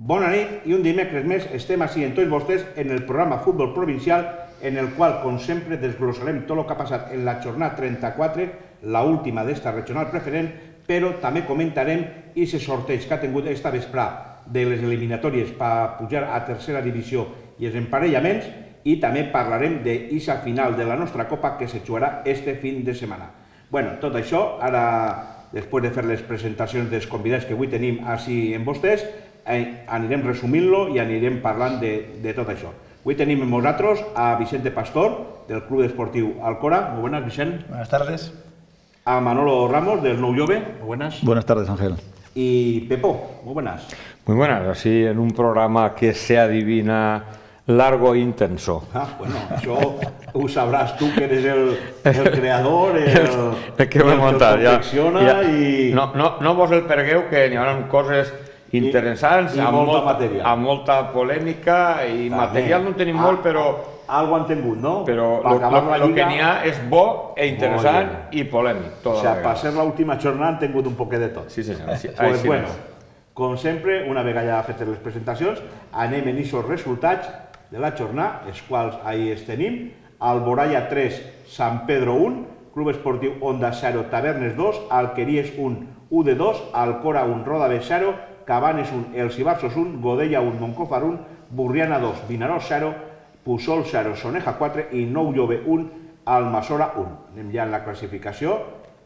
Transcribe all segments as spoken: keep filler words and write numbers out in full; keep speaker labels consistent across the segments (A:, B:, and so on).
A: Bona nit i un dimecres més estem així en tots vostès en el programa Futbol Provincial en el qual, com sempre, desglossarem tot el que ha passat en la jornada trenta-quatre, l'última d'esta regional preferent, però també comentarem aquest sorteig que ha tingut esta vesprada de les eliminatòries per pujar a tercera divisió i els emparellaments, i també parlarem d'aquesta final de la nostra Copa que se jugarà este fin de setmana. Bueno, tot això, ara, després de fer les presentacions dels convidats que avui tenim així en vostès, anirem resumint-lo i anirem parlant de tot això. Avui tenim amb nosaltres a Vicente Pastor, del Club Esportiu Alcora. Muy buenas, Vicente.
B: Buenas tardes.
A: A Manolo Ramos, del Nou Jove. Muy buenas.
B: Buenas tardes, Ángel.
A: Y Pepo. Muy buenas.
C: Muy buenas, así en un programa que se adivina largo e intenso.
A: Ah, bueno, això ho sabràs tu, que eres el, el creador, el,
C: el que ho he montat, ja.
A: Ja. I...
C: No, no, no vos el pergueu, que n'hi haurà coses interessants,
A: I, i
C: amb,
A: molta
C: molta,
A: matèria.
C: amb molta polèmica, i també. Material no en tenim molt, però...
A: Algo han tingut, no?
C: Però el que n'hi ha és bo, e interessant i polèmic.
A: O sigui, per ser l'última jornada han tingut un poquet de tot.
C: Sí, senyor. Sí,
A: pues bueno, com sempre, una vegada ja fetes les presentacions, anem en aquests resultats de la jornada, els quals ahí els tenim. Alboraya tres, San Pedro un, Club Esportiu Onda zero, Tavernes dos, Alqueries un, U D dos, Alcora un, Rodabe zero, Cabanes un, Els Ibarsos un, Godella un, Moncofar un, Burriana dos, Vinaròs zero, Puçol zero, Soneja quatre i Nou Jove un, Almassora un. Anem ja en la classificació.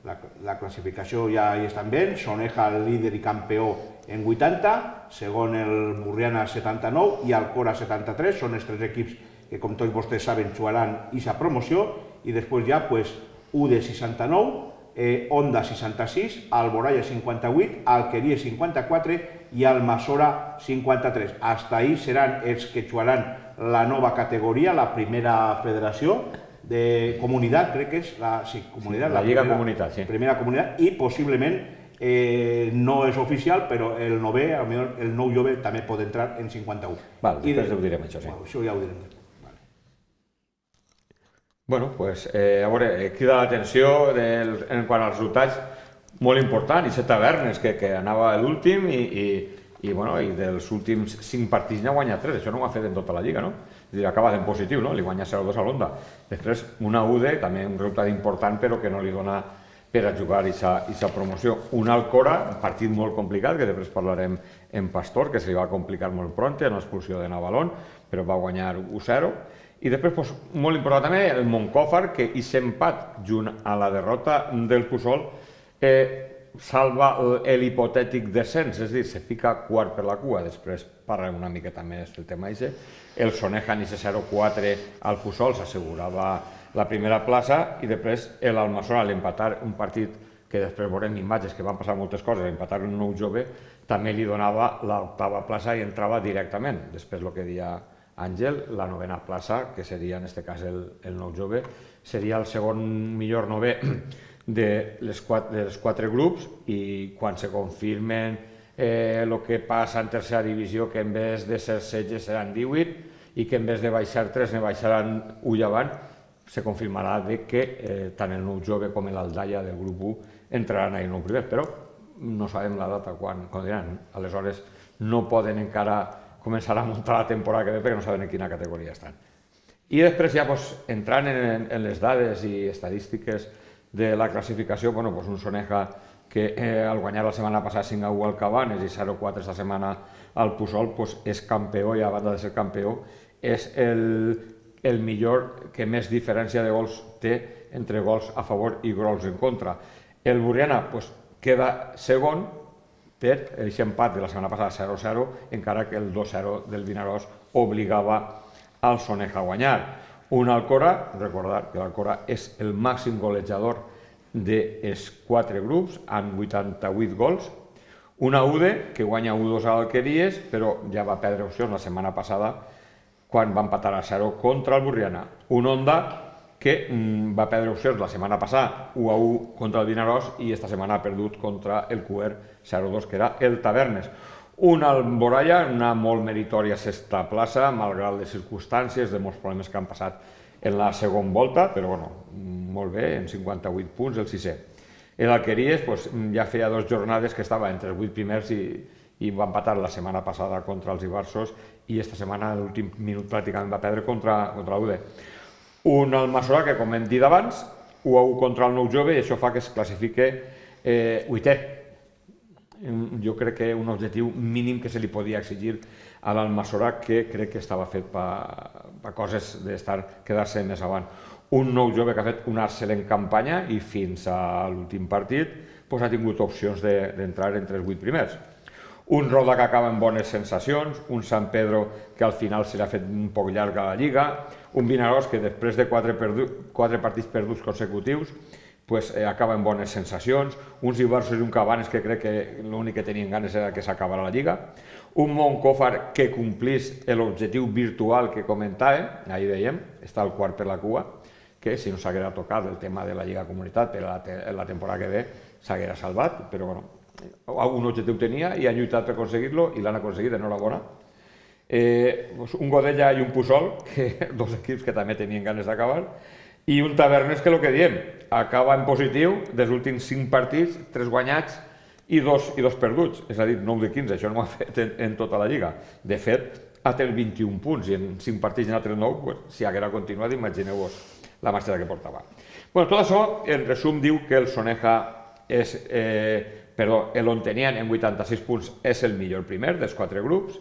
A: La, la classificació ja hi estan bé. Soneja, líder i campió en vuitanta, segon el Burriana setanta-nou i Alcora setanta-tres. Són els tres equips que, com tots vostès saben, jugaran aquesta promoció. I després ja, pues, U D seixanta-nou, eh, Onda seixanta-sis, Alboraya cinquanta-vuit, Alqueries cinquanta-quatre i Almassora cinquanta-tres. Hasta ahí seran els que jugaran la nova categoria, la primera federació de comunitat, crec que és la, sí, comunitat,
C: sí, la, la Lliga
A: primera,
C: Comunitat, sí.
A: Primera comunitat, i possiblement eh, no és oficial, però el nové, el Nou Jove també pot entrar en cinquanta-u.
C: Val, després de... ho direm, això, sí.
A: Bueno, això ja ho direm. Vale.
C: Bueno, pues, eh, a veure, crida l'atenció en quant als resultats molt important, i set Tavernes, que, que anava l'últim, i, i i, bueno, i dels últims cinc partits n'ha guanyat tres, això no ho ha fet en tota la Lliga, no? És a dir, acaba en positiu, no? Li guanya zero dos a l'Onda. Després, una U D, també un resultat important, però que no li dona per a jugar aquesta promoció. Un Alcora, un partit molt complicat, que després parlarem en Pastor, que se li va complicar molt pront, en l'expulsió de Navalón, però va guanyar u zero. I després, pues, molt important també, el Moncofar, que hi s'empat junt a la derrota del Puçol, eh, salva l'hipotètic descens, és a dir, se fica quart per la cua. Després parlarem una miqueta més del tema aquest. El Soneja en aquest zero quatre al Puçol s'assegurava la primera plaça, i després l'Almassora, a l'empatar un partit que després veurem imatges que van passar moltes coses, empatar un Nou Jove, també li donava l'octava plaça i entrava directament. Després el que deia Àngel, la novena plaça, que seria en aquest cas el, el Nou Jove, seria el segon millor nové de les quatre, dels quatre grups, i quan se confirmen el eh, que passa en tercera divisió, que en vez de ser setze seran divuit, i que en vez de baixar tres ne baixaran u llevant, se confirmarà de que eh, tant el Nou Jove com l'Aldaia del grup u entraran a el nou primer, però no sabem la data quan, quan diran. Aleshores no poden encara començar a muntar la temporada que ve perquè no saben en quina categoria estan. I després ja pues, entrant en, en les dades i estadístiques de la classificació, bueno, pues un Soneja que eh, al guanyar la setmana passada cinc a u al Cabanes i zero quatre esta setmana al Puçol, pues és campió, i a banda de ser campió és el, el millor que més diferència de gols té entre gols a favor i gols en contra. El Burriana pues, queda segon per aquest empat de la setmana passada zero zero, encara que el dos zero del Vinaròs obligava al Soneja a guanyar. Un Alcora, recordar que l'Alcora és el màxim golejador dels quatre grups, amb vuitanta-vuit gols. Una U D, que guanya u dos a l'Alqueries, però ja va perdre opcions la setmana passada quan va empatar a zero contra el Burriana. Un Onda, que mm, va perdre opcions la setmana passada, u a u contra el Vinaròs, i esta setmana ha perdut contra el Q R zero dos, que era el Tavernes. Un Alboraya, una molt meritòria sexta plaça, malgrat les circumstàncies de molts problemes que han passat en la segona volta, però bueno, molt bé, en cinquanta-vuit punts, el sisè. L'Alqueries ja feia dues jornades que estava entre els vuit primers i i va empatar la setmana passada contra els Ibarsos i esta setmana l'últim minut pràcticament va perdre contra, contra l'U D. Un Almassora que, com hem dit abans, u a u contra el Nou Jove i això fa que es classifique eh, vuitè. Jo crec que un objectiu mínim que se li podia exigir a l'Almassora, que crec que estava fet per coses d'estar quedar-se més avant. Un Nou Jove que ha fet una excel·lent campanya i fins a l'últim partit pues, ha tingut opcions d'entrar entre els vuit primers. Un Roda que acaba amb bones sensacions, un Sant Pedro que al final se l'ha fet un poc llarg a la Lliga, un Vinaròs que després de quatre, quatre partits perduts consecutius pues, eh, acaba amb bones sensacions, uns Ibarsos i un Cabanes que crec que l'únic que tenien ganes era que s'acabara la Lliga, un Montcòfar que complís l'objectiu virtual que comentàvem, ahir dèiem, està al quart per la cua, que si no s'haguera tocat el tema de la Lliga Comunitat per la, la temporada que ve s'haguera salvat, però bueno, un objectiu tenia i han lluitat per aconseguir-lo i l'han aconseguit, enhorabona. Eh, un Godella i un Puçol, que, dos equips que també tenien ganes d'acabar, i un Tavernes que el que diem, acaba en positiu dels últims cinc partits, tres guanyats i dos, i dos perduts, és a dir, nou de quinze, això no ho ha fet en, en tota la Lliga. De fet, ha tret vint-i-un punts i en cinc partits n'ha tret nou, pues, si haguera continuat, imagineu-vos la marxa que portava. Bueno, tot això, en resum, diu que el Soneja és... Eh, Perdó, l'Ontenien en vuitanta-sis punts és el millor primer dels quatre grups.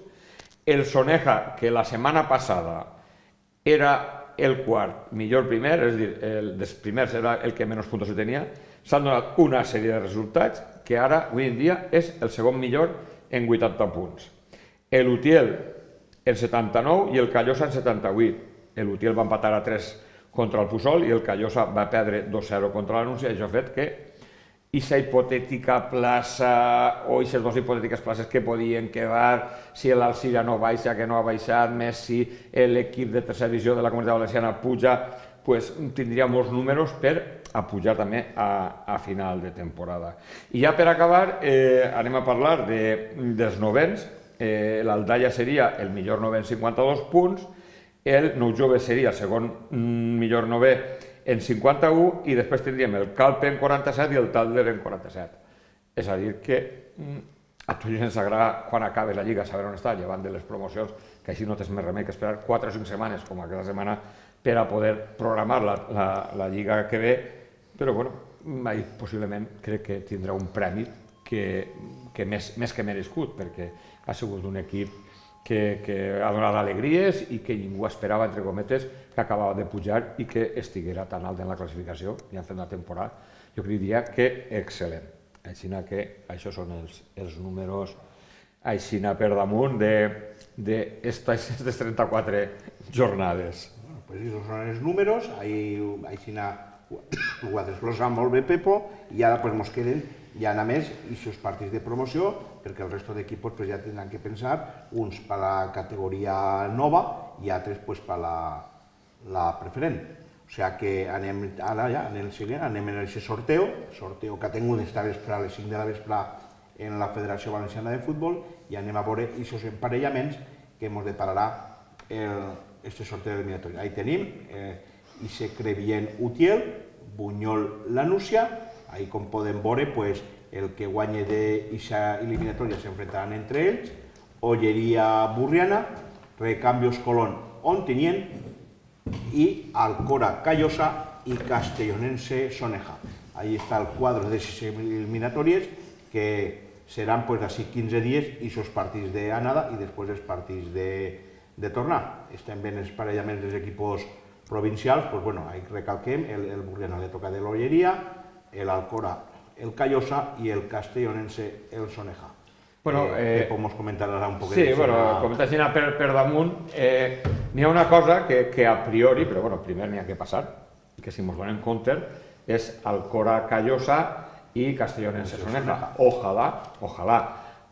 C: El Soneja, que la setmana passada era el quart millor primer, és a dir, el dels primers era el que menys punts tenia, s'han donat una sèrie de resultats que ara, avui en dia, és el segon millor en vuitanta punts. L'Utiel en setanta-nou i el Callosa en setanta-vuit. L'Utiel va empatar a tres contra el Puçol i el Callosa va perdre dos zero contra l'Anúncia, i això ha fet que aquesta hipotètica plaça o aquestes dues hipotètiques places que podien quedar si l'Alcira no baixa, que no ha baixat, més si l'equip de tercera divisió de la Comunitat Valenciana puja, pues, tindria molts números per a pujar també a, a final de temporada. I ja per acabar, eh, anem a parlar de, dels novens. Eh, L'Aldaia seria el millor novè en cinquanta-dos punts, el Nou Jove seria el segon millor novè en cinquanta-u i després tindríem el Calpe en quaranta-set i el Tàlder en quaranta-set. És a dir que a tots ens agrada quan acabi la Lliga saber on està, llevant de les promocions, que així no tens més remei que esperar quatre o cinc setmanes, com aquesta setmana, per a poder programar la, la, la Lliga que ve, però bueno, ahir possiblement crec que tindrà un premi que, que més, més que merescut, perquè ha sigut un equip que, que ha donat alegries i que ningú esperava, entre cometes, que acabava de pujar i que estiguera tan alt en la classificació i han fet una temporada, jo diria que excel·lent. Així que això són els, els números així per damunt d'aquestes trenta-quatre jornades.
A: Bueno, pues esos son els números, així ho ha desglosat molt bé Pepo i ara pues mos queden ja a més aquests partits de promoció perquè el resto d'equipos pues, ja tindran que pensar uns per la categoria nova i altres pues, per la, la preferent. O sigui que anem ara ja, en el següent, anem en aquest sorteo, sorteo que ha tingut esta vespre a les cinc de la vespre en la Federació Valenciana de Futbol i anem a veure aquests emparellaments que ens depararà aquest sorteo eliminatori. Ahí tenim aquest Crevillent Utiel, Bunyol Lanúcia, ahí com podem veure pues, el que guanye d'aquesta eliminatòria s'enfrontaran entre ells, Olleria Burriana, Recambios Colón Ontinyent i Alcora Callosa i Castellonense Soneja. Ahí està el quadre d'aquestes eliminatòries que seran pues, d'ací quinze dies i els partits d'anada i després els partits de, de tornar. Estem ben els parellaments dels equips provincials, pues, bueno, ahí recalquem, el, el Burriana le toca de l'Olleria, el Alcora el Callosa i el Castellonense el Soneja.
C: Bueno, eh,
A: Pepo mos comentarà un poquet.
C: Sí, bueno, comentar així per, per damunt, eh, n'hi ha una cosa que, que a priori, però bueno, primer n'hi ha que passar, que si mos donem compte, és Alcora Callosa i Castellonense Soneja. Ojalà, ojalà,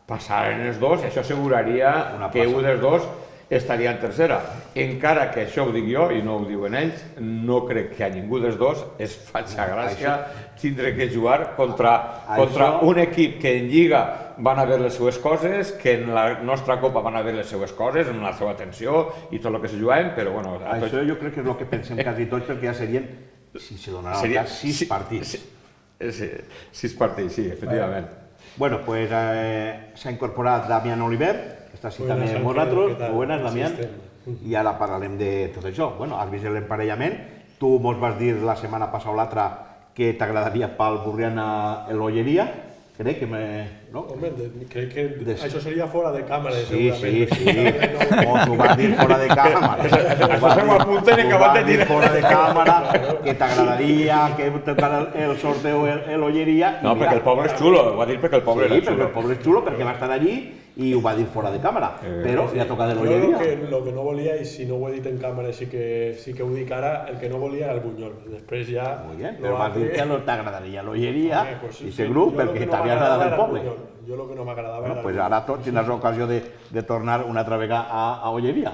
C: passaren els dos i això asseguraria que un dels dos estaria en tercera. Encara que això ho dic jo i no ho diuen ells, no crec que a ningú dels dos es faci gràcia tindre que jugar contra, contra un equip que en Lliga van haver les seues coses, que en la nostra Copa van haver les seues coses, en la seva atenció i tot el que se jugaven, però bueno...
A: Això jo crec que és el que pensem quasi tots, perquè ja serien, si se donarà el cas, sis partits.
C: Sí, sis partits, sí, efectivament.
A: Bueno, pues s'ha incorporat Damián Oliver, que està així també amb nosaltres. Buenas, Damián. I ara parlarem de tot això. Bueno, has vist l'emparellament. Tu mos vas dir la setmana passada o l'altra que t'agradaria pel Burriana l'Olleria. Crec que me...
B: Home, crec que això seria fora de càmera,
A: segurament. Sí, sí, sí. Mos ho vas dir fora de càmera.
C: Això se ho apunten i acabat de dir.
A: Fora de càmera, que t'agradaria que tocara el sorteo l'Olleria.
C: No, perquè el poble és xulo, ho va dir perquè el poble era xulo.
A: Sí, perquè el poble és xulo, perquè va estar allí i ho va dir fora de càmera, però li ha tocat de l'Olleria.
B: Jo el que no volia, i si no ho he dit en càmera sí que ho dic ara, el que no volia era el Bunyol. Després ja...
A: Molt bé, però vas dir que no t'agradaria l'Olleria i aquest grup perquè t'havia agradat el poble.
B: Jo el que no m'agradava era...
A: Doncs ara tots tindràs l'ocasió de tornar una altra vegada a Olleria.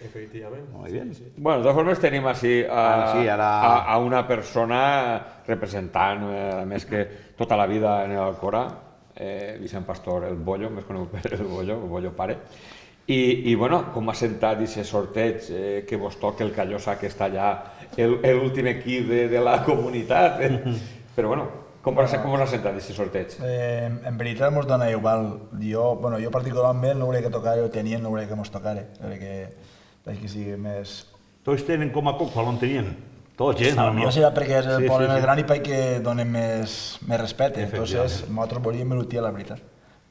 B: Efectivament.
A: Molt bé.
C: Bueno, de totes formes tenim així a una persona representant, a més que tota la vida en l'Alcora, Vicent Pastor, el Bollo, més conegut per el Bollo, el Bollo pare. I, bueno, com ha sentat aquest sorteig que vos toca el Callosa, que està allà, l'últim equip de la comunitat. Però, bueno, com vos ha sentat aquest sorteig?
D: En veritat mos dona igual. Jo particularment no volia que tocara el tenien, no volia que mos tocara, perquè sigui més...
A: Tots tenen com a poc quan tenien. Tots, eh?
D: Potser serà perquè és el poble més gran i perquè donen més respecte. Entonces, nosaltres volíem l'Utiel, la veritat.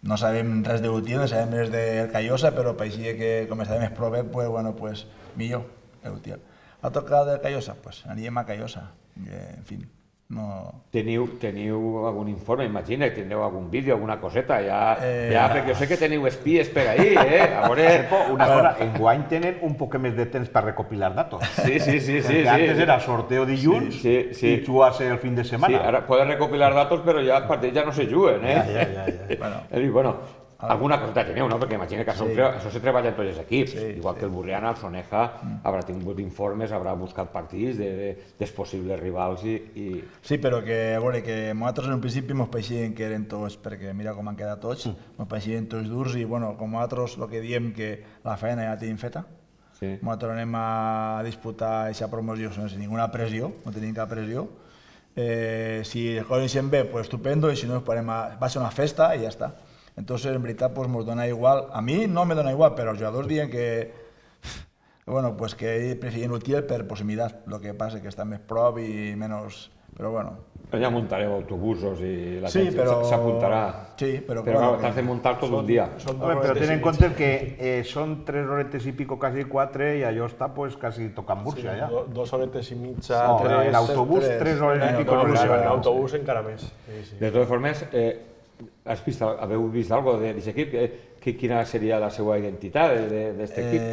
D: No sabem res de l'Utiel, no sabem res del Callosa, però pareixia que com estava més prové, bueno, pues millor l'Utiel. A tocar del Callosa, pues anirem a Callosa. En fi, no...
C: Teniu algun informe, imagina, teniu algun vídeo, alguna coseta, ja, perquè jo sé que teniu espies per ahí, eh? A veure...
A: Una cosa, enguany tenen un poc més de temps per recopilar datos.
C: Sí, sí, sí.
A: Perquè antes era sorteo dilluns i jugar-se el fin de setmana.
C: Sí, ara poden recopilar datos, però ja els partits ja no se juguen, eh?
A: Ja, ja, ja.
C: És dir, bueno... Alguna coseta teniu, no? Perquè imagina que això se treballa en tots els equips. Igual que el Burriana, el Soneja, haurà tingut informes, haurà buscat partits dels possibles rivals i...
D: Sí, però que, a veure, que nosaltres en un principi ens pareixien que eren tots, perquè mira com han quedat tots, ens pareixien tots durs i, bueno, com nosaltres el que diem que la feina ja la tenim feta, nosaltres anem a disputar aquesta promoció sense ninguna pressió, no tenim cap pressió. Si les coses eixen bé, pues estupendo, i si no, va ser una festa i ja està. Entonces, en veritat, pues nos dona igual. A mi no me dona igual, però els jugadors diuen que bueno, pues que preferien l'Utiel per proximitat. Lo que passa que està més prop i menys... Però bueno...
C: Ja muntareu autobusos i la gent s'apuntarà.
D: Sí, però...
C: Però t'has de muntar tot un dia.
A: Però ten en compte que són tres horetes i pico, quasi quatre, i allò està pues quasi tocant Múrcia, ja.
B: Dos horetes i mitja,
A: tres... En l'autobús, tres hores i pico.
B: En l'autobús encara més.
C: De totes formes, haveu vist alguna cosa d'aquest equip? Quina seria la seva identitat d'aquest equip?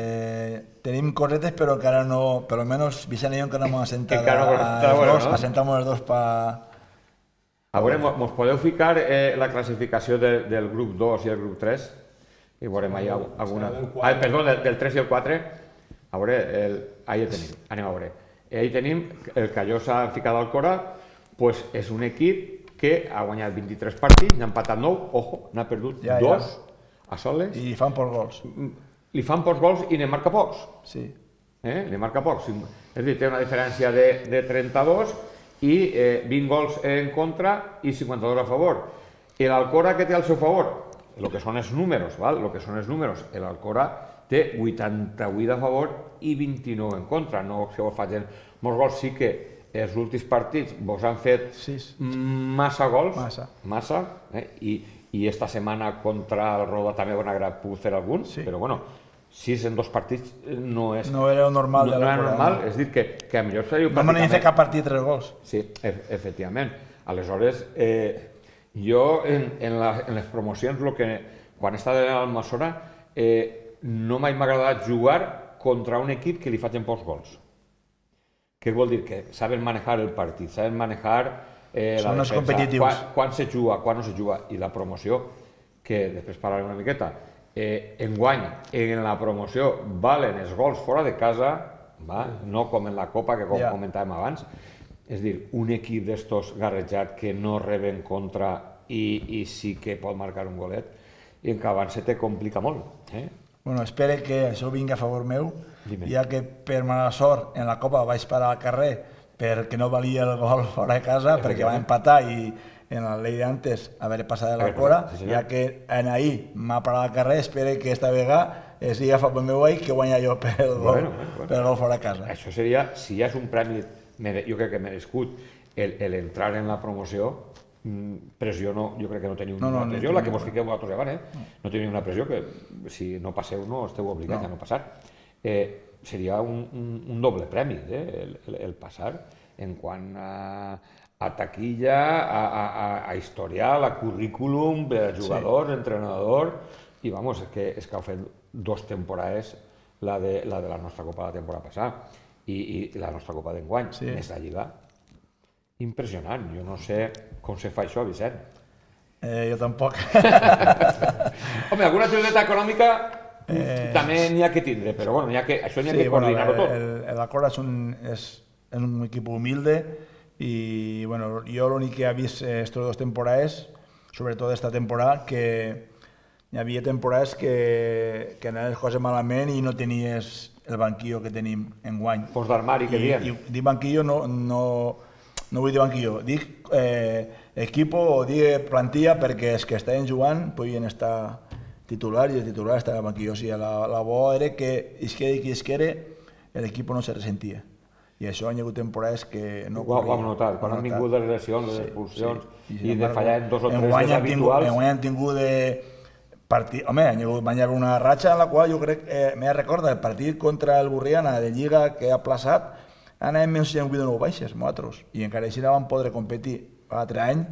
D: Tenim cosetes, però encara no... Per almenys Vicent i jo encara no m'ho assentat els dos. Assentamos els dos per...
C: A veure, mos podeu ficar la classificació del grup dos i el grup tres? I veurem allà alguna... Perdó, del tres i el quatre. A veure, ahí el tenim. Anem a veure. Ahí tenim el Callosa ficat al Cora, doncs és un equip que ha guanyat vint-i-tres partits, n'ha empatat nou, ojo, n'ha perdut dos a soles.
D: I li fan pocs gols.
C: Li fan pocs gols i ne marca pocs.
D: Sí.
C: Ne marca pocs. És a dir, té una diferència de trenta-dos i vint gols en contra i cinquanta-dos a favor. I l'Alcora, què té al seu favor? El que són els números, el que són els números. L'Alcora té vuitanta-vuit a favor i vint-i-nou en contra. No que vos facin molts gols, sí que els últims partits vos han fet massa gols, massa, i esta setmana contra el Roda també van haver pogut fer alguns, però bueno, sis en dos partits no és...
D: No era normal.
C: No era normal, és dir, que a millor seria...
D: No m'han fet cap partit tres gols.
C: Sí, efectivament. Aleshores, jo en les promocions, quan he estat a l'Almassora, no m'ha agradat jugar contra un equip que li facin pocs gols. Què vol dir? Que saben manejar el partit, saben manejar la defensa, quan se juga, quan no se juga. I la promoció, que després parlarem una miqueta, enguany, en la promoció valen els gols fora de casa, no com en la Copa, que com comentàvem abans. És dir, un equip d'estos garrejat que no reben contra i sí que pot marcar un golet, i en que abans se te complica molt.
D: Bueno, espero que això vingui a favor meu, ja que per mala sort en la Copa vaig parar al carrer perquè no valia el gol fora de casa, perquè va empatar i en la ley de antes haver passat de la cora, ja que en ahir m'ha parat al carrer, espero que esta vegada sigui agafat pel meu veí que guanya jo per el gol, per el gol fora de casa.
C: Això seria, si ja és un premi, jo crec que merescut, l'entrar en la promoció, pressió no, jo crec que no teniu una pressió, la que vos fiqueu vosaltres abans, no teniu una pressió que si no passeu no esteu obligats a no passar. Seria un doble premi el passar en quant a taquilla, a historial, a currículum, a jugador, entrenador, i vamos, és que heu fet dos temporades la de la nostra Copa de la temporada passada i la nostra Copa d'enguany, més la Lliga. Impressionant, jo no sé com se fa això, Vicent.
D: Jo tampoc.
C: Home, alguna activitat econòmica també n'hi ha que tindre, però bueno, això n'hi ha que coordinar-ho tot.
D: La Cora és un equip humilde i jo l'únic que he vist aquestes dues temporades, sobretot esta temporada, que hi havia temporades que anaven les coses malament i no tenies el banquillo que tenim enguany.
C: Fons d'armari, que diem.
D: Dic banquillo no... No vull dir banquillo, dic equipo o dic plantilla perquè els que estaven jugant podien estar titulars i el titular estava al banquillo. O sigui, la bo era que isquere qui isquere l'equip no se ressentia. I això hi ha hagut temporades que no
C: corria. Ho hem notat, quan han vingut les lesions, les expulsions i de fallar en dos o tres dels habituals.
D: Enguany han tingut de partit... Home, van haver una ratxa en la qual jo crec que me recorda el partit contra el Burriana de Lliga que ha plaçat. Anàvem menys si hem vuit o nou baixes, nosaltres, i encara així no vam poder competir l'altre any,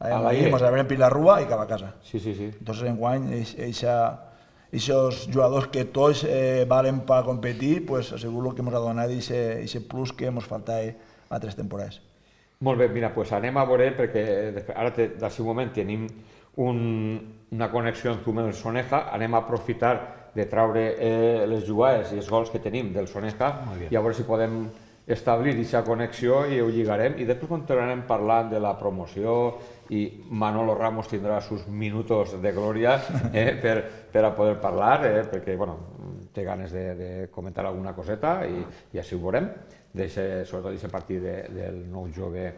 D: ens havíem pit la rua i cap a casa.
C: Sí, sí, sí.
D: Entonces, enguany, aquests jugadors que tots valen per competir, pues segur que ens ha donat aquest plus que ens faltava a tres temporades.
C: Molt bé, mira, doncs anem a veure, perquè ara, del seu moment, tenim una connexió amb el Soneja, anem a aprofitar de traure les jugades i els gols que tenim del Soneja i a veure si podem establir aquesta connexió i ho lligarem i després continuarem parlant de la promoció i Manolo Ramos tindrà els minuts de glòria per a poder parlar perquè té ganes de comentar alguna coseta i així ho veurem, sobretot d'aquest partit del nou jove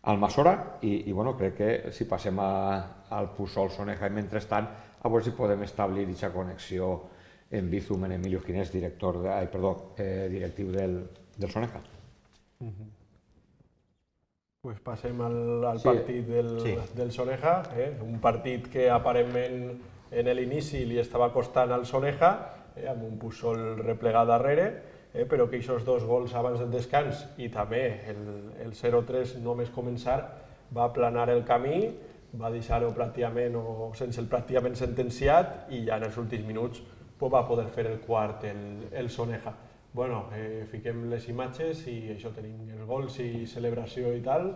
C: Almassora i crec que si passem al Pusol Soneja i mentrestant a veure si podem establir aquesta connexió en Bizum, en Emilio Ginés, directiu del del Soneja.
B: Pues passem al partit del Soneja, un partit que aparentment en l'inici li estava costant al Soneja, amb un Pusol replegat darrere, però que aquests dos gols abans del descans i també el zero tres només començar va aplanar el camí, va deixar-ho pràcticament o sense el pràcticament sentenciat i ja en els últims minuts va poder fer el quart el Soneja. Bueno, fiquem les imatges i això tenim els gols i celebració i tal.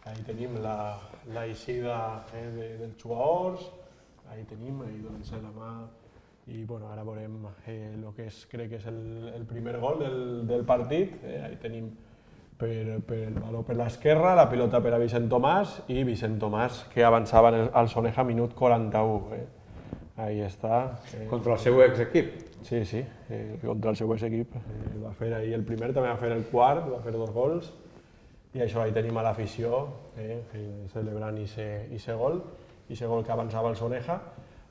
B: Ahí tenim l'eixida dels jugadors, ahí tenim, ahí donen-se la mà i ara veurem el que crec que és el primer gol del partit. Ahí tenim el valor per l'esquerra, la pilota per a Vicent Tomàs i Vicent Tomàs que avançava al Soneja minut quaranta-u. Ahí està.
C: Contra el seu exequip.
B: Sí, sí, contra el seu equip. Va fer ahir el primer, també va fer el quart, va fer dos gols. I això, ahí tenim a l'afició celebrant aquest gol, aquest gol que avançava el Soneja.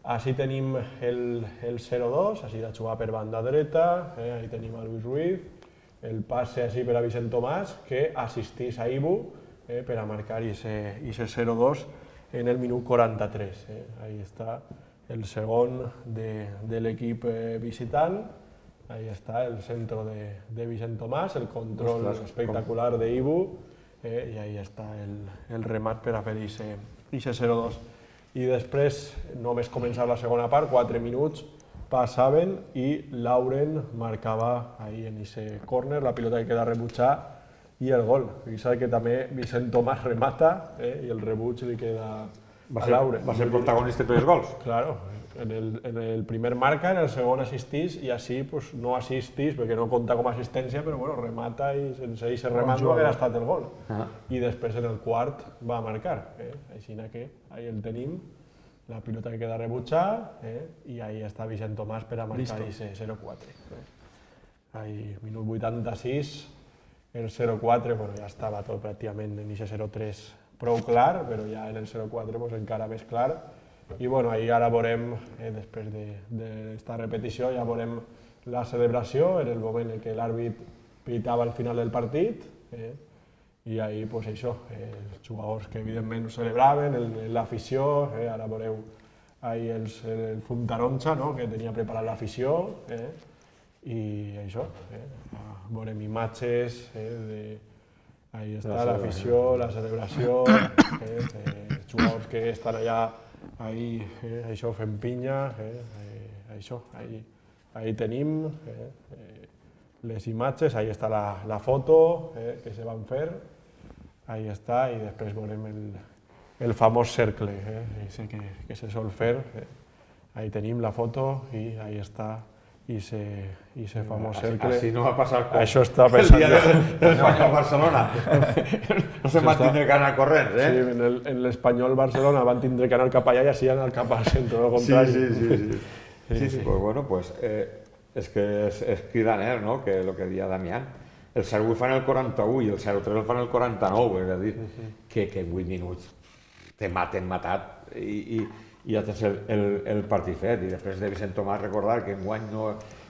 B: Així tenim el zero dos, així de jugar per banda dreta, ahí tenim a Luis Ruiz, el passe així per a Vicent Tomàs, que assistís a Ibu per a marcar aquest zero dos en el minut quaranta-tres. Ahí està el segon de l'equip visitant, ahí està el centre de Vicent Tomàs, el control espectacular d'Ibu i ahí està el remat per a fer aquest zero dos. I després, només començar la segona part, quatre minuts passaven i Lauren marcava ahí en aquest córner, la pilota que queda rebutjar i el gol. Fixa't que també Vicent Tomàs remata i el rebuig li queda a Lauren.
C: Va ser protagonista per els gols.
B: Claro, en el primer marca, en el segon assistís i així no assistís perquè no compta com a assistència, però remata i sense aquest remat no hagués estat el gol. I després en el quart va marcar. Així que ahí el tenim, la pilota que queda rebutjar i ahí està Vicent Tomàs per a marcar aquest zero quatre. Minut vuitanta-sis, el zero quatre ja estava tot pràcticament en aquest zero tres prou clar, però ja en el zero quatre pues, encara més clar. I bueno, ahí ara veurem, eh, després d'esta de, repetició, ja veurem la celebració en el moment en què l'àrbit pitava al final del partit. Eh, I ahí, pues això, eh, els jugadors que evidentment ho celebraven, l'afició, eh, ara veureu ahí els, el fum taronja, no?, que tenia preparat l'afició, eh, i això, eh, veurem imatges, eh, de, ahí està l'afició, la celebració, eh, els jugadors que estan allà, ahí, eh, això, fent pinya, eh, eh, això, ahí, ahí tenim eh, eh, les imatges, ahí està la, la foto eh, que se van fer, ahí està, i després veurem el, el famós cercle, eh, ese que, que se sol fer, eh, ahí tenim la foto i ahí està, i ese, i ese famós cercle.
C: Així no va passar com
B: això està pensant
C: el dia de l'Espanyol-Barcelona. No se van tindre que anar corrents, eh?
B: Sí, en l'Espanyol-Barcelona van tindre que anar cap allà i així anar cap al centre, no contrari.
C: Sí, sí, sí. sí. sí, sí, sí. Pues bueno, pues eh, és que és, és cridaner, no?, que el que deia Damián. El zero vuit fan el quaranta-u i el zero tres el fan el quaranta-nou, és a dir, que, que en vuit minuts te maten matat i, i, i ja tens el, el, el partit fet. I després de Vicent Tomàs recordar que enguany no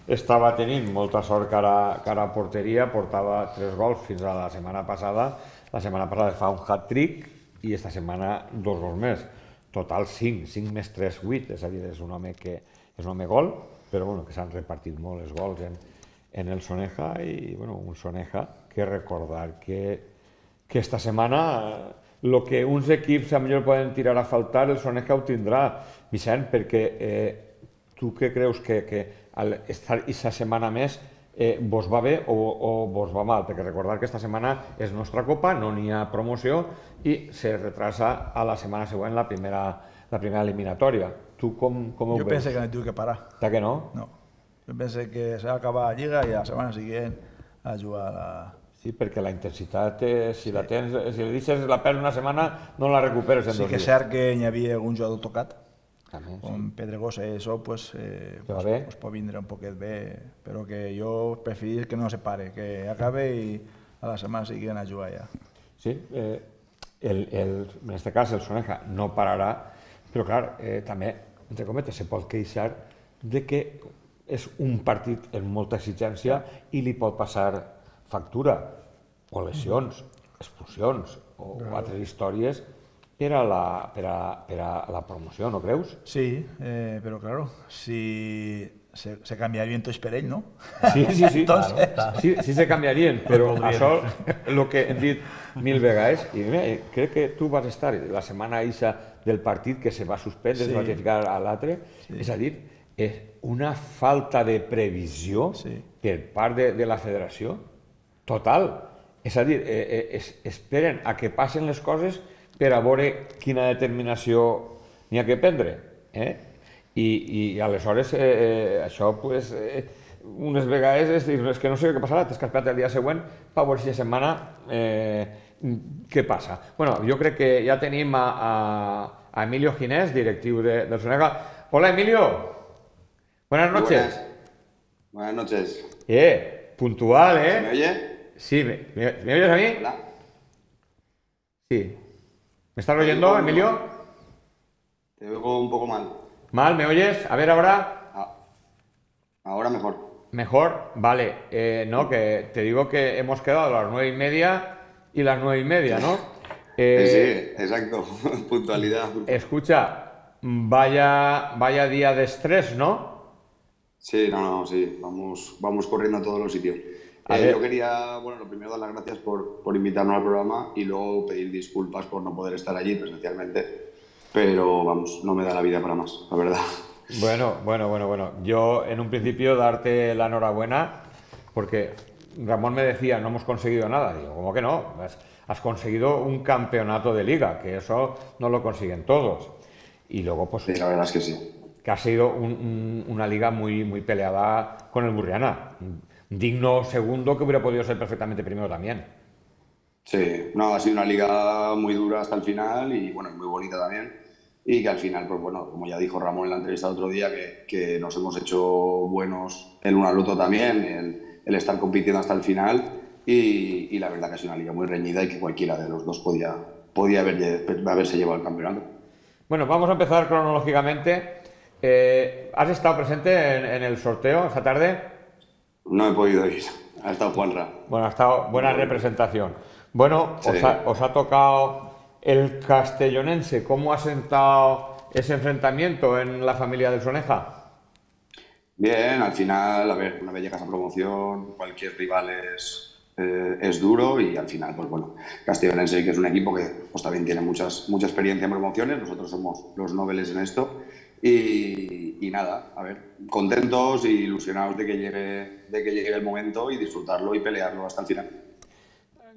C: estava tenint molta sort cara, cara a porteria, portava tres gols fins a la setmana passada, la setmana passada fa un hat-trick i esta setmana dos gols més. Total cinc, cinc més tres, vuit, és a dir, és un home que és un home gol, però bueno, que s'han repartit molt els gols en, en el Soneja i bueno, un Soneja que recordar que, que esta setmana el que uns equips a millor poden tirar a faltar, el Soneja ho tindrà, Vicent, perquè eh, tu què creus que, que al estar aquesta setmana més eh, vos va bé o, o vos va mal? Perquè recordar que esta setmana és nostra copa, no n'hi ha promoció i se retrasa a la setmana següent la primera, la primera eliminatòria. Tu com, com ho
D: jo
C: veus?
D: penso que no tinc que parar.
C: Ta que no?
D: No. Jo penso que s'ha d'acabar la Lliga i la setmana següent a jugar a la...
C: Sí, perquè la intensitat, eh, si la tens, si li deixes la perds una setmana, no la recuperes en
D: sí
C: dos dies.
D: Sí que és cert que hi havia algun jugador tocat,
C: També,
D: com
C: sí.
D: Pedregosa i això, pues, eh,
C: Que va
D: pues,
C: bé.
D: pues pot vindre un poquet bé, però que jo preferís que no se pare, que acabe i a la setmana següent a jugar ja.
C: Sí, eh, el, el, en este cas el Soneja no pararà, però clar, eh, també, entre cometes, se pot queixar de que és un partit amb molta exigència i li pot passar factura, o lesions, expulsions, o claro. altres històries per a, la, per, a, per a la promoció, no creus?
D: Sí, eh, però claro, si se, se canviarien tots per ell, no?
C: Sí, sí, sí,
D: Entonces...
C: claro, sí, sí se canviarien, però això, el que hem dit mil vegades, i mira, crec que tu vas estar la setmana eixa del partit que se va suspendre, sí. es va ratificar a l'altre, sí. és a dir, és una falta de previsió sí. per part de, de la federació total. És a dir, eh, es, esperen a que passen les coses per a veure quina determinació n'hi ha que prendre. Eh? I, i aleshores eh, eh, això, pues, eh, unes vegades és dir, és que no sé què passarà, t'has caspat el dia següent per veure si la setmana eh, què passa. Bueno, jo crec que ja tenim a, a, a Emilio Ginés, directiu de, del Soneja. Hola, Emilio. Buenas noches.
E: Buenas, Buenas noches.
C: Eh, puntual, ¿eh?
E: ¿Me oye?
C: Sí, ¿me, me, ¿me oyes a mí?
E: Hola.
C: Sí. ¿Me estás oyendo, Emilio?
E: Te oigo un poco mal.
C: ¿Mal? ¿Me oyes? A ver ahora.
E: Ah, ahora mejor.
C: Mejor, vale. Eh, no, que te digo que hemos quedado a las nueve y media y las nueve y media, ¿no?
E: Eh, sí, exacto. Puntualidad.
C: Escucha, vaya, vaya día de estrés, ¿no?
E: Sí, no, no, sí. Vamos, vamos corriendo a todos los sitios. Eh, yo quería, bueno, lo primero dar las gracias por, por invitarnos al programa y luego pedir disculpas por no poder estar allí presencialmente, pero vamos, no me da la vida para más, la verdad.
C: Bueno, bueno, bueno, bueno. Yo en un principio darte la enhorabuena porque Ramón me decía, no hemos conseguido nada. Digo, ¿cómo que no? Has, has conseguido un campeonato de liga, que eso no lo consiguen todos. Y luego, pues...
E: Sí, la verdad es que sí.
C: Que ha sido un, un, una liga muy, muy peleada con el Burriana. Digno segundo que hubiera podido ser perfectamente primero también.
E: Sí, no, ha sido una liga muy dura hasta el final y bueno, muy bonita también. Y que al final, pues bueno, como ya dijo Ramón en la entrevista otro día, que, que nos hemos hecho buenos el uno al otro también, el, el estar compitiendo hasta el final y, y la verdad que ha sido una liga muy reñida y que cualquiera de los dos podía, podía haber, haberse llevado el campeonato.
C: Bueno, vamos a empezar cronológicamente. Eh, ¿Has estado presente en, en el sorteo esta tarde?
E: No he podido ir, ha estado Juanra.
C: Bueno, ha estado buena representación. Bueno,
E: Sí.
C: os, ha, os ha tocado el castellonense. ¿Cómo ha sentado ese enfrentamiento en la familia del Soneja?
E: Bien, al final, a ver, una vez llegas a promoción, cualquier rival es, eh, es duro y al final, pues bueno, Castellonense, que es un equipo que pues, también tiene muchas, mucha experiencia en promociones, nosotros somos los noveles en esto y, y nada, a ver, contentos e ilusionados de que, llegue, de que llegue el momento y disfrutarlo y pelearlo hasta el final.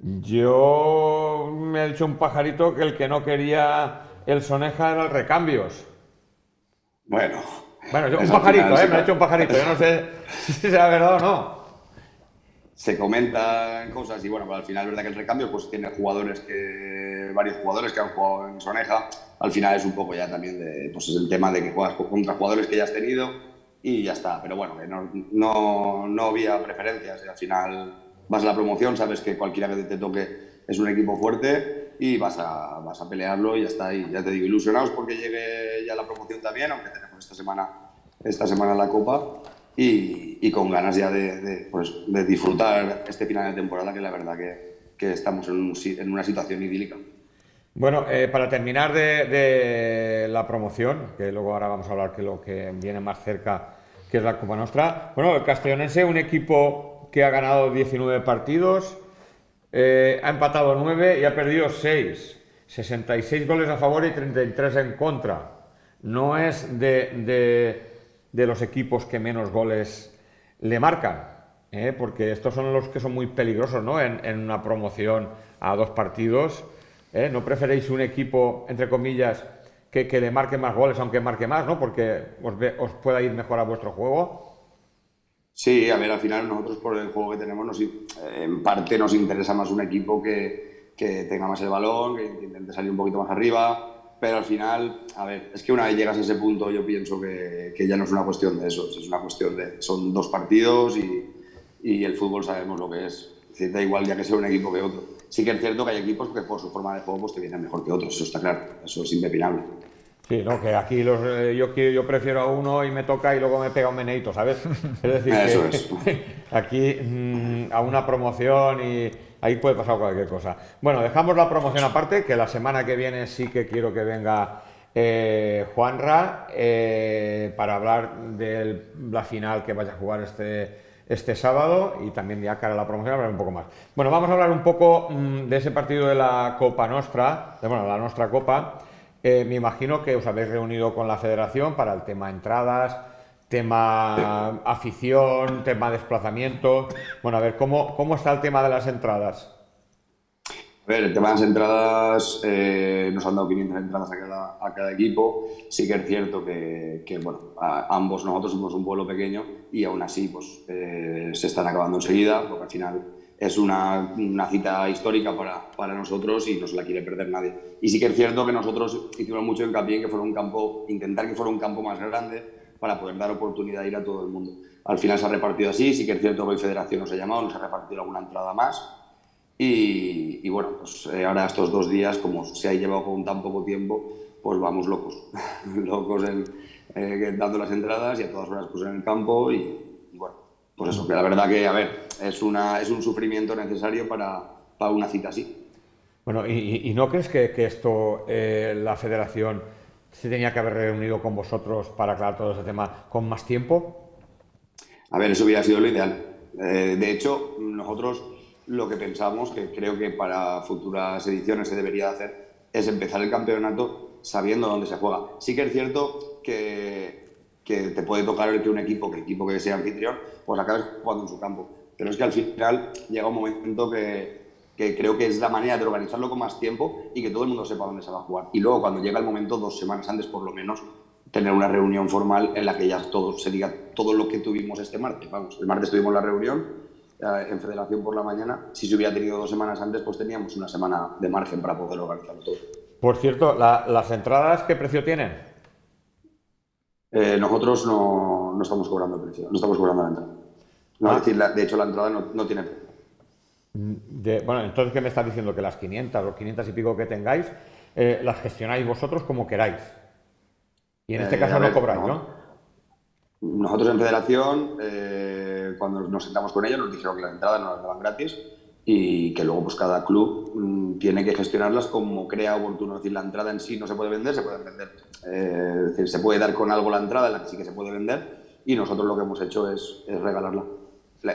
C: Yo me ha dicho un pajarito que el que no quería el Soneja era el Recambios.
E: Bueno,
C: Bueno, yo, un
E: eso al
C: pajarito,
E: final
C: ¿eh?
E: se
C: Me ha
E: ca-
C: dicho un pajarito. Yo no sé si será verdad o no.
E: se comentan cosas y bueno, pues al final es verdad que el recambio pues tiene jugadores que, varios jugadores que han jugado en Soneja, al final es un poco ya también de, pues es el tema de que juegas contra jugadores que ya has tenido y ya está, pero bueno, que no, no, no había preferencias y al final vas a la promoción, sabes que cualquiera que te toque es un equipo fuerte y vas a, vas a pelearlo y ya está, y ya te digo, ilusionados porque llegue ya la promoción también, aunque tenemos esta semana, esta semana la Copa. Y, y con ganas ya de, de, pues, de disfrutar este final de temporada, que la verdad que, que estamos en, un, en una situación idílica.
C: Bueno, eh, para terminar de, de la promoción, que luego ahora vamos a hablar de lo que viene más cerca, que es la Copa Nostra. Bueno, el Castellonense, un equipo que ha ganado diecinueve partidos, eh, ha empatado nueve y ha perdido seis. sesenta y seis goles a favor y treinta y tres en contra. No es de... de de los equipos que menos goles le marcan, ¿eh? Porque estos son los que son muy peligrosos, ¿no? En, en una promoción a dos partidos, ¿eh? ¿No preferéis un equipo, entre comillas, que, que le marque más goles, aunque marque más, ¿no? Porque os, ve, os pueda ir mejor a vuestro juego.
E: Sí, a ver, al final nosotros por el juego que tenemos, nos, en parte nos interesa más un equipo que, que tenga más el balón, que intente salir un poquito más arriba. Pero al final, a ver, es que una vez llegas a ese punto yo pienso que, que ya no es una cuestión de eso, es una cuestión de, son dos partidos y, y el fútbol sabemos lo que es. Es decir, da igual ya que sea un equipo que otro. Sí que es cierto que hay equipos que por su forma de juego pues te vienen mejor que otros, eso está claro, eso es impepinable.
C: Sí, no, que aquí los, eh, yo, yo prefiero a uno y me toca y luego me pega un meneíto, ¿sabes? Es decir,
E: eso
C: que
E: es.
C: aquí mmm, a una promoción y ahí puede pasar cualquier cosa. Bueno, dejamos la promoción aparte, que la semana que viene sí que quiero que venga eh, Juanra eh, para hablar de la final que vaya a jugar este, este sábado y también ya cara a la promoción hablar un poco más. Bueno, vamos a hablar un poco mmm, de ese partido de la Copa Nostra, de, bueno, la Nostra Copa. Eh, me imagino que os habéis reunido con la federación para el tema entradas, tema afición, tema desplazamiento. Bueno, a ver, ¿cómo, cómo está el tema de las entradas?
E: A ver, el tema de las entradas, eh, nos han dado quinientas entradas a cada, a cada equipo. Sí que es cierto que, que bueno, a, ambos nosotros somos un pueblo pequeño y aún así pues, eh, se están acabando enseguida, porque al final es una, una cita histórica para, para nosotros y no se la quiere perder nadie. Y sí que es cierto que nosotros hicimos mucho hincapié en que fuera un campo, intentar que fuera un campo más grande para poder dar oportunidad de ir a todo el mundo. Al final se ha repartido así, sí que es cierto que hoy Federación nos ha llamado, nos ha repartido alguna entrada más y, y bueno, pues eh, ahora estos dos días, como se ha llevado con tan poco tiempo, pues vamos locos, locos en, eh, dando las entradas y a todas horas pues en el campo y, y bueno, pues eso, que la verdad que, a ver, es, una, es un sufrimiento necesario para, para una cita así.
C: Bueno, ¿y, y no crees que, que esto, eh, la federación, se tenía que haber reunido con vosotros para aclarar todo ese tema con más tiempo?
E: A ver, eso hubiera sido lo ideal. Eh, de hecho, nosotros lo que pensamos, que creo que para futuras ediciones se debería hacer, es empezar el campeonato sabiendo dónde se juega. Sí que es cierto que... que te puede tocar el que un equipo, que equipo que sea anfitrión, pues acabes jugando en su campo. Pero es que al final llega un momento que, que creo que es la manera de organizarlo con más tiempo y que todo el mundo sepa dónde se va a jugar. Y luego, cuando llega el momento, dos semanas antes por lo menos, tener una reunión formal en la que ya todo se diga todo lo que tuvimos este martes. Vamos, el martes tuvimos la reunión eh, en Federación por la mañana. Si se hubiera tenido dos semanas antes, pues teníamos una semana de margen para poder organizarlo todo.
C: Por cierto, la, ¿las entradas qué precio tienen?
E: Eh, nosotros no, no estamos cobrando el precio, no estamos cobrando la entrada. No,
C: Ah.
E: Es decir, la, de hecho la entrada no, no tiene precio.
C: De, bueno, entonces, ¿qué me estás diciendo? Que las quinientas o quinientas y pico que tengáis, eh, las gestionáis vosotros como queráis. Y en este
E: Eh,
C: caso
E: a
C: no
E: ver,
C: cobráis,
E: no.
C: ¿no?
E: Nosotros en Federación, eh, cuando nos sentamos con ellos, nos dijeron que las entradas nos las daban gratis y que luego pues cada club mmm, tiene que gestionarlas como crea oportuno. Es decir, la entrada en sí no se puede vender, se puede vender. Eh, es decir, se puede dar con algo la entrada en la que sí que se puede vender y nosotros lo que hemos hecho es, es regalarla.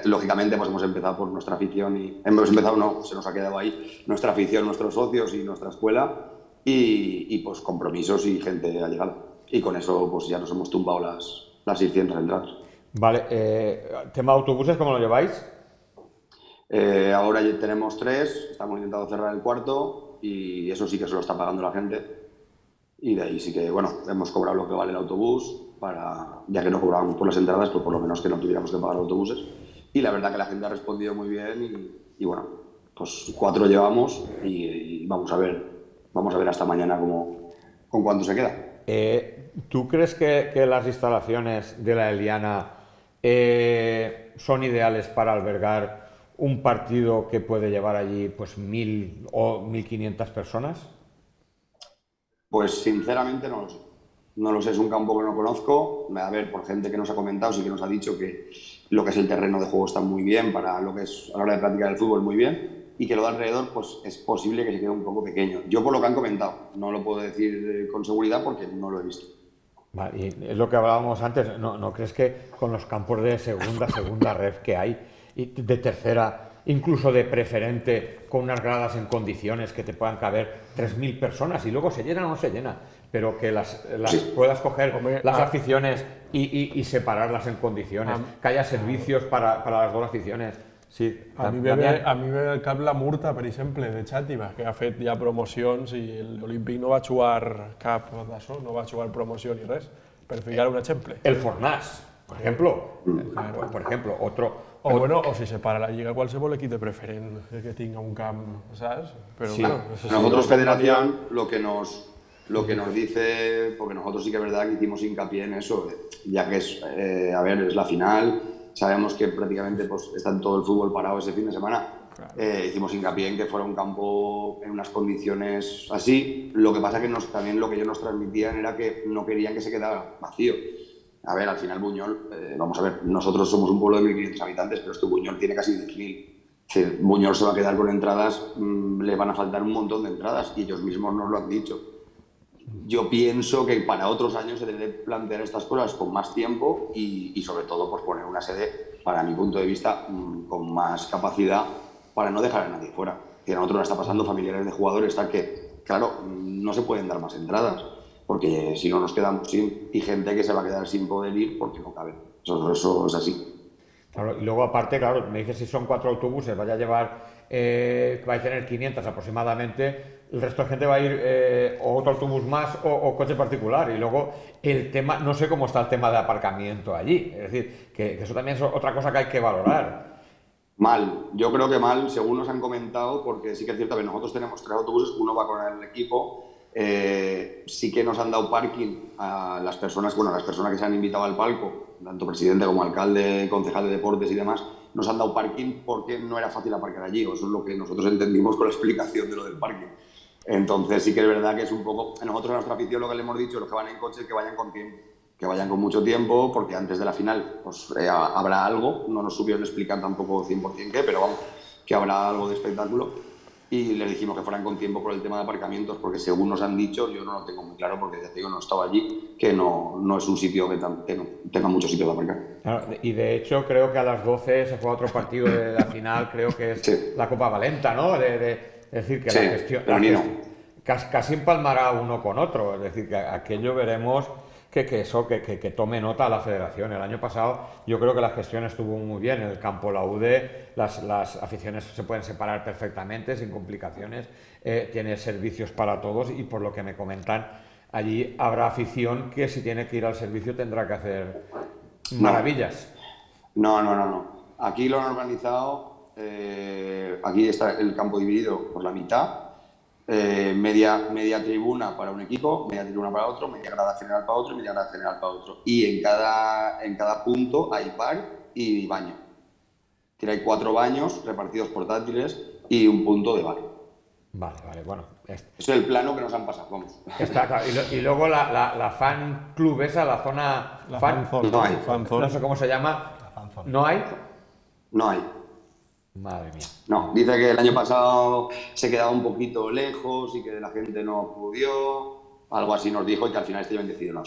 E: Lógicamente pues hemos empezado por nuestra afición y hemos empezado, no, se nos ha quedado ahí nuestra afición, nuestros socios y nuestra escuela y, y pues compromisos y gente allegada. Y con eso pues ya nos hemos tumbado las, las seiscientas entradas.
C: Vale, eh, tema autobuses, ¿cómo lo lleváis?
E: Eh, ahora ya tenemos tres, estamos intentando cerrar el cuarto y eso sí que se lo está pagando la gente. Y de ahí sí que, bueno, hemos cobrado lo que vale el autobús, para, ya que no cobrábamos por las entradas, pues por lo menos que no tuviéramos que pagar autobuses. Y la verdad que la gente ha respondido muy bien y, y bueno, pues cuatro llevamos y, y vamos a ver, vamos a ver hasta mañana cómo, con cuánto se queda.
C: Eh, ¿Tú crees que, que las instalaciones de la Eliana eh, son ideales para albergar un partido que puede llevar allí pues mil o mil quinientas personas?
E: Pues sinceramente no lo sé. No lo sé, es un campo que no conozco. A ver, por gente que nos ha comentado, sí que nos ha dicho que lo que es el terreno de juego está muy bien para lo que es a la hora de practicar el fútbol muy bien y que lo de alrededor pues es posible que se quede un poco pequeño. Yo por lo que han comentado, no lo puedo decir con seguridad porque no lo he visto.
C: Vale, y es lo que hablábamos antes, ¿no, no crees que con los campos de segunda, segunda ref que hay, y de tercera, incluso de preferente, con unas gradas en condiciones que te puedan caber tres mil personas y luego se llena o no se llena, pero que las, las sí. puedas coger Hombre, las ah, aficiones y, y, y separarlas en condiciones, ah, que haya servicios para, para las dos aficiones? Sí,
B: a mi ve, ve, a mi ve el cap la Murta, per exemple, de Xàtiva, que ha fet ja promocions i l'Olímpic no va jugar cap d'això, no va jugar promoció ni res, per ficar un exemple.
C: El Fornàs, por ejemplo, claro. por ejemplo, otro...
B: O, o bueno, o si se para la Lliga qualsevol equip de preferent que tenga un camp, ¿sabes? Pero
E: sí.
B: bueno,
E: no sé si nosotros, Federación, lo que nos... Lo que nos dice, porque nosotros sí que es verdad que hicimos hincapié en eso, ya que es, eh, a ver, es la final, sabemos que prácticamente pues, está todo el fútbol parado ese fin de semana, claro. eh, hicimos hincapié en que fuera un campo en unas condiciones así, lo que pasa que nos, también lo que ellos nos transmitían era que no querían que se quedara vacío. A ver, al final Buñol, eh, vamos a ver, nosotros somos un pueblo de mil quinientos habitantes, pero este Buñol tiene casi diez mil. Buñol se va a quedar con entradas, mmm, le van a faltar un montón de entradas y ellos mismos nos lo han dicho. Yo pienso que para otros años se debe plantear estas cosas con más tiempo y, y sobre todo pues poner una sede, para mi punto de vista, mmm, con más capacidad para no dejar a nadie fuera. Que a nosotros nos está pasando familiares de jugadores, está que, claro, no se pueden dar más entradas, porque si no nos quedamos sin, y gente que se va a quedar sin poder ir porque no cabe. Eso, eso es así.
C: Claro, y luego aparte, claro, me dices si son cuatro autobuses, vaya a llevar, eh, que va a tener quinientas aproximadamente, el resto de gente va a ir eh, o otro autobús más o, o coche particular. Y luego el tema, no sé cómo está el tema de aparcamiento allí, es decir, que, que eso también es otra cosa que hay que valorar.
E: Mal, yo creo que mal, según nos han comentado, porque sí que es cierto que nosotros tenemos tres autobuses, uno va con el equipo, eh, sí que nos han dado parking a las personas, bueno, a las personas que se han invitado al palco, tanto presidente como alcalde, concejal de deportes y demás, nos han dado parking porque no era fácil aparcar allí, o eso es lo que nosotros entendimos con la explicación de lo del parking. Entonces sí que es verdad que es un poco, nosotros a nuestra afición lo que le hemos dicho, los que van en coche, que vayan con tiempo, que vayan con mucho tiempo, porque antes de la final pues eh, habrá algo, no nos supieron explicar tampoco cien por cien qué, pero vamos, que habrá algo de espectáculo. Y les dijimos que fueran con tiempo por el tema de aparcamientos, porque según nos han dicho, yo no lo tengo muy claro porque ya te digo, no estaba allí, que no, no es un sitio que, tan, que no tenga mucho sitio de aparcar.
C: Claro, y de hecho creo que a las doce se juega otro partido de la final, creo que es sí. la Copa Valenta, ¿no? De, de, es decir, que
E: sí,
C: la gestión, la gestión casi, casi empalmará uno con otro, es decir, que aquello veremos que, que eso, que, que, que tome nota a la federación. El año pasado yo creo que la gestión estuvo muy bien, en el campo la U D, las, las aficiones se pueden separar perfectamente, sin complicaciones, eh, tiene servicios para todos y por lo que me comentan, allí habrá afición que si tiene que ir al servicio tendrá que hacer maravillas.
E: No, no, no, no. Aquí lo han organizado, eh, aquí está el campo dividido por la mitad, eh, media, media tribuna para un equipo, media tribuna para otro, media grada general para otro y media grada general para otro. Y en cada, en cada punto hay bar y baño. Tiene cuatro baños repartidos portátiles y un punto de bar.
C: Vale, vale, bueno.
E: Es el plano que nos han pasado, vamos.
C: Está claro. Y, lo, y luego la, la, la fan club esa, la zona
B: La
C: fan,
B: fan zone.
E: No hay.
B: Fan zone.
C: no sé cómo se llama,
B: fan zone.
C: ¿no hay?
E: No hay.
C: Madre mía.
E: No, dice que el año pasado se quedaba un poquito lejos y que la gente no acudió, algo así nos dijo y que al final este año decidió no.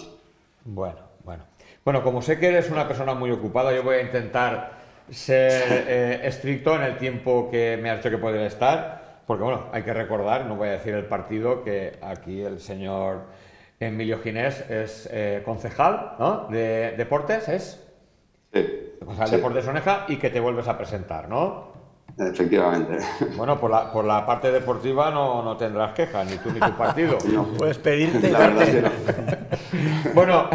C: Bueno, bueno. Bueno, como sé que eres una persona muy ocupada, yo voy a intentar ser eh, estricto en el tiempo que me has dicho que podría estar, porque bueno, hay que recordar, no voy a decir el partido, que aquí el señor Emilio Ginés es eh, concejal, ¿no? De deportes, ¿es?
E: Sí.
C: Concejal
E: Sí.
C: de Deportes Soneja y que te vuelves a presentar, ¿no?
E: Efectivamente.
C: Bueno, por la, por la parte deportiva no, no tendrás quejas, ni tú ni tu partido.
E: No.
D: Puedes pedirte y
E: La verdad es que
D: darte.
E: no.
C: Bueno,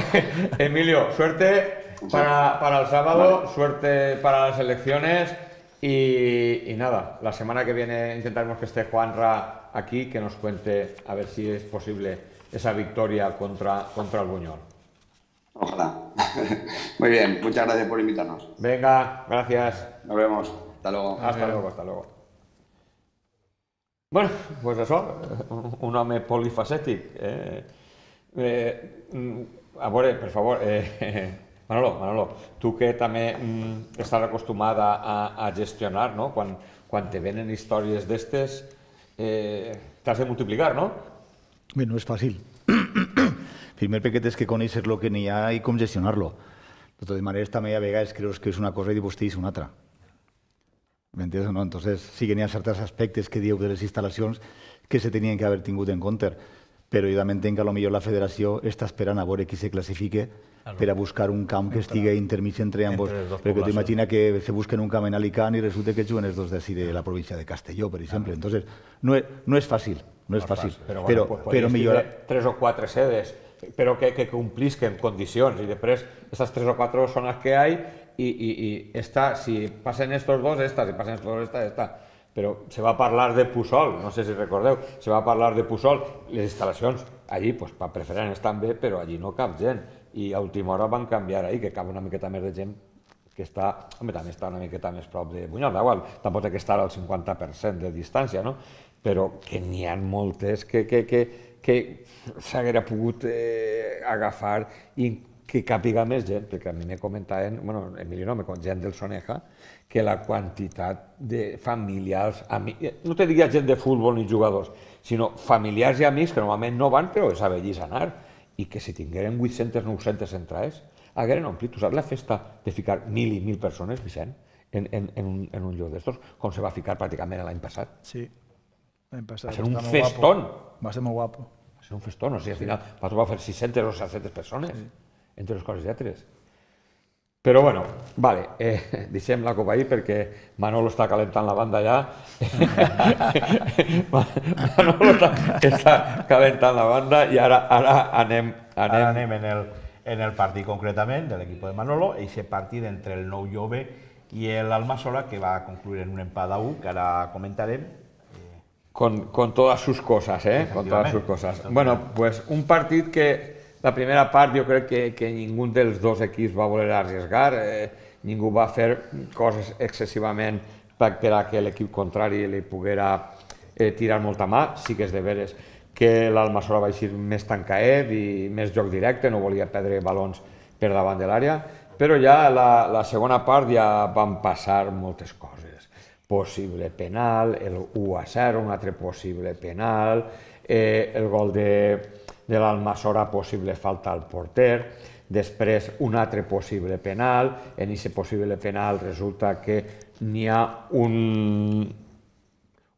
C: Emilio, suerte para, para el sábado,
E: Vale.
C: suerte para las elecciones y, y nada, la semana que viene intentaremos que esté Juanra aquí, que nos cuente a ver si es posible esa victoria contra, contra el Buñol.
E: Ojalá. Muy bien, muchas gracias por invitarnos.
C: Venga, gracias.
E: Nos vemos. Hasta luego.
C: Hasta luego, hasta luego. Bueno, pues això, un home polifacètic. Eh? Eh, a veure, per favor, eh, Manolo, Manolo, tu que també mm, estàs acostumada a, a gestionar, no? Quan, quan te venen històries d'estes, eh, t'has de multiplicar, no?
F: Bé, no és fàcil. Primer perquè tens que conèixer el que n'hi ha i com gestionar-lo. De totes maneres, també a vegades creus que és una cosa i després és una altra. ¿M'entiendes o no? Entonces, sí que n'hi ha certs aspectes que dieu de les instal·lacions que se tenien que haver tingut en compte, però jo també entenc que potser la federació està esperant a veure qui se classifique per a buscar un camp que estigui intermig entre ambos. Perquè t'imagina que se busquen un camp en Alicant i resulta que juguen els dos d'ací de la província de Castelló, per exemple. Entonces, no és, no és fàcil, no és fàcil,
C: Però,
F: però,
C: bueno, pues,
F: però
C: podries
F: millora...
C: tindre tres o quatre sedes, però que, que complisquen condicions i després estas tres o quatre són les que hay y, y, y esta, si pasen estos dos, esta, si pasen estos dos, esta, esta. Però se va a parlar de Puçol, no sé si recordeu, se va a parlar de Puçol, les instal·lacions allí, pues, per preferents estan bé, però allí no cap gent, i a última hora van canviar ahí, que cap una miqueta més de gent que està, home, també està una miqueta més prop de Buñol, igual, tampoc té que estar al cinquanta per cent de distància, no? Però que n'hi ha moltes que, que, que, que s'haguera pogut eh, agafar i que càpiga més gent, perquè a mi me comentaven, bueno, Emilio no, me gent del Soneja, que la quantitat de familiars, amics, no te diria gent de futbol ni jugadors, sinó familiars i amics que normalment no van, però és a vellis anar, i que si tingueren vuit-centes o nou-centes entrades, hagueren omplit. Tu saps la festa de ficar mil i mil persones, Vicent, en, en, en, un, en un lloc d'estos, com se va ficar pràcticament l'any passat?
D: Sí, l'any passat.
C: Va ser un
D: Està molt
C: festón.
D: guapo. Va ser molt guapo.
C: Va ser un festón, o sigui, al final va trobar fer sis-centes o set-centes persones, sí, entre les coses i altres. Però bueno, vale, eh, deixem la copa ahí perquè Manolo està calentant la banda ja. Manolo està, està calentant la banda i ara, ara anem... anem...
A: Ara anem en el, en el partit concretament de l'equip de Manolo, aquest partit entre el Nou Jove i l'Almasola, que va concluir en un empat a u, que ara comentarem.
C: Con, con todas sus cosas, ¿eh? Con todas sus cosas. Bueno, pues un partit que la primera part jo crec que, que ningú dels dos equips va voler arriesgar, eh, ningú va fer coses excessivament per a que l'equip contrari li poguera eh, tirar molta mà. Sí que és de veres que l'Almasola va eixir més tancaet i més joc directe, no volia perdre balons per davant de l'àrea, però ja la, la segona part ja van passar moltes coses. Possible penal, el u a zero, un altre possible penal, eh, el gol de... de l'Almasola, possible falta al porter, després un altre possible penal, en aquest possible penal resulta que n'hi ha un,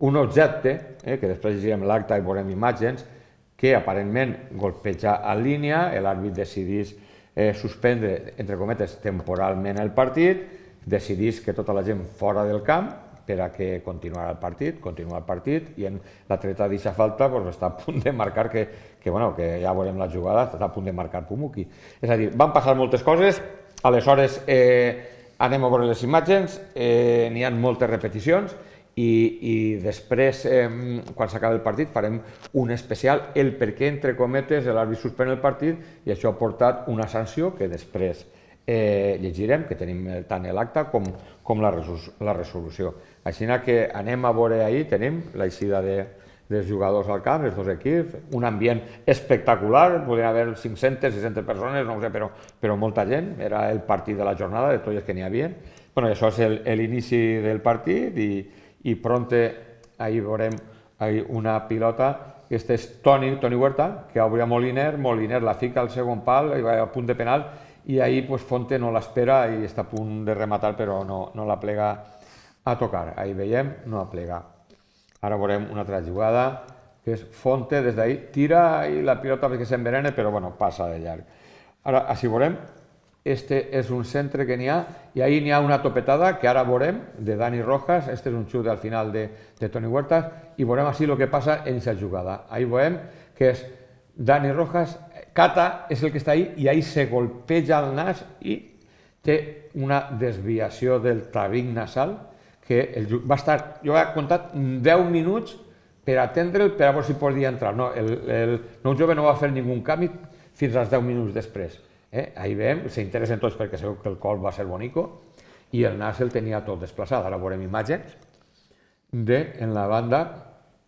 C: un objecte, eh, que després llegirem l'acte i veurem imatges, que aparentment golpeja en línia, l'àrbit decidís eh, suspendre, entre cometes, temporalment el partit, decidís que tota la gent fora del camp, per a que continuarà el partit, continua el partit, i en l'atleta d'aquesta falta pues, està a punt de marcar, que, que, bueno, que ja veurem la jugada, està a punt de marcar Pumuki. És a dir, van passar moltes coses, aleshores eh, anem a veure les imatges, eh, n'hi ha moltes repeticions, i, i després, eh, quan s'acabi el partit, farem un especial, el per què, entre cometes, l'àrbit suspèn el partit, i això ha portat una sanció que després llegirem, que tenim tant l'acte com la resolució. Així que anem a veure ahir, tenim l'eixida dels jugadors al camp, els dos equips, un ambient espectacular, podien haver cinc-centes, sis-centes persones, no ho sé, però molta gent, era el partit de la jornada, de tots els que n'hi havia. Això és l'inici del partit i pronte ahir veurem una pilota. Aquest és Toni Huerta, que obria Moliner, Moliner la fica al segon pal, a punt de penal, i ahir Fonte no l'espera i està a punt de rematar, però no la plega a tocar. Ahir veiem, no la plega. Ara veurem una altra jugada, que és Fonte, des d'ahir, tira i la pilota perquè s'envenena, però passa de llarg. Ara, així veurem, este és un centre que n'hi ha, i ahir n'hi ha una topetada, que ara veurem, de Dani Rojas, este és un xut al final de Toni Huerta, i veurem així el que passa en aquesta jugada. Ahir veurem que és Dani Rojas, Cata és el que està ahí, i ahir se golpeja el nas i té una desviació del tabic nasal, que va estar, jo he comptat deu minuts per atendre'l, per a veure si podia entrar. El nou jove no va fer ningú canvi fins als deu minuts després. Ahir veiem, s'interessen tots perquè segur que el col va ser bonico i el nas el tenia tot desplaçat. Ara veurem imatges de, en la banda,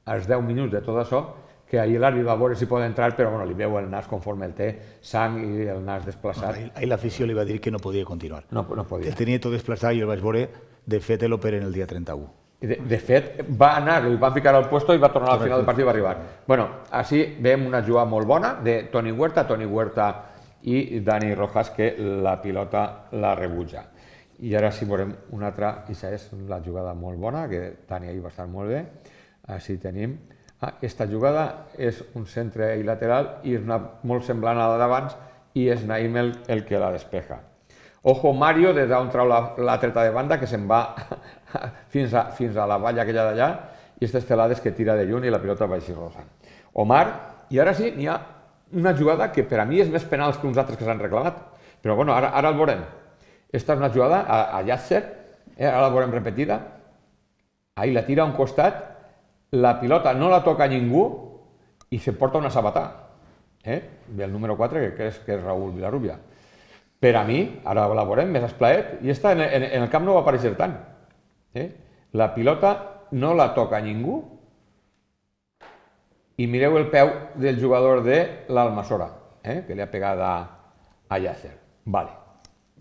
C: als deu minuts de tot això, que ahir l'àrbitre va veure si pot entrar, però li veu el nas conforme el té, sang i el nas desplaçat.
F: Ahir l'afició li va dir que no podia continuar.
C: No podia.
F: El tenia tot desplaçat i el vaig veure, de fet, l'operen el dia trenta-u.
C: De fet, va anar, el van ficar al puesto i va tornar al final del partit i va arribar. Bueno, així veiem una jugada molt bona de Toni Huerta, Toni Huerta i Dani Rojas, que la pilota la rebutja. I ara sí veurem una altra, i aquesta és la jugada molt bona, que Dani ahir va estar molt bé. Així tenim. Aquesta jugada és un centre i lateral i és molt semblant a la d'abans i és Naim el que la despeja. Ojo Mario, des d'on trau la treta de banda, que se'n va fins a la valla aquella d'allà, i aquestes telades que tira de lluny i la pilota va així rosant. Omar, i ara sí, n'hi ha una jugada que per a mi és més penal que uns altres que s'han reclamat, però bueno, ara el veurem. Esta és una jugada a Yasser, ara la veurem repetida, ahir la tira a un costat, la pilota no la toca ningú i se porta una sabatà del número quatre, que és Raúl Vilarrubia. Per a mi, ara la veurem més esplaet, i esta en el camp no va aparèixer tant. La pilota no la toca ningú i mireu el peu del jugador de l'Almassora, que li ha pegat a Yasser. Vale,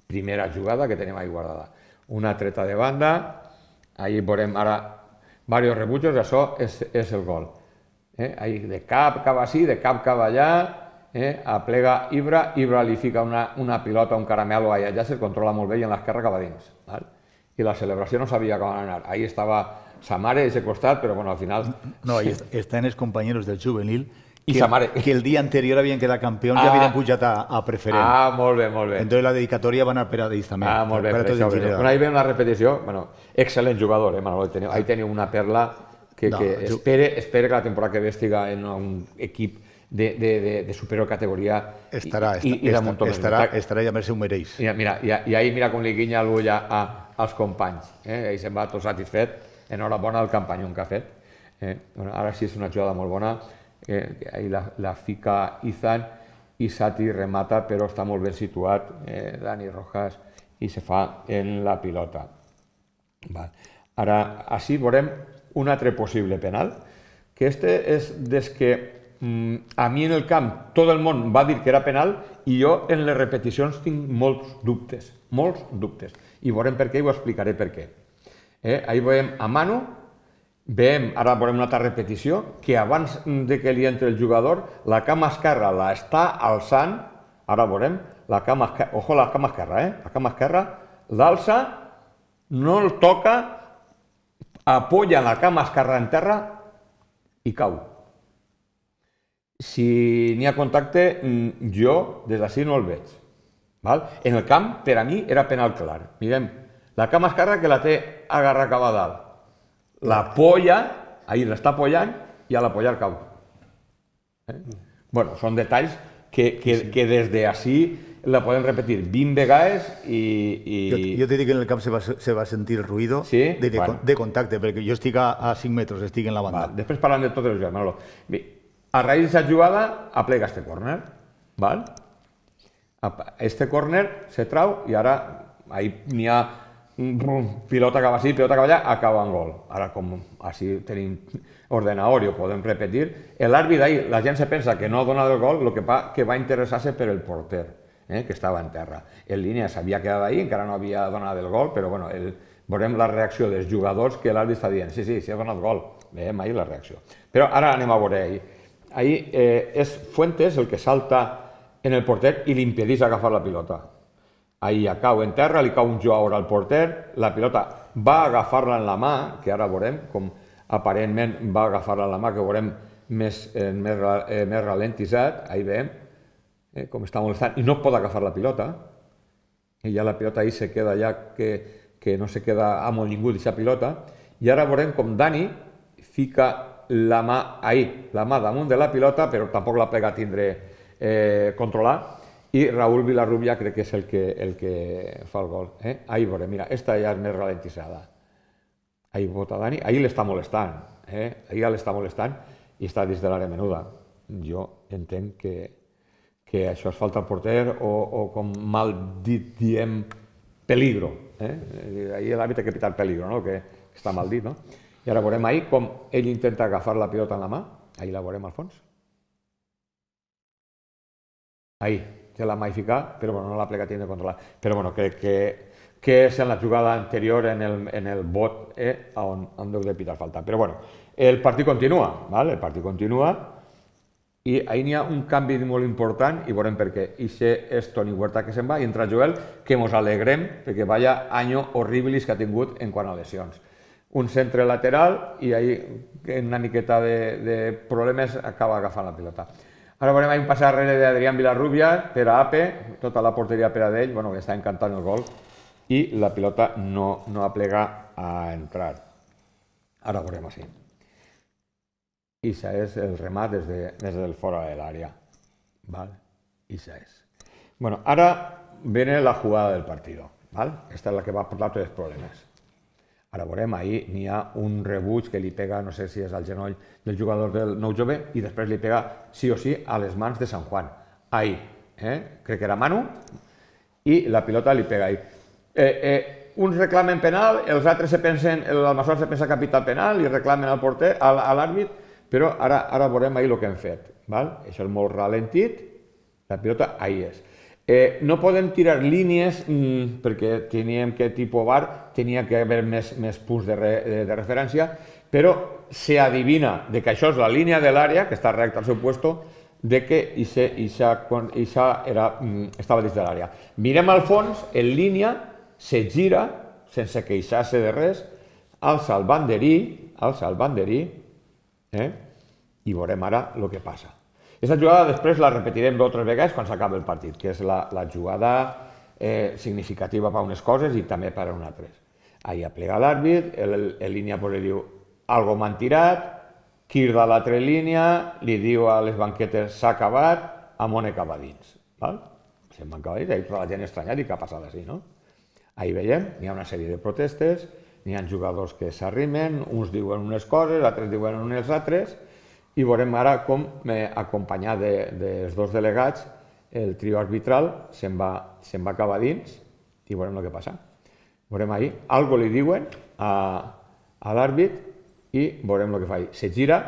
C: primera jugada que tenim ahí guardada. Una treta de banda, ahí veurem ara varios rebutjos, això és el gol. De cap cap així, de cap cap allà, aplega Ibra, Ibra li fica una pilota, un caramelo a Yasser, controla molt bé i en l'esquerra cap a dins. I la celebració no sabia com anar. Ahí estava sa mare a aquest costat, però al final...
F: No, ahí estan els companys del juvenil
C: que
F: el dia anterior havien quedat campions i havien pujat a preferent.
C: Ah, molt bé, molt bé.
F: Entonces la dedicatòria va anar per a ells també.
C: Ah, molt bé, per això. Ahí veiem la repetició. Excel·lent jugador, Manolo. Ahí teniu una perla que espere que la temporada que ve estiga en un equip de superior categoria i de muntó més.
F: Estarà i a més ho mereix.
C: I ahí mira com li guinya l'ull als companys. Ahí se'n va tot satisfet. Enhorabona el campanyón que ha fet. Ara sí és una jugada molt bona. Ahí la fica Izan i Sati remata, però està molt ben situat Dani Rojas i se fa en la pilota. Ara, així veurem un altre possible penal, que este és des que a mi en el camp tot el món va dir que era penal i jo en les repeticions tinc molts dubtes, molts dubtes. I veurem per què i ho explicaré per què. Ahí veiem a Manu, veiem, ara veurem una altra repetició, que abans de que li entre el jugador, la cama esquerra la està alçant, ara veurem, la cama esquerra, ojo la cama esquerra, eh? La cama esquerra l'alça, no el toca, apoya la cama esquerra en terra i cau. Si n'hi ha contacte, jo des d'ací no el veig. En el camp, per a mi, era penal clar. Mirem, la cama esquerra que la té agarra cap a dalt. La polla, ahí l'està apoyant i a l'apoyar cau. Bueno, són detalls que des d'ací la podem repetir vint vegades i...
F: Jo t'he dit que en el camp se va sentir el ruïdo de contacte, perquè jo estic a cinc metres, estic en la banda.
C: Després parlant de totes les jugades, Manolo. A raïs d'aquesta jugada, aplega este córner. Este córner se trau i ara n'hi ha pilota que va així, pilota que va allà, acaba en gol. Ara, com així tenim ordenador i ho podem repetir, l'àrbit ahí, la gent se pensa que no ha donat el gol, el que fa que va interessar-se per el porter, que estava en terra. En línia s'havia quedat ahí, encara no havia donat el gol, però bueno, veurem la reacció dels jugadors que l'àrbit està dient, sí, sí, sí ha donat gol, veiem ahí la reacció. Però ara anem a veure ahí. Ahí és Fuentes el que salta en el porter i li impedeix agafar la pilota. Ahí ja cau en terra, li cau un jugador al porter, la pilota va agafar-la en la mà, que ara veurem com aparentment va agafar-la en la mà, que veurem més ralentitzat, ahí veiem com està molestant, i no pot agafar la pilota, i ja la pilota ahí se queda ja que no se queda amolingut aquesta pilota, i ara veurem com Dani fica la mà ahí, la mà damunt de la pilota, però tampoc la plega a tindre controlar, i Raúl Vilarrubia crec que és el que fa el gol. Ahí veurem, mira, esta ja és més ralentitzada. Ahí vota Dani, ahí l'està molestant, ahí ja l'està molestant i està dins de l'àrea menuda. Jo entenc que això és falta al porter o com mal dit diem peligro. Ahí l'àrbit ha que pitar peligro, que està mal dit. I ara veurem ahí com ell intenta agafar la pilota en la mà, ahí la veurem al fons. Ahí, té la mà ficat, però no la plega tindre controlar. Però bueno, crec que és en la jugada anterior en el bot on deu de pitar falta. Però bueno, el partit continua, el partit continua i ahí n'hi ha un canvi molt important i veurem per què. Ixe és Toni Huerta que se'n va i entra Joel, que mos alegrem perquè vaya any horribilis que ha tingut en quant a lesions. Un centre lateral i ahí en una miqueta de problemes acaba agafant la pilota. Ara veurem un pas darrere d'Adrián Vilarrubia per a Ape, tota la porteria per a d'ell, que està encantant el gol, i la pilota no aplega a entrar. Ara veurem així. Ixa és el remat des del fora de l'àrea. Ixa és. Ara viene la jugada del partido. Esta és la que va portar tots els problemes. Ara veurem, ahí n'hi ha un rebuig que li pega, no sé si és al genoll del jugador del Nou Jove, i després li pega sí o sí a les mans de San Juan. Ahí, crec que era Manu, i la pilota li pega ahí. Uns reclamen penal, els altres se pensen, l'Almassora se pensa que ha pitat penal i reclamen al porter, a l'àrbit, però ara veurem ahí el que hem fet. Això és molt ralentit, la pilota ahí és. No podem tirar línies perquè teníem que tipus V A R, tenia que haver més punts de referència, però s'adivina que això és la línia de l'àrea, que està recta al seu puesto, que estava dins de l'àrea. Mirem al fons, en línia, se gira, sense queixar-se de res, alça el banderí, alça el banderí, i veurem ara el que passa. Aquesta jugada després la repetirem d'altres vegades quan s'acaba el partit, que és la jugada significativa per a unes coses i també per a unes altres. Ahí aplega l'àrbit, en línia li diu algo m'han tirat, quirda a l'altra línia, li diu a les banquetes s'ha acabat, Amone cap a dins. Se'n van acabar dins, tota la gent estranyat i què ha passat així, no? Ahí veiem, n'hi ha una sèrie de protestes, n'hi ha jugadors que s'arrimen, uns diuen unes coses, altres diuen unes altres, i veurem ara com, acompanyat dels dos delegats, el trio arbitral se'n va acabar dins i veurem el que passa. Veurem ahí, algo li diuen a l'àrbit i veurem el que fa ahí. Se gira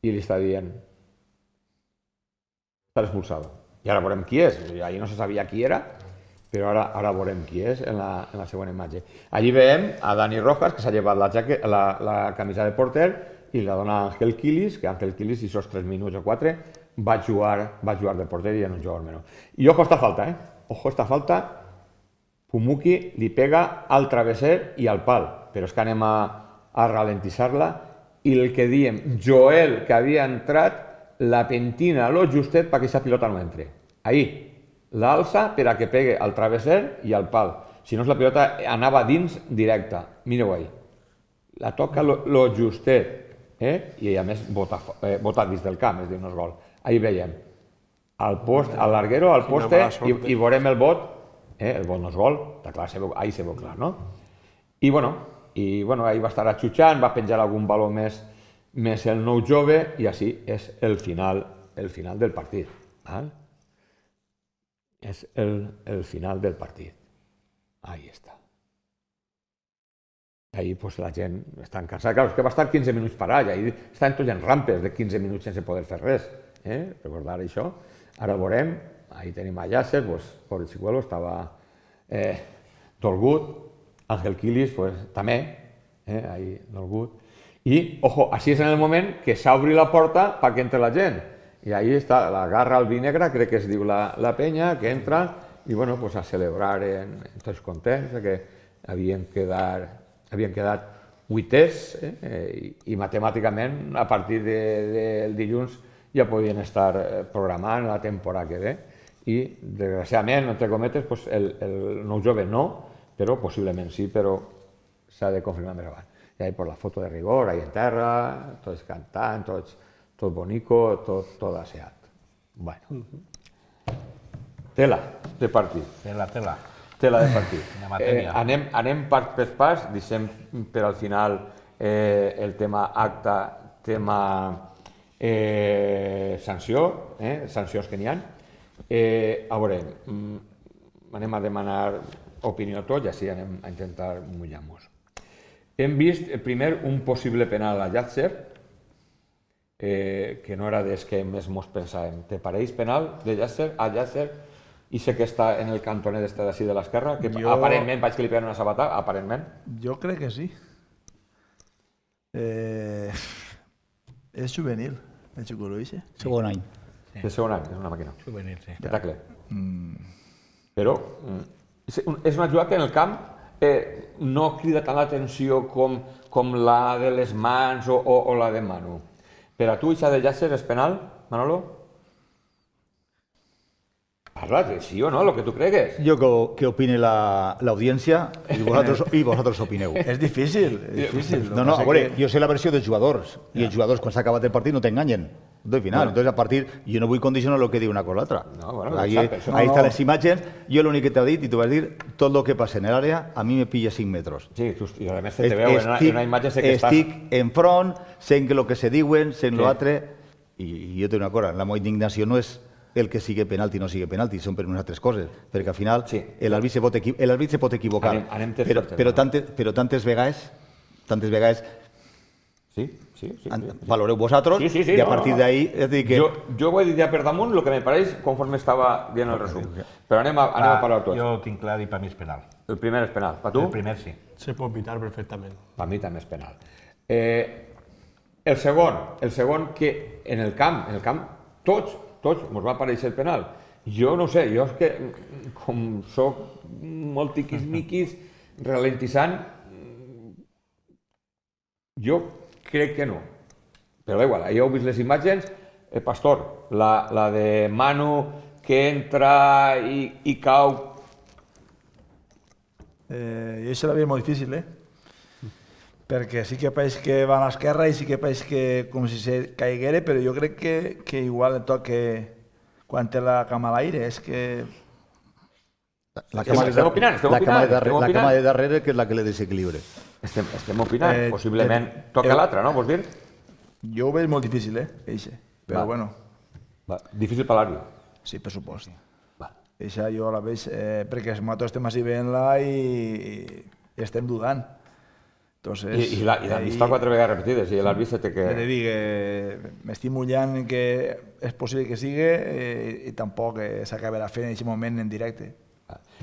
C: i li està dient està expulsado. I ara veurem qui és. Ahí no se sabia qui era, però ara veurem qui és en la següent imatge. Allí veiem a Dani Rojas, que s'ha llevat la camisa de porter, i la dona Ángel Quilis, que Ángel Quilis, i aquests tres minuts o quatre, va jugar de porter i en un jugador menor. I ojo esta falta, eh? Ojo esta falta, Pumuki li pega al travesser i al pal, però és que anem a ralentitzar-la, i el que diem, Joel, que havia entrat, la pentina lo justet perquè aquesta pilota no entre. Ahí, l'alça per a que pegue al travesser i al pal. Si no, la pilota anava dins directa. Mireu ahí. La toca lo justet. I a més vota dins del camp, és dir, no és gol. Ahí veiem, al post, al larguero, al poste, i veurem el vot, el vot no és gol, ahí se veu clar, no? I bueno, ahí va estar atxutxant, va penjar algun valor més el Nou Jove, i així és el final del partit. és el, el final del partit. Ahí està. Ahí pues, la gent està cansada. Clar, és que va estar quinze minuts parat, i ahí estaven tots en rampes de quinze minuts sense poder fer res. Eh? Recordar això. Ara veurem, ahí tenim a Yasser, pues, pobre Chicuelo, estava eh, dolgut. Ángel Quilis, pues, també, eh, ahí dolgut. I, ojo, així és en el moment que s'obri la porta perquè entre la gent. I ahí està la garra albinegra, crec que es diu la, la penya, que entra i, bueno, pues, a celebrar en, en tots contents que havien quedat havien quedat vuiters eh, i, i matemàticament a partir de, del dilluns ja podien estar programant la temporada que ve i desgraciadament, entre cometes, pues, el, el nou jove no, però possiblement sí, però s'ha de confirmar més avant. I ahí pues, la foto de rigor, ahí en terra, tots cantant, tots, tot bonico, tot, tot aseat. Bueno. Tela de partit.
A: Tela, tela.
C: Tela de partit. Eh, anem, anem pas per pas, deixem per al final eh, el tema acta, tema eh, sanció, eh, sancions que n'hi ha. Eh, a veure, anem a demanar opinió a tots i així anem a intentar mullar-nos. Hem vist primer un possible penal a Yasser, eh, que no era des que més mos pensàvem. Te pareix penal de Yasser a Yasser? I sé que està en el cantonet este d'ací de l'esquerra, que jo... aparentment vaig que li peguen una sabata, aparentment.
D: Jo crec que sí. Eh... És juvenil, el Chicuelo ixe.
F: Segon any.
C: Sí. De segon any, és una màquina.
A: Juvenil, sí.
C: De tacle.
D: Mm.
C: Però mm, és una jugada que en el camp eh, no crida tant l'atenció com, com la de les mans o, o, o la de Manu. Per a tu, això de Yasser és penal, Manolo? Parla, sí o no, lo que tu cregues.
F: Jo que, que opine la, l'audiència i vosaltres, i vosaltres opineu.
D: És difícil, és difícil.
F: No, no, a veure, jo sé la versió dels jugadors, i els jugadors quan s'ha acabat el partit no t'enganyen. Del final, entonces a partir, jo no vull condicionar el que diu una cosa o l'altra.
C: No, bueno,
F: ahí,
C: exacte,
F: ahí
C: no,
F: estan
C: no.
F: les imatges, jo l'únic que t'he dit, i tu vas dir, tot el que passa en l'àrea, a mi me pilla cinc metres.
C: Sí, tu, i a més te veu en una, en una imatge sé que estàs...
F: Estic en front, sent que el que se diuen, sent sí. l'altre, i, i jo tinc una cosa, la meva indignació no és el que sigui penalti o no sigui penalti, són per unes altres coses, perquè al final sí. l'àrbit se, se pot equivocar,
C: anem, anem
F: però, però, tantes, però tantes vegades, tantes vegades
C: sí, sí, sí, sí.
F: valoreu vosaltres
C: sí, sí, sí,
F: i a
C: no,
F: partir
C: no.
F: d'ahí... Que...
C: Jo, jo ho he dit ja per damunt el que me pareix conforme estava dient el resum, però anem a, anem a parlar tots.
A: Jo tinc clar i per mi és penal.
C: El primer és penal, per tu?
A: El primer sí.
B: Se pot pitar perfectament.
C: Per mi també és penal. Eh, el segon, el segon que en el camp, en el camp tots, tots ens va aparèixer el penal. Jo no sé, jo és que com soc molt tiquismiquis, ralentitzant, jo crec que no. Però igual, ja heu vist les imatges, eh, Pastor, la, la de Manu que entra i, i cau.
D: Eh, jo això la veia molt difícil, eh? Perquè sí que pareix que va a l'esquerra i sí que pareix que com si se caiguera, però jo crec que, que igual el toc que quan té la cama a l'aire és que...
F: La cama de,
C: estem opinant, estem
F: la cama de,
C: opinant,
F: darrere,
C: estem
F: la cama de darrere que és la que le desequilibra.
C: Estem, estem opinant,
D: Eh,
C: possiblement
D: eh,
C: toca
D: eh,
C: l'altre, no? Vols dir?
D: Jo ho veig molt difícil, eh? Eixe. Però
C: Va.
D: bueno,
C: Va. Difícil per l'àrbit.
D: sí, per supost.
C: Va.
D: Eixa jo la veig eh, perquè nosaltres estem així veient-la i, i estem dudant. Entonces,
C: I, i l'han
D: ahí-
C: vist quatre vegades repetides i l'àrbit se té que...
D: Ja te dic, eh, m'estic mullant que és possible que sigui eh, i tampoc eh, s'acabarà fent en aquest moment en directe.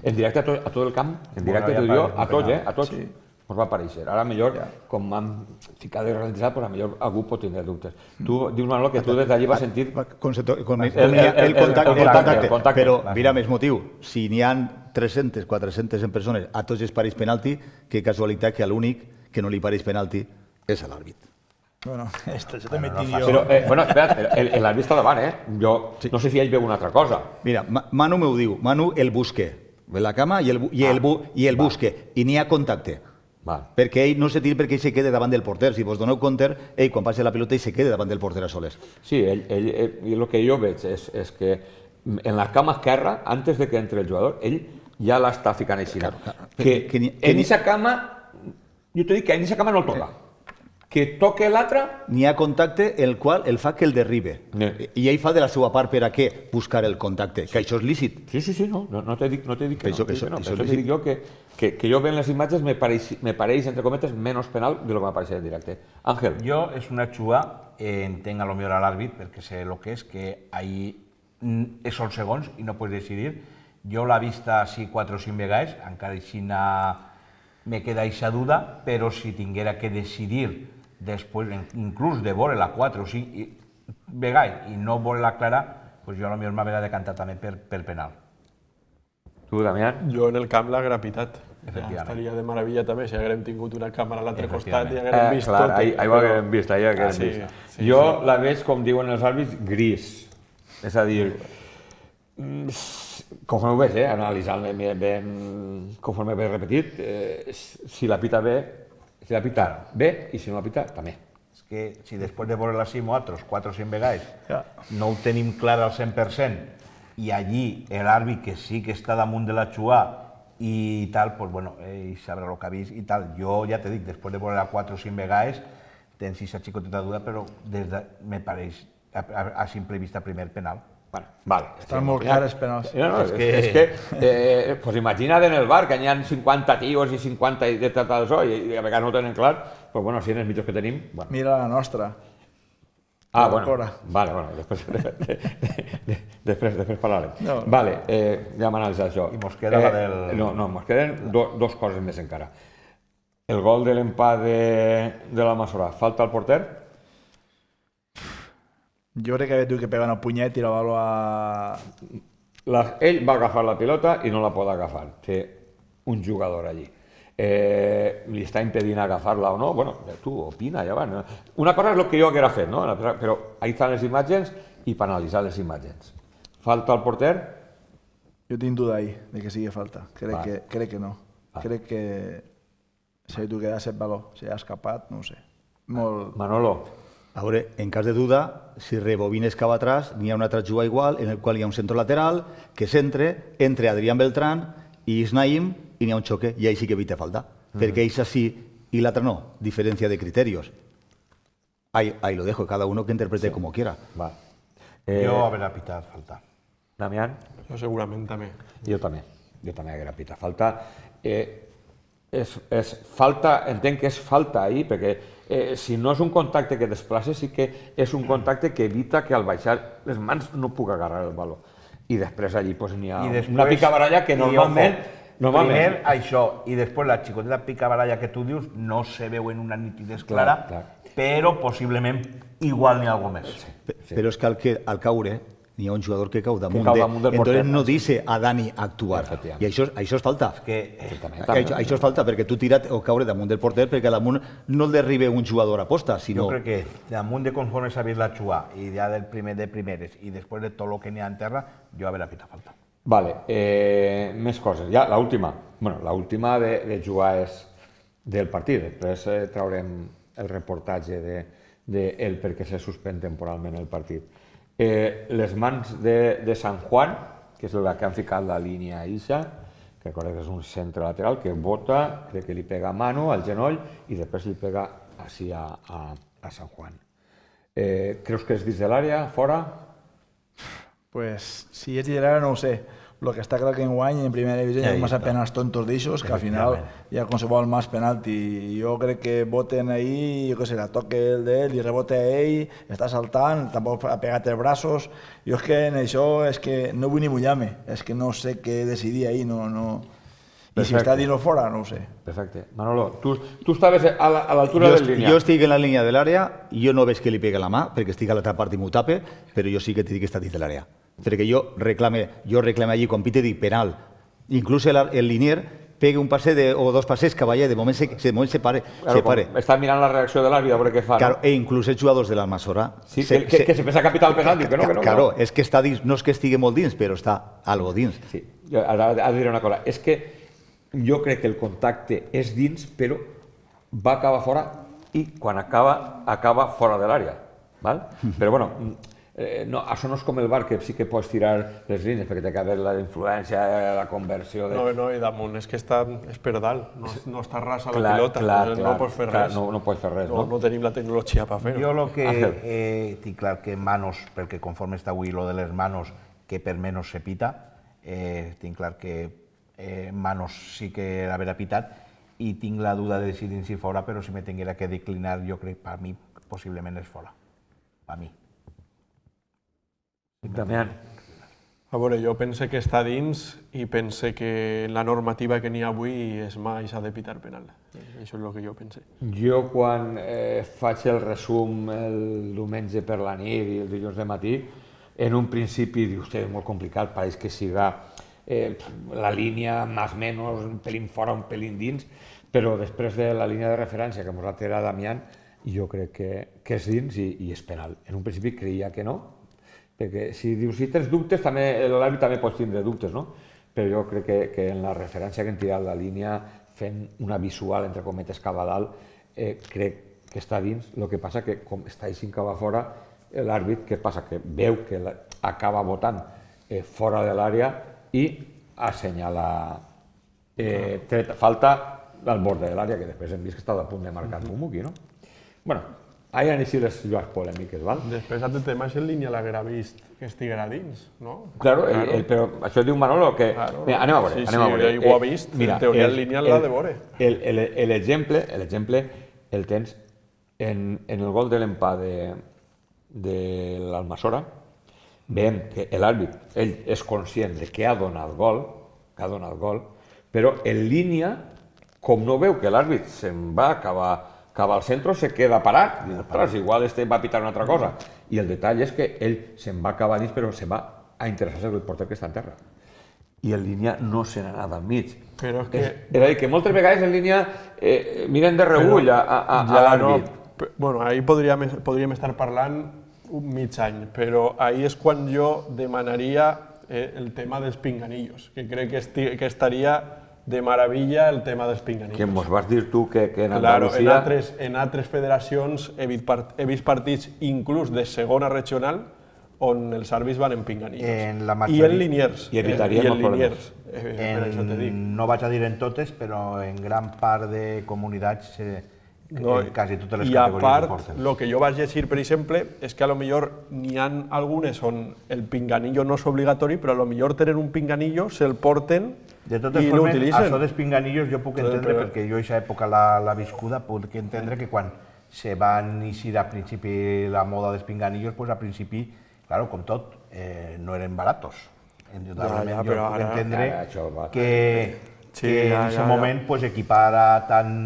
C: En directe a tot, a tot el camp, en directe
A: ja
C: tu i jo,
A: pareix,
C: a tots, eh? A tots.
D: Sí.
C: Ens va aparèixer. Ara, millor,
D: Ja.
C: com m'han ficat de ralentitzar, pues, millor algú pot tindre dubtes. Tu dius, Manolo, que tu des d'allí vas sentir...
F: Con, con, con,
C: El- el- el-
F: el, contacte,
C: el
F: el
C: contacte,
F: contacte,
C: el contacte.
F: però
C: Clar.
F: mira més motiu, si n'hi ha tres-centes, quatre-centes persones a tots els parells penalti, que casualitat que l'únic que no li pareix penalti és a l'àrbit.
D: Bueno, esto, això també tinc
C: Però,
D: jo...
C: eh, bueno, espera, el- el- l'àrbit està davant, eh? Jo no sé si ell veu una altra cosa.
F: Mira, Ma- Manu m'ho diu, Manu el busque, ve la cama i el, bu- i el, bu- i el busque, i n'hi ha contacte.
C: Va.
F: Perquè ell no se tira perquè ell se quede davant del porter. Si vos doneu compte, ell quan passa la pilota ell se queda davant del porter a soles.
C: Sí, ell, ell, ell, i el que jo veig és, és que en la cama esquerra, antes de que entre el jugador, ell ja l'està ficant així.
F: Claro, claro.
C: Que,
F: Que ni- que
C: en
F: ni-
C: aquesta cama, jo t'he dit que en aquesta cama no el toca. que toque l'altre...
F: N'hi ha contacte el qual el fa que el derribe. I ell fa de la seva part per a què? Buscar el contacte, que això és lícit.
C: Sí, sí, sí, no, no te dic que no. Això te dic jo que jo veient les imatges me pareix, entre cometes, menys penal de lo que m'apareix en directe. Ángel.
A: Jo és una xua, entenc a lo millor a l'àrbit, perquè sé el que és, que ahí són segons i no pots decidir. Jo l'he vista així quatre o cinc vegades, encara així me queda aquesta duda, però si tinguera que decidir després, inclús de veure la quatre o cinc vegades i no veure la clara, doncs jo potser m'haurà de cantar també per penal.
C: Tu, Damián?
B: Jo en el camp l'haguera pitat.
A: Efectivament.
B: Estaria de meravella també si haguérem tingut una càmera a l'altre costat i haguérem vist
C: tot.
B: tot.
C: Ahí ho haguérem vist, ahí ho haguérem vist. Jo la veig, com diuen els àrbits, gris. És a dir, conforme ho veig, analitzant-me ben, conforme he repetit, si la pita bé, si la pita bé i si no la pita, també.
A: És que si després de veure-la així nosaltres, quatre o cinc vegades, no ho tenim clar al cent per cent i allí l'àrbit que sí que està damunt de la xua i tal, doncs bueno, ell sabrà el que ha vist i tal. Jo ja t'he dit, després de veure-la quatre o cinc vegades, tens aquesta xicoteta duda, però me pareix a simple vista primer penal.
C: Vale.
D: Estan molt clares penals.
C: És que, pues imagina't en el bar que hi ha cinquanta tios i cinquanta de tot això i a vegades no ho tenen clar, doncs bueno, si en els mitjos que tenim...
D: Mira la nostra.
C: Ah, bueno, vale, bueno, després, després, després parlarem. No. Vale, eh, ja hem analitzat això.
A: I mos queda la del...
C: No, no, mos queden do, dos coses més encara. El gol de l'empat de, de la Masora, falta al porter?
D: Jo crec que havia que pegar un punyet i la baló a...
C: La, ell va agafar la pilota i no la pot agafar. Té un jugador allí. Eh, li està impedint agafar-la o no, bueno, tu opina, ja va. No? Una cosa és el que jo haguera fet, no? Però ahí estan les imatges i per analitzar les imatges. Falta al porter?
D: Jo tinc duda ahí, de que sigui falta. Crec, que, crec que no. Va. Crec que si tu quedas el baló, si ha escapat, no ho sé. Molt...
C: Manolo.
F: A veure, en cas de duda, si rebobines cap atrás, n'hi ha una altra juga igual, en el qual hi ha un centre lateral, que s'entre, entre Adrián Beltrán i Isnaim, i n'hi ha un xoque, i ahí sí que evita falta. Mm-hmm. Perquè ells sí i l'altre no, diferència de criterios. Ahí, ahí lo dejo, cada uno que interprete sí. como quiera.
C: Va.
A: Eh, jo hauré pitat falta.
C: Damián?
B: Jo segurament també.
C: Jo també, jo també hauré pitat falta. Eh, és, és falta, entenc que és falta ahí, perquè eh, si no és un contacte que desplaça, sí que és un contacte que evita que al baixar les mans no puc agarrar el baló. I després allí pues, n'hi ha després, una picabaralla que normalment... Normalment.
A: Primer això, i després la xicoteta picabaralla que tu dius no se veu en una nitidesa clara, clar, clar. Però possiblement igual n'hi ha alguna més. Sí,
F: sí. Però és que al, que al caure n'hi ha un jugador que cau damunt, que cau damunt de... del porter. Entonces no dice a Dani actuar. I això, això és falta. És que, eh, això, això és falta, perquè tu tira't o caure damunt del porter perquè damunt no el derribe un jugador a posta, sinó...
A: Jo crec que damunt de conforme s'ha vist la xua i ja del primer de primeres i després de tot el que n'hi ha en terra, jo hauré pitat falta.
C: Vale, eh, més coses. Ja, l'última. Bueno, l'última de, de jugar és del partit. Després eh, traurem el reportatge de, de el per què se suspèn temporalment el partit. Eh, les mans de, de San Juan, que és la que han ficat la línia Ixa, que recorda que és un centre lateral, que bota, crec que li pega a mano, al genoll, i després li pega així a, a, a San Juan. Eh, creus que és dins de l'àrea, fora?
D: Pues si és lliure no ho sé. Lo que està clar que enguany en primera divisió hi ha massa penals tontos d'aixos que al final hi ha qualsevol más penalti. Jo crec que voten ahí, jo què sé, la toque el d'ell i rebote a ell, està saltant, tampoc ha pegat els braços. Jo és que en això és que no vull ni mullar-me, és que no sé què decidir ahí, no... no... I si està dins o fora, no ho sé.
C: Perfecte. Manolo, tu, tu estaves a l'altura del línia.
F: Jo estic en la línia de l'àrea, jo no veig que li pegue la mà, perquè estic a l'altra part i m'ho tape, però jo sí que t'he dit que està dins de l'àrea. Perquè jo reclame, jo reclame allí, quan pite, dic penal. Inclús el, el linier pegue un passe de, o dos passes que vaya, de moment se, de moment se pare.
C: Claro, se pare. Està mirant la reacció de l'àrbit a veure què fa.
F: Claro,
C: no?
F: E inclús els jugadors de l'Almassora...
C: Sí, se, que, se, que se pensa capital pesant, diu que no, que no.
F: Claro, és que està dins, no és que estigui molt dins, però està algo dins.
C: Sí, ara ha de dir una cosa, és que jo crec que el contacte és dins, però va acabar fora i quan acaba, acaba fora de l'àrea. Val? Però bueno, no, això no és com el bar, que sí que pots tirar les línies, perquè té que haver la influència, la conversió... De...
B: No, no, i damunt és que està, és per dalt, no, no està rasa la
C: clar,
B: pilota,
C: clar,
B: no,
C: clar,
B: no pots fer
C: clar,
B: res.
C: No, no pots fer res,
B: no?
C: No,
B: no tenim la tecnologia per fer-ho.
A: Jo el que eh, tinc clar que Manos, perquè conforme està avui lo de les manos, que per menys se pita, eh, tinc clar que eh, Manos sí que l'haver pitat, i tinc la duda de decidir si fora, però si me tinguera que declinar, jo crec que per mi possiblement és fora. Per mi.
C: Damián.
B: A veure, jo pense que està dins i pense que la normativa que n'hi ha avui és mai s'ha de pitar penal. Això és el que jo pense.
C: Jo quan eh, faig el resum el diumenge per la nit i el dilluns de matí, en un principi dius, és molt complicat, pareix que siga eh, la línia més o menys, un pelín fora, un pelín dins, però després de la línia de referència que ens ha tirat Damián, jo crec que, que és dins i, i és penal. En un principi creia que no, perquè si dius, si tens dubtes, l'àrbit també pots tindre dubtes, no? Però jo crec que, que en la referència que hem tirat la línia, fent una visual, entre cometes, cap a dalt, eh, crec que està dins. El que passa que, com està així cap a fora, l'àrbit, què passa? Que veu que acaba votant eh, fora de l'àrea i assenyala eh, tret, falta al bord de l'àrea, que després hem vist que està a punt de marcar Pumuki, no? Bueno, ahí han així les jocs polèmiques, val?
B: Després, altre tema, és en línia l'haguera vist que estiguera dins, no?
C: Claro, el, el, però això diu Manolo que...
B: Claro,
C: mira, anem a veure,
B: sí,
C: anem a veure.
B: Sí, ell ho ha vist, eh, mira, en teoria en línia l'ha de veure.
C: L'exemple el, el tens en, en el gol de l'empat de, de l'Almassora, veiem que l'àrbit, ell és conscient de que ha donat gol, que ha donat gol, però en línia, com no veu que l'àrbit se'n va acabar cap al centre, se queda parat, i ostres, igual este va a pitar una altra cosa. I el detall és que ell se'n va acabar dins, però se'n va a interessar-se el porter que està en terra. I en línia no se n'ha anat al mig.
B: Però és que...
C: És a dir, que moltes vegades en línia eh, miren de reüll a, a, a,
B: ja
C: a l'àrbit.
B: No, bueno, ahí podríem, podríem estar parlant un mig any, però ahí és quan jo demanaria eh, el tema dels pinganillos, que crec que, esti, que estaria de maravilla el tema dels pinganillos.
C: Que mos vas dir tu que, que en
B: claro,
C: Andalusia...
B: en altres, en altres federacions he vist, part, he vist partits inclús de segona regional on els àrbits van en pinganillos.
A: En la majoria...
B: I en liniers.
C: I evitaríem
B: els
C: problemes.
B: Eh,
A: en, això te dic. No vaig a dir en totes, però en gran part de comunitats, eh,
B: no,
A: en quasi totes les
B: i a
A: categories
B: part,
A: ho porten.
B: el que jo vaig llegir, per exemple, és que a lo millor n'hi ha algunes on el pinganillo no és obligatori, però a lo millor tenen un pinganillo, se'l porten
A: de totes
B: i
A: formes,
B: l'utilitzen.
A: això dels pinganillos jo puc entendre,
B: però...
A: perquè jo a aquesta època la, la viscuda, puc entendre que quan se va iniciar a principi la moda dels pinganillos, pues a principi, claro, com tot, eh, no eren baratos. Indudablement, ja, ja, jo puc ara, entendre ara, va... que, sí, que ja, en aquest ja, moment ja. Pues, equipar a, tant,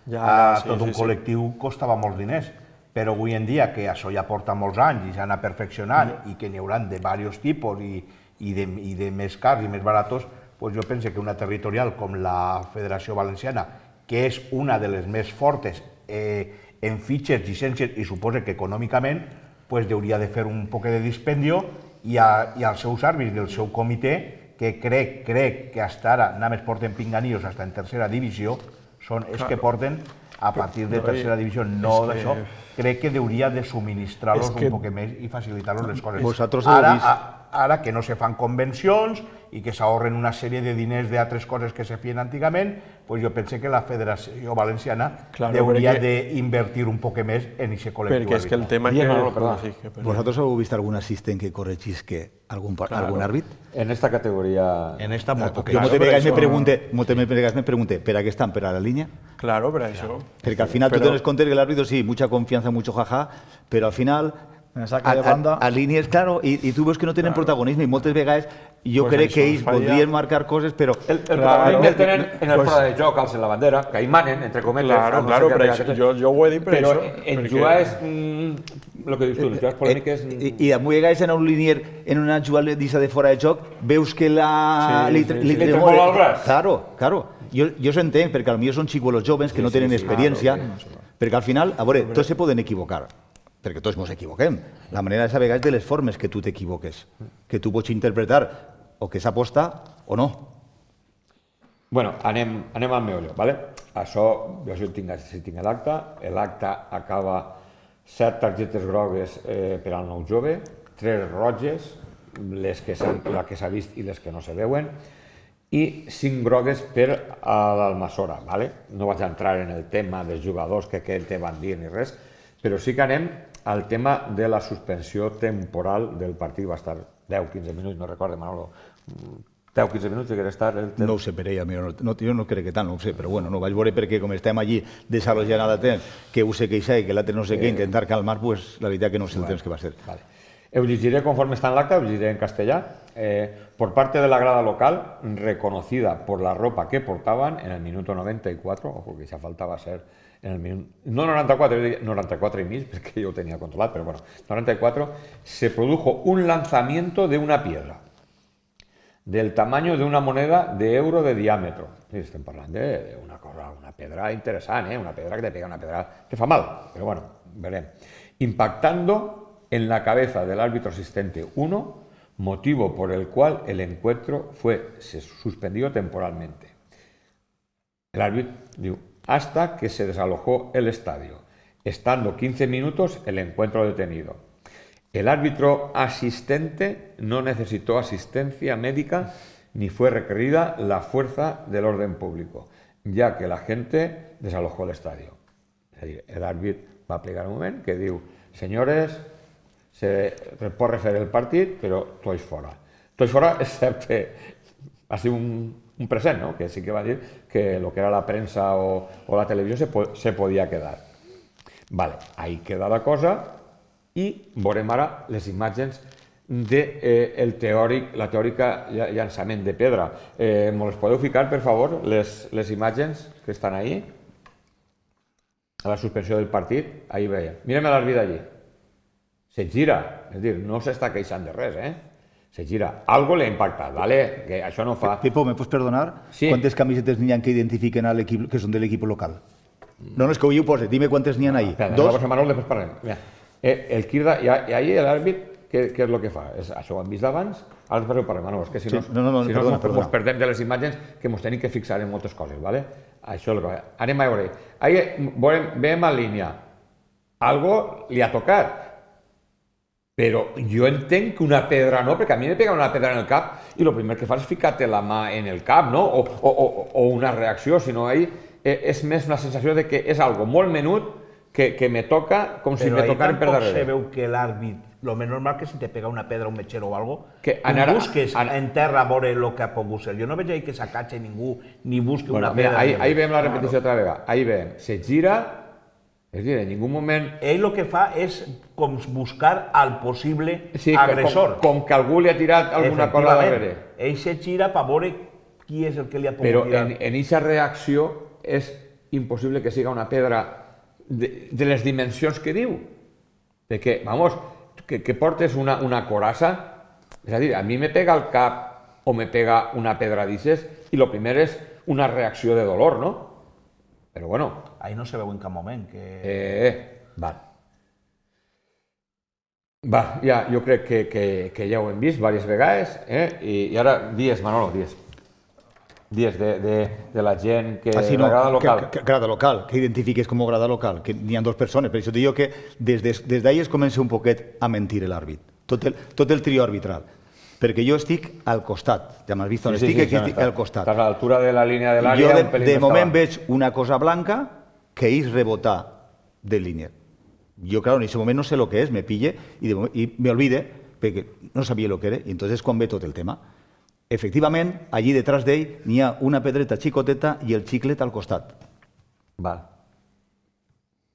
A: ja, ja, a tot sí, un sí, col·lectiu sí. Costava molts diners. Però avui en dia, que això ja porta molts anys i s'ha anat perfeccionant sí. I que n'hi haurà de diversos tipus i, i, de, i de més cars i més baratos, pues jo penso que una territorial com la Federació Valenciana, que és una de les més fortes eh, en fitxes, llicències i suposa que econòmicament, pues hauria de fer un poc de dispendio i, a, i als seus àrbits del seu comitè, que crec, crec que hasta ara només porten pinganillos fins en tercera divisió, són els que porten a partir de tercera divisió, no d'això, crec que hauria de subministrar-los un poc més i facilitar-los les coses. Ara, ara que no se fan convencions i que s'ahorren una sèrie de diners d'altres coses que se feien antigament, pues jo penso que la Federació Valenciana claro, hauria perquè... d'invertir un poc més en aquest col·lectiu.
B: Perquè és que el tema és que... No, perdó, sí, que
F: ¿Vosotros heu vist algun assistent que corregís que algun, claro. algun àrbit?
C: En esta categoria...
A: En esta molt poc.
F: Jo moltes vegades me pregunte, moltes vegades me pregunte, ¿per a què estan? ¿Per a la línia?
B: Claro, per això.
F: Perquè al final tu tienes contar que el árbitro sí, mucha confianza, mucho jaja, pero al final...
D: Me saca de banda.
F: A, a, a línies, claro, i, i tu veus que no tenen claro. protagonisme i moltes vegades jo pues crec que ells falla... voldrien marcar coses, però...
C: El, el protagonisme el tenen en el pues... fora de joc, alcen la bandera, que hi manen, entre cometes...
B: Claro, claro, però això, jo, jo ho he dit per
C: però
B: això.
C: Però en
B: perquè...
C: jugades, mm, el que dius tu, en jugades polèmiques...
F: I, i a vegades en un linier, en una jugada de fora de joc, veus que la...
C: Sí, li, sí, li, li tremola el braç.
F: Claro, claro. Jo, jo s'entenc, perquè potser són xicolos joves que sí, no tenen sí, sí, experiència, claro, perquè al final, a veure, tots se poden equivocar. Perquè tots ens equivoquem. La manera és a vegades de les formes que tu t'equivoques, que tu pots interpretar o que s'aposta o no.
C: Bueno, anem, anem al meollo, ¿vale? Això, jo si tinc, si tinc l'acte, l'acte acaba set targetes grogues eh, per al nou jove, tres roges, les que la que s'ha vist i les que no se veuen, i cinc grogues per a l'Almassora. No vaig entrar en el tema dels jugadors que què te van dir ni res, però sí que anem al tema de la suspensió temporal del partit. Va estar deu a quinze minuts, no recordo, Manolo, deu a quinze minuts que estar...
F: No ho sé per ella, jo no crec que tant, no ho sé, però bueno, no vaig veure perquè com estem allí desarrollant de temps, que ho sé que això i que l'altre no sé què, intentar calmar, pues la veritat que no sé el temps que va ser.
C: Ho llegiré conforme está en el acta, ho llegiré en castellà. Por parte de la grada local, reconocida por la ropa que portaban en el minuto noventa y cuatro, ojo que ya faltaba ser en el minuto, no noventa y cuatro, noventa y cuatro y mil, porque yo lo tenía controlado, pero bueno, noventa y cuatro, se produjo un lanzamiento de una piedra del tamaño de una moneda de euro de diámetro. Estem parlant d'una cosa, una pedra interessant, eh? Una pedra que te pega, una pedra que fa mal, pero bueno, veremos. Impactando en la cabeza del árbitro asistente uno, motivo por el cual el encuentro fue se suspendió temporalmente. El árbitro diu, hasta que se desalojó el estadio, estando quince minutos el encuentro detenido. El árbitro asistente no necesitó asistencia médica ni fue requerida la fuerza del orden público, ya que la gente desalojó el estadio. És a dir, el árbitro va plegar un moment que diu, senyores, se pot refer el partit, però tots fora. Tots fora, excepte, ha sigut un, un present, ¿no? Que sí que va dir que lo que era la premsa o, o la televisió se, po se podia quedar. Vale, ahí queda la cosa i veurem ara les imatges de eh, el teòric, la teòrica llançament de pedra. Eh, ¿Me les podeu ficar, per favor, les, les imatges que estan ahí? A la suspensió del partit, ahí veia. Mirem l'àrbit allí. Se gira, és dir, no s'està queixant de res, eh? Se gira. Algo le ha impactat, ¿vale? Que això no fa...
F: Pipo, ¿me puedes perdonar?
C: Sí.
F: ¿Cuántas camisetas n'hi ha que identifiquen al equipo, que son del equipo local? No, no, és que avui ho posa. Dime quantes n'hi ha ahí.
C: Espera,
F: Dos.
C: Dos. Manol, després parlem. Mira, eh, el Quirda, i, i ahí l'àrbit, què, què és el que fa? És, això ho hem vist d'abans, ara després ho parlem, Manol, és que si no,
F: sí. no, no, no,
C: si
F: perdona,
C: no
F: perdona.
C: ens perdem de les imatges que ens tenim que fixar en moltes coses, ¿vale? Això és el que fa. Anem a veure. Ahí veiem, veiem en línia. Algo li ha tocat. Però jo entenc que una pedra no, perquè a mi me pega una pedra en el cap i el primer que fas és ficar-te la mà en el cap, no? O, o, o, o una reacció, sinó ahí és més una sensació de que és algo molt menut que, que me toca com si me tocara per darrere.
A: Però ahí tampoc se veu que l'àrbit, lo més normal que si te pega una pedra, un metxero o algo,
C: que
A: tu
C: anar,
A: busques
C: anar,
A: en terra a veure el que ha pogut ser. Jo no veig ahí que s'acatxe ningú ni busqui
C: bueno,
A: una pedra.
C: Mira, ahí, ahí veiem la repetició altra vegada. Ahí veiem, se gira, és dir, en ningú moment...
A: Ell el que fa és com buscar al possible
C: sí,
A: agressor.
C: Com, com que algú li ha tirat alguna cosa darrere.
A: Ell se gira per veure qui és el que li ha pogut
C: Però
A: tirar.
C: Però en aquesta reacció és impossible que siga una pedra de, de les dimensions que diu. Perquè, vamos, que, que portes una, una corassa, és a dir, a mi me pega el cap o me pega una pedra d'ixes i el primer és una reacció de dolor, no? Però bueno...
A: Ahí no se veu en cap moment que...
C: Eh, va. Va, ja, jo crec que, que, que ja ho hem vist diverses vegades, eh? I, i ara, dies, Manolo, dies. Dies de, de, de la gent que...
F: Ah, sí, no,
C: la grada local.
F: Que, que, grada local, que identifiques com grada local, que n'hi ha dues persones, per això te digo que des, des, des d'ahir es comença un poquet a mentir l'àrbit, tot el, tot el trio arbitral. Perquè jo estic al costat, ja m'has vist on
C: sí,
F: estic,
C: sí, sí,
F: aquí estic
C: està,
F: al costat.
C: Estàs a l'altura de la línia de l'àrea.
F: Jo de, de moment veig una cosa blanca que és rebotar de línia. Jo, claro, en aquest moment no sé el que és, me pille i, de moment, i me olvide, perquè no sabia el que era, i entonces quan ve tot el tema. Efectivament, allí detrás d'ell n'hi ha una pedreta xicoteta i el xiclet al costat.
C: Va.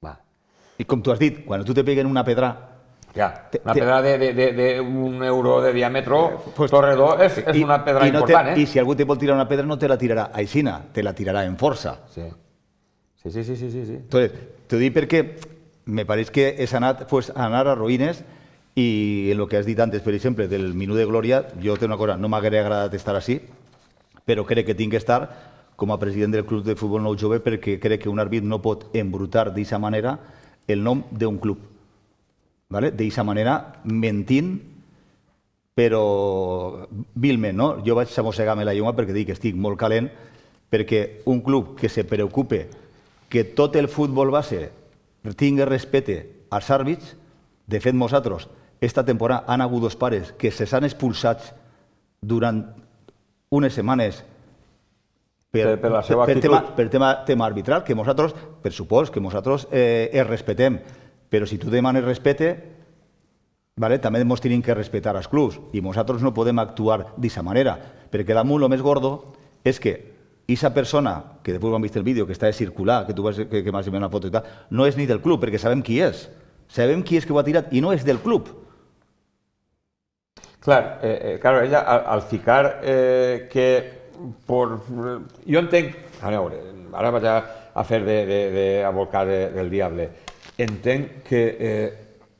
C: Va.
F: I com tu has dit, quan tu te peguen una pedra...
C: Ja, una pedra d'un euro de diàmetre, pues, torredor, és, és
F: i,
C: una pedra
F: i no
C: important,
F: te,
C: eh?
F: I si algú te vol tirar una pedra no te la tirarà aixina, te la tirarà en força.
C: Sí, sí, sí, sí, sí, sí.
F: Entonces, t'ho dic perquè me pareix que és anat, pues, anar a ruïnes i en el que has dit antes, per exemple, del minut de glòria, jo tengo una cosa, no m'hauria agradat estar així, però crec que tinc que estar com a president del Club de Futbol Nou Jove perquè crec que un àrbit no pot embrutar d'aquesta manera el nom d'un club. ¿Vale? D'aquesta manera, mentint, però vilment, no? Jo vaig a mossegar-me la llengua perquè dic que estic molt calent, perquè un club que se preocupe que tot el futbol base tingui respecte als àrbits, de fet, nosaltres esta temporada han hagut dos pares que se s'han expulsats durant unes setmanes per,
C: per, per la seva
F: per,
C: actitud.
F: tema, per tema, tema arbitral, que nosaltres, per supòs, que nosaltres eh, els respetem, però si tu demanes respecte, vale, també ens tenim que respectar els clubs i nosaltres no podem actuar d'aquesta manera, perquè damunt el més gordo és que aquesta persona, que després ho hem vist el vídeo, que està de circular, que tu vas, que, que m'has enviat una foto i tal, no és ni del club, perquè sabem qui és. Sabem qui és que ho ha tirat i no és del club.
C: Clar, eh, eh, claro, ella al, al ficar eh, que por... Jo entenc... A veure, ara vaig a, a fer de, de, de abocar de, del diable. Entenc que eh,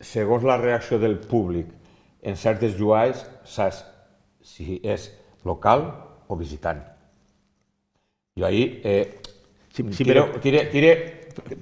C: segons la reacció del públic en certes jugades saps si és local o visitant. Jo ahí eh,
F: Sí, sí,
C: tire,
F: però-
C: tire, tire,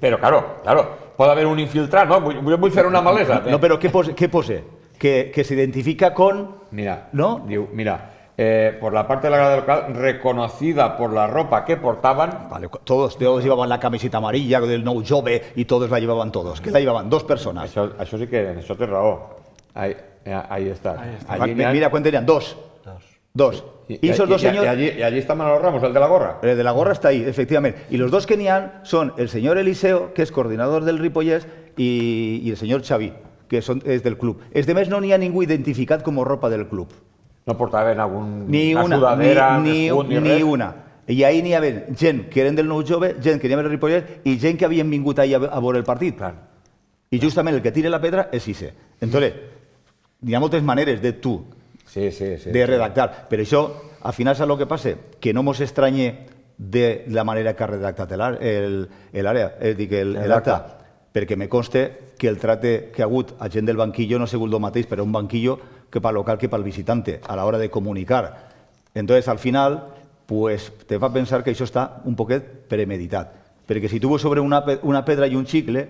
C: però claro, claro, pot haver un infiltrat, no? Vull, vull fer una malesa.
F: No, però què pose? Què pose? Que, que s'identifica con...
C: Mira,
F: ¿no?
C: diu, mira, eh, por la parte de la grada local, reconocida por la ropa que portaban.
F: Vale, todos, todos llevaban la camiseta amarilla del Nou Jove y todos la llevaban todos. Que la llevaban dos personas.
C: Això, això sí que en això té raó. Ahí, ahí está. Allí
F: Mira,
C: n'hi ha-
F: ¿cuántos tenían? Dos. Dos.
C: Y,
F: Y esos dos
C: y- y
F: señores...
C: allí, y allí está Manolo Ramos, el de la gorra.
F: El de la gorra está ahí, efectivamente. Y los dos que n'hi ha son el señor Eliseo, que es coordinador del Ripollès, y, y el señor Xavi, que son, es del club. Es de mes no n'hi ha ningú identificat com a ropa del club.
C: No portaven algun,
F: Ni una,
C: sudadera,
F: ni, ni,
C: escut, ni,
F: ni
C: res.
F: una. I ahí n'hi havia gent que eren del Nou Jove, gent que anaven al Ripollès i gent que havien vingut ahí a, a veure el partit.
C: Clar.
F: I justament el que tira la pedra és Ise. Entonces, hi ha moltes maneres de tu
C: Sí, sí, sí.
F: de redactar. Però això, al final, saps el que passa? Que no mos estranye de la manera que ha redactat el- el- l'àrea, és a dir, que el-
C: El
F: l'acte,
C: acta.
F: perquè me conste que el tracte que ha hagut a gent del banquillo no ha sigut el mateix per a un banquillo que pel local que pel visitante, a l'hora de comunicar. Entonces, al final, pues, te fa pensar que això està un poquet premeditat. Perquè si tu vas sobre una, pe- una pedra i un xicle,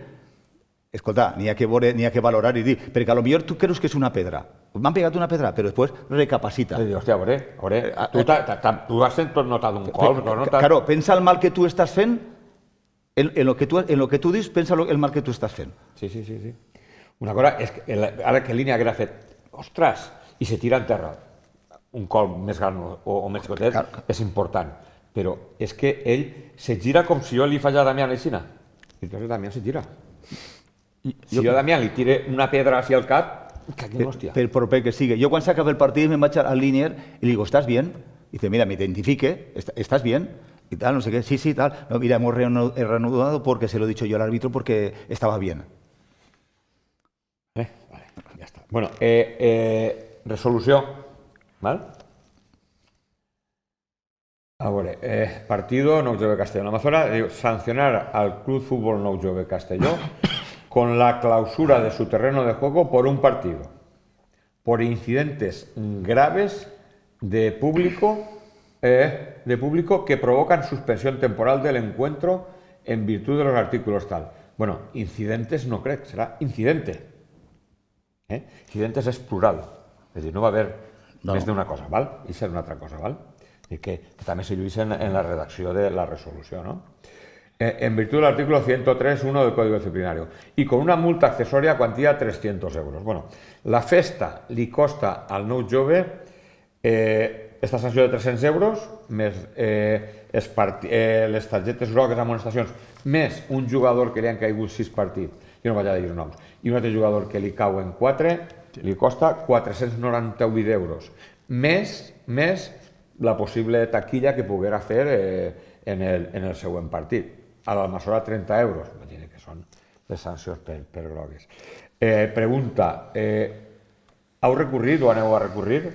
F: escolta, n'hi ha que veure, n'hi ha que valorar i dir, perquè a lo millor tu creus que és una pedra. M'han pegat una pedra, però després recapacita.
C: I dius, hòstia, a veure, a veure, tu, t'ha- t'ha- t'ha- tu has tot notat un col, no notat...
F: Claro, pensa el mal que tu estàs fent, en, en, lo que tu, en lo que tu dius, pensa lo- el mal que tu estàs fent.
C: Sí, sí, sí, sí. Una cosa és que el, ara que línia haguera fet, ostres, i se tira en terra, un col més gran o, o més xicotet,
F: Clar.
C: és important. Però és que ell se gira com si jo li faig a Damián Aixina. I després Damián se gira. Si jo a Damián li tire una pedra hacia el cap, que hòstia.
F: Per proper que sigui. Jo quan s'acaba el partit me'n vaig al línier i li digo, ¿estás bien? Y dice, mira, me identifique, ¿est- ¿estás bien? Y tal, no sé qué, sí, sí, tal. No, mira, hemos reanu- he reanudado porque se lo he dicho yo al árbitro porque estaba bien.
C: Eh, vale, ja està. Bueno, eh, eh, resolució, val? A veure, eh, partido Nou Jove Castelló. La Amazona diu sancionar al Club Fútbol Nou Jove Castelló con la clausura de su terreno de juego por un partido, por incidentes graves de público, eh, de público que provocan suspensión temporal del encuentro en virtud de los artículos tal. Bueno, incidentes no crec, serà incidente. Eh? Incidentes és plural, és a dir, no va haver
F: No.
C: més d'una cosa, val? I serà una altra cosa, val? I que, que també se lluís en, en la redacció de la resolució, no? Eh, en virtud del artículo ciento tres punto uno del Código Disciplinario y con una multa accesoria a cuantía trescientos euros. Bueno, la festa li costa al Nou Jove eh, esta sanció de tres-cents euros més eh, es parti- eh, les targetes grogues, amonestacions, més un jugador que li han caigut sis partits, jo no vaig a dir noms, i un altre jugador que li cauen quatre, li costa quatre-cents noranta-vuit euros, més, més la possible taquilla que poguera fer eh, en, el, en el següent partit. A l'Almassora trenta euros, imagina que són les sancions per, per grogues. Eh, pregunta, eh, heu recorrit o aneu a recurrir?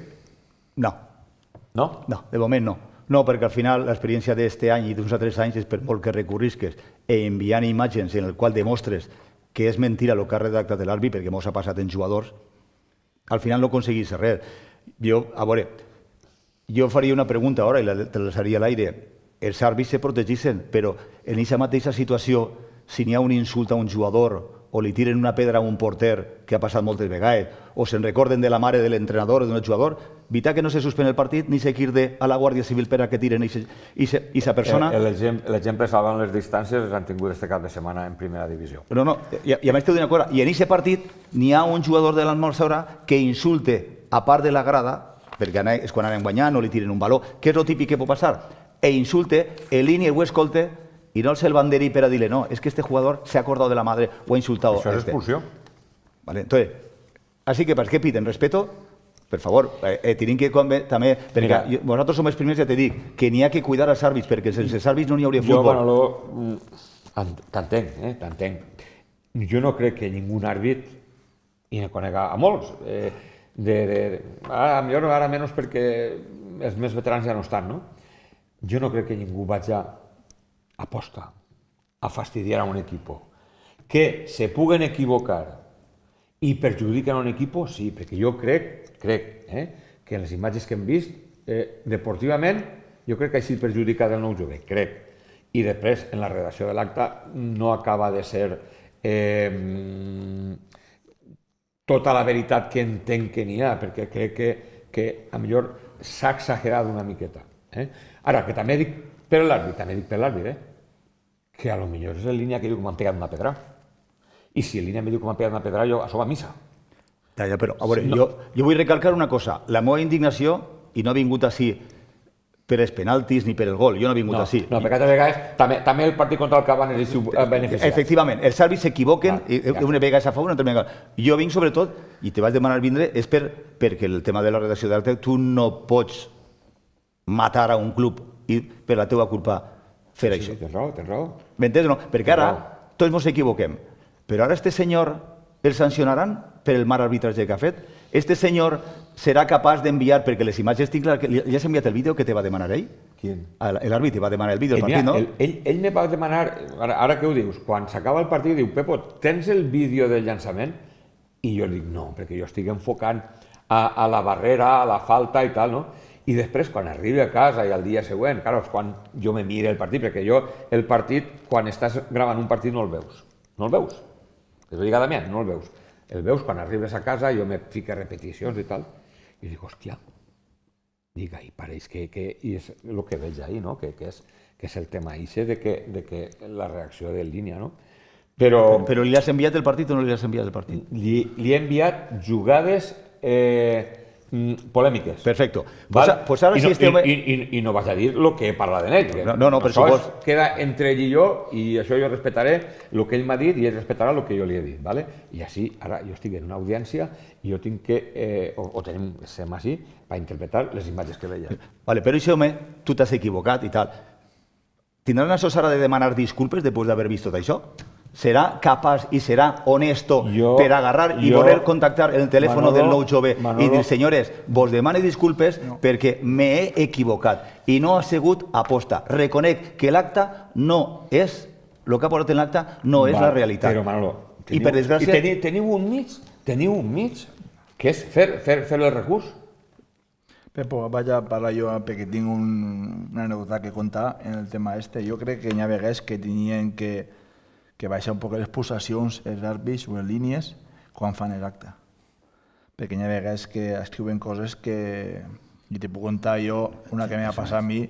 F: No,
C: No?
F: no, de moment no. No, perquè al final l'experiència d'aquest any i d'uns altres anys és per molt que recurrisques e enviant imatges en el qual demostres que és mentira el que ha redactat l'àrbit, perquè mos ha passat en jugadors, al final no aconseguís res. Jo, a veure, jo faria una pregunta ara i la, te la seria a l'aire. Els àrbits se protegissin, però en aquesta mateixa situació, si n'hi ha un insult a un jugador o li tiren una pedra a un porter, que ha passat moltes vegades, o se'n recorden de la mare de l'entrenador o d'un jugador, evitar que no se suspèn el partit ni seguir a la Guàrdia Civil per a que tiren aquesta persona.
C: L'exemple salvant les distàncies els han tingut este cap de setmana en primera divisió.
F: No, no, i a més t'ho dic una cosa, i en aquest partit n'hi ha un jugador de l'Almolsora que insulte a part de la grada, perquè és quan anem guanyant, no li tiren un valor, que és el típic que pot passar, e insulte, en línia ho escolte, i no el banderi per a dir-li, no, és que este jugador s'ha acordado de la madre o ha insultado.
C: Això és expulsió.
F: Vale, entonces, así que, ¿para qué piden? Respeto, per favor, eh, tienen que també, perquè vosaltres som els primers, ja te dic, que n'hi ha que cuidar els àrbits, perquè sense els àrbits no n'hi hauria futbol.
C: Jo, Manolo, t'entenc, eh, t'entenc. Jo no crec que ningú àrbit, i ne conec a molts, ara millor, ara menys perquè els més veterans ja no estan, no? Jo no crec que ningú vagi a aposta a fastidiar a un equip. Que se puguen equivocar i perjudiquen a un equip, sí, perquè jo crec, crec, que en les imatges que hem vist, deportivament, jo crec que ha sigut perjudicat el nou jove, crec. I després, en la redacció de l'acte, no acaba de ser tota la veritat que entenc que n'hi ha, perquè crec que a millor s'ha exagerat una miqueta. Ara, que també dic per l'àrbit, també dic per l'àrbit, que a lo millor és en línia que diu que m'han pegat una pedra. I si en línia me diu que m'han pegat una pedra, jo això va a missa.
F: Ja, ja, però, a veure, jo vull recalcar una cosa. La meva indignació, i no he vingut així per els penaltis ni per el gol, jo no he vingut així.
C: No, perquè a vegades també el partit contra el Cabanes és beneficiat.
F: Efectivament, els àrbits s'equivoquen, una vegada és a favor, una altra vegada. Jo vinc sobretot, i te vas demanar vindre, és perquè el tema de la redacció d'acte, tu no pots matar a un club i per la teva culpa fer això.
C: Sí, tens raó, tens raó.
F: M'entens o no? Perquè ara tots ens equivoquem. Però ara este senyor el sancionaran per el mal arbitratge que ha fet? Este senyor serà capaç d'enviar, perquè les imatges tinc clar, ja s'ha enviat el vídeo que te va demanar ell?
C: Quin?
F: L'àrbit te va demanar el vídeo del partit, no?
C: Ell me va demanar, ara que ho dius, quan s'acaba el partit diu, Pepo, tens el vídeo del llançament? I jo dic, no, perquè jo estic enfocant a la barrera, a la falta i tal, no? I després, quan arribi a casa i al dia següent, clar, és quan jo me mire el partit, perquè jo el partit, quan estàs gravant un partit, no el veus. No el veus. Desobligadament, no el veus. El veus quan arribes a casa, jo me fico repeticions i tal, i dic, hòstia, dic, i pareix que és el que veig ahí, no? Que és el tema ixe de que la reacció de línia, no? Però...
F: Però li has enviat el partit o no li has enviat el partit?
C: Li he enviat jugades polèmiques.
F: Perfecto.
C: I no vas a dir el que parla d'ell.
F: No, no, per supost.
C: Això queda entre ell i jo, i això jo respetaré el que ell m'ha dit i ell respetarà el que jo li he dit. I així, ara jo estic en una audiència i jo tinc que, o tenim, sem així, per interpretar les imatges que veia.
F: Però això, home, tu t'has equivocat i tal. Tindran la sosa de demanar disculpes després d'haver vist tot això? Serà capaç i serà honesto per agarrar i voler contactar el telèfon del nou jove i dir, senyores, vos demane disculpes perquè m'he equivocat i no ha sigut aposta. Reconec que l'acte no és, el que ha posat en l'acte no és la realitat.
C: Però, Manolo, teniu un mig, teniu un mig, que és fer el recurs.
D: Pepo, vaig a parlar jo perquè tinc una anècdota que contar en el tema este. Jo crec que hi ha vegades que tenien que que baixar un poc les pulsacions, els àrbits o les línies, quan fan l'acte. Perquè hi ha vegades que escriuen coses que... I te puc contar jo una que m'ha passat a mi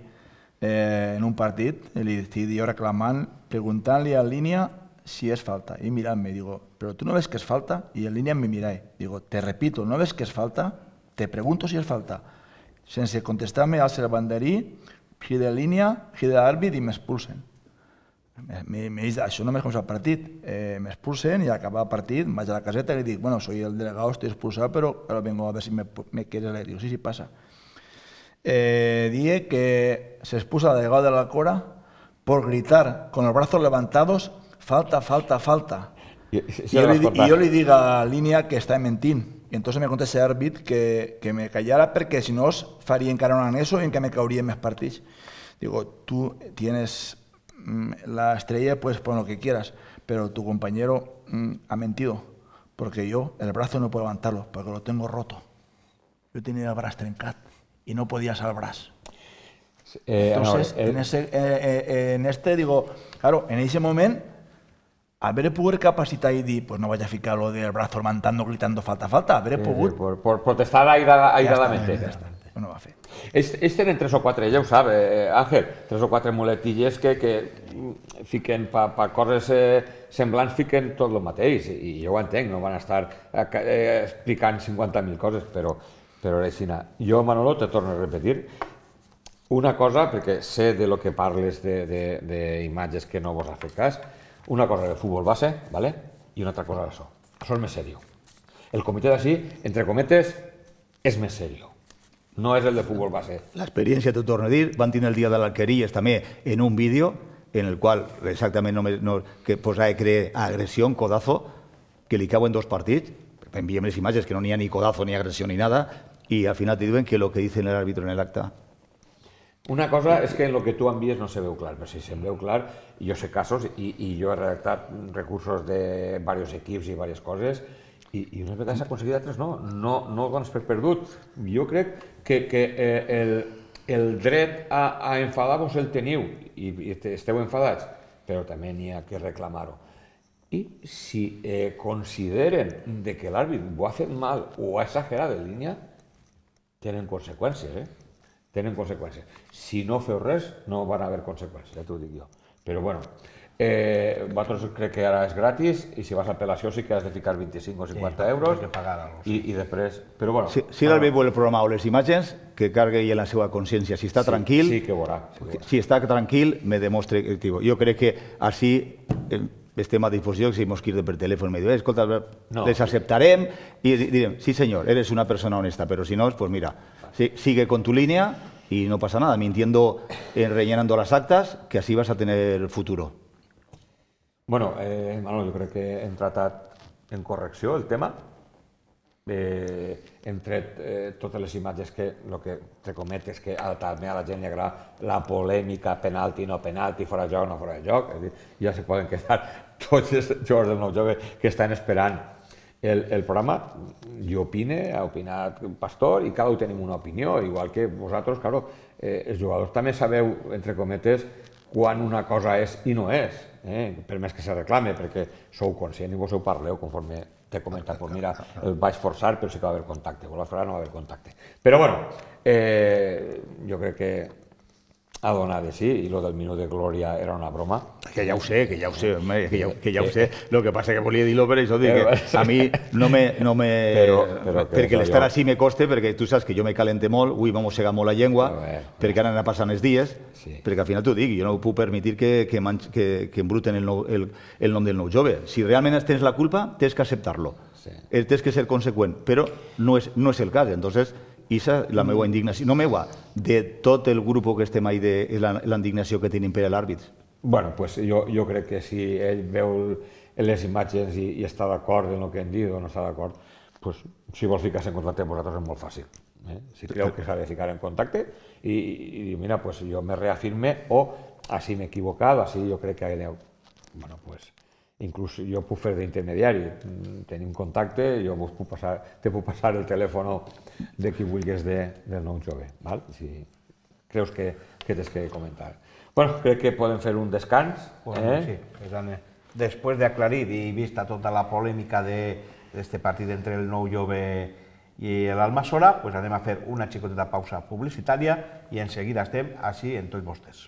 D: en un partit, i li estic jo reclamant, preguntant-li a línia si és falta. I mirant-me, digo, però tu no ves que és falta? I en línia me miré. Digo, te repito, no ves que és falta? Te pregunto si és falta. Sense contestar-me al banderí, gire de línia, gire d'àrbit i m'expulsen. Això només comença el partit, m'expulsen i al acabar el partit vaig a la caseta i li dic, bueno, soy el delegado, estoy expulsado, pero ahora vengo a ver si me quieres leer. Digo, sí, sí, pasa. Dije que se expulsa al delegado de la Cora por gritar con los brazos levantados, falta, falta, falta. Y yo le digo a Línea que está mentint. Y entonces me contesta ese árbit que me callara porque si no faria encara un anexo en que me caurían més partits. Digo, tú tienes la estrella, puedes poner lo que quieras, pero tu compañero mmm, ha mentido, porque yo el brazo no puedo levantarlo, porque lo tengo roto. Yo tenía el brazo trencat y no podía salvar el brazo. Eh, Entonces, no, el... en, ese, eh, eh, en este digo, claro, en ese momento haber poder capacitar y decir, pues no vaya a ficar lo del brazo levantando, gritando falta, falta, haber
C: Sí,
D: pogut...
C: sí, por, por protestar airada, airadamente.
D: Ja està, no va fer.
C: Ells, ells tenen tres o quatre, ja ho sap, eh, Àngel, tres o quatre muletilles que, que fiquen per pa coses eh, semblants, fiquen tot el mateix, i jo ho entenc, no van estar eh, explicant cinquanta mil coses, però, però és així. Jo, Manolo, te torno a repetir, una cosa, perquè sé de lo que parles d'imatges que no vos ha fet cas, una cosa de futbol base, ¿vale? I una altra cosa d'això. Això és més serio. El comitè d'ací, entre cometes, és més serio. No és el de futbol base.
F: L'experiència, t'ho torno a dir, van tenir el dia de l'Alqueries també en un vídeo en el qual exactament no, no, que posava que agressió, codazo, que li cauen dos partits, enviem les imatges que no n'hi ha ni codazo, ni agressió, ni nada, i al final te diuen que lo que dice el árbitro en el acta.
C: Una cosa és que en el que tu envies no se veu clar, però si se'm veu clar, jo sé casos i, i jo he redactat recursos de diversos equips i diverses coses i, i unes vegades s'ha aconseguit, altres no, no, no ho dones per perdut. Jo crec que, que eh, el, el dret a, a enfadar-vos el teniu i, i esteu enfadats, però també n'hi ha que reclamar-ho. I si eh, consideren de que l'àrbit ho ha fet mal o ha exagerat en línia, tenen conseqüències, eh? Tenen conseqüències. Si no feu res, no van haver conseqüències, ja t'ho dic jo. Però bueno, eh, vosaltres crec que ara és gratis i si vas a apel·lació sí que has de ficar vint-i-cinc o cinquanta euros i, i després... Però bueno...
F: Si, si l'àrbit vol el programa o les imatges, que cargui en la seva consciència. Si està
C: sí,
F: tranquil...
C: Sí, que veurà. Sí, que veurà.
F: Si està tranquil, me demostre... Jo crec que així estem a disposició, si mos quirde per telèfon, me diu, escolta, no, les acceptarem i direm, sí senyor, eres una persona honesta, però si no, pues mira, sigue con tu línea y no pasa nada, mintiendo, eh, rellenando las actas, que así vas a tener futuro.
C: Bueno, eh, Manolo, jo crec que hem tratat en correcció el tema. Eh, hem tret eh, totes les imatges que, el que te cometes, que a, també a la gent li agrada la polèmica, penalti, no penalti, fora de joc, no fora de joc. És dir, ja se poden quedar tots els jugadors del nou jove que estan esperant El, el programa. Jo opine, ha opinat Pastor i cada un tenim una opinió, igual que vosaltres, claro, eh, els jugadors també sabeu, entre cometes, quan una cosa és i no és, eh? Per més que se reclame, perquè sou conscient i vos ho parleu conforme t'he comentat, pues mira, el vaig forçar però sí que va haver contacte, o la frase no va haver contacte. Però bueno, eh, jo crec que ha donat de sí, i lo del minut de glòria era una broma.
F: Que ja ho sé, que ja ho sé, home, que ja, que ja ho sé. Lo que passa que volia dir-lo per això, dir que a mi no me... No me
C: però, però
F: perquè l'estar així me coste, perquè tu saps que jo me calente molt, ui, m'ha mossegat molt la llengua,
C: veure,
F: perquè ara anar passant els dies,
C: sí.
F: Perquè al final t'ho dic, jo no puc permetir que, que, que, que embruten el, nou, el, el nom del nou jove. Si realment tens la culpa, tens que acceptar-lo. Sí. Tens que ser conseqüent, però no és, no és el cas. Entonces, Isa, la meva indignació, no meva, de tot el grup que estem ahí, de la, la indignació que tenim per l'àrbit.
C: Bueno, pues jo, jo crec que si ell veu les imatges i, i està d'acord en el que hem dit o no està d'acord, pues, si vol ficar-se en contacte amb vosaltres és molt fàcil. Eh? Si creu que s'ha de ficar en contacte i, i dir, mira, pues jo me reafirme o així m'he equivocat, així jo crec que aneu. Bueno, pues, inclús jo puc fer d'intermediari, tenim contacte, jo vos puc passar, te puc passar el telèfon de qui vulguis de, del nou jove, val? Si creus que, que tens que comentar. Bueno, crec que podem fer un descans.
A: Bueno,
C: eh?
A: sí, després d'aclarir i vista tota la polèmica d'aquest partit entre el nou jove i l'Almassora, pues anem a fer una xicoteta pausa publicitària i en seguida estem així en tots vostès.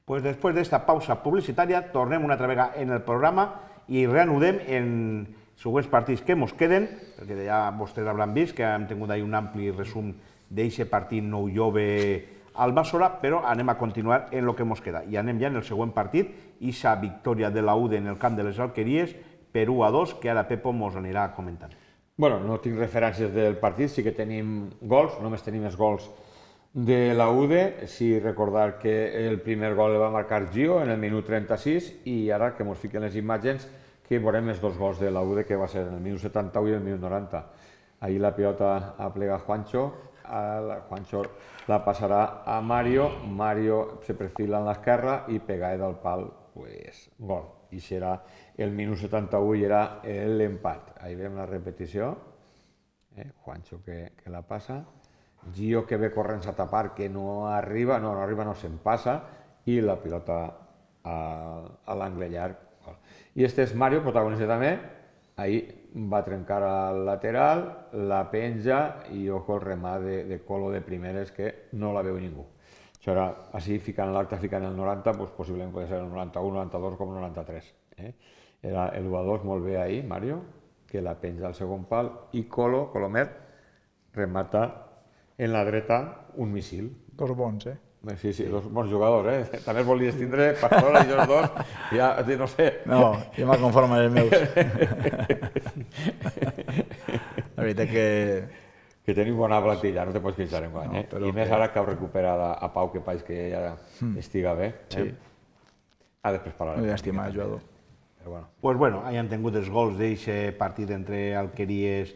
A: Pues després d'esta pausa publicitària tornem una altra vegada en el programa i reanudem en següents partits que mos queden, perquè ja vostès hauran vist que hem tingut ahí un ampli resum d'aquest partit nou jove al Bàssora, però anem a continuar en el que mos queda. I anem ja en el següent partit, aquesta victòria de la U D en el camp de les Alqueries, per u a dos, que ara Pepo mos anirà comentant.
C: Bueno, no tinc referències del partit, sí que tenim gols, només tenim els gols de la U D, sí recordar que el primer gol el va marcar Gio en el minut trenta-sis i ara que mos fiquen les imatges que veurem els dos gols de la U D que va ser en el minut setanta-u i el minut noranta. Ahí la pilota aplega Juancho, a Juancho la passarà a Mario, Mario se perfila en l'esquerra i pega del pal, pues, gol. I serà el minut setanta-u i era l'empat. Ahí veiem la repetició, eh? Juancho que, que la passa, Gio que ve corrents a tapar, que no arriba, no, no arriba, no se'n passa, i la pilota a, a l'angle llarg. I este és Mario, protagonista també, ahí va trencar al lateral, la penja i ojo el remat de, de Colo de primeres que no la veu ningú. Això era, així ficant l'acte, ficant el noranta, doncs possiblement pot ser el noranta-u, noranta-dos com el noranta-tres. Eh? Era el u a dos molt bé ahí, Mario, que la penja al segon pal, i Colo, Colomer, remata en la dreta un missil.
D: Dos bons, eh?
C: Sí, sí, dos bons jugadors, eh? També els volies tindre, Pastora i els dos, ja, no sé.
D: No, jo me'l conformo amb els meus. La veritat que...
C: Que tenim bona plantilla, no te pots queixar en guany, eh? I més ara que heu recuperat a Pau, que país que ja estiga bé.
D: Sí.
C: Ah, després parlarem.
D: Molt estimat jugador.
A: Pues bueno, ahí han tingut els gols d'aquest partit entre Alqueries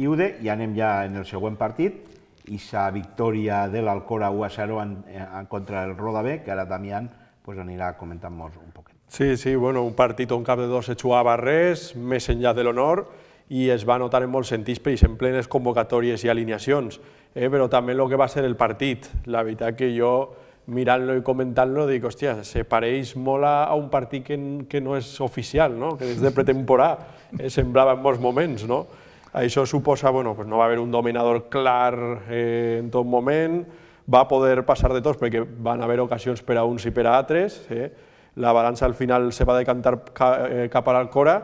A: i U D i anem ja en el següent partit. Esa victòria de l'Alcora u a zero en, en contra el Roda B, que ara Damián pues, anirà comentant-nos un poquet.
B: Sí, sí, bueno, un partit on cap de dos se jugava res, més enllà de l'honor, i es va notar en molts sentits, per exemple, en les convocatòries i alineacions, eh? Però també el que va ser el partit. La veritat que jo, mirant-lo i comentant-lo, dic, hòstia, se pareix molt a un partit que, que no és oficial, no? Que és de pretemporada, eh? Semblava en molts moments, no? Això suposa, bueno, pues no va haver un dominador clar eh, en tot moment, va poder passar de tots perquè van haver ocasions per a uns i per a altres, eh? La balança al final se va decantar ca, eh, cap a l'Alcora,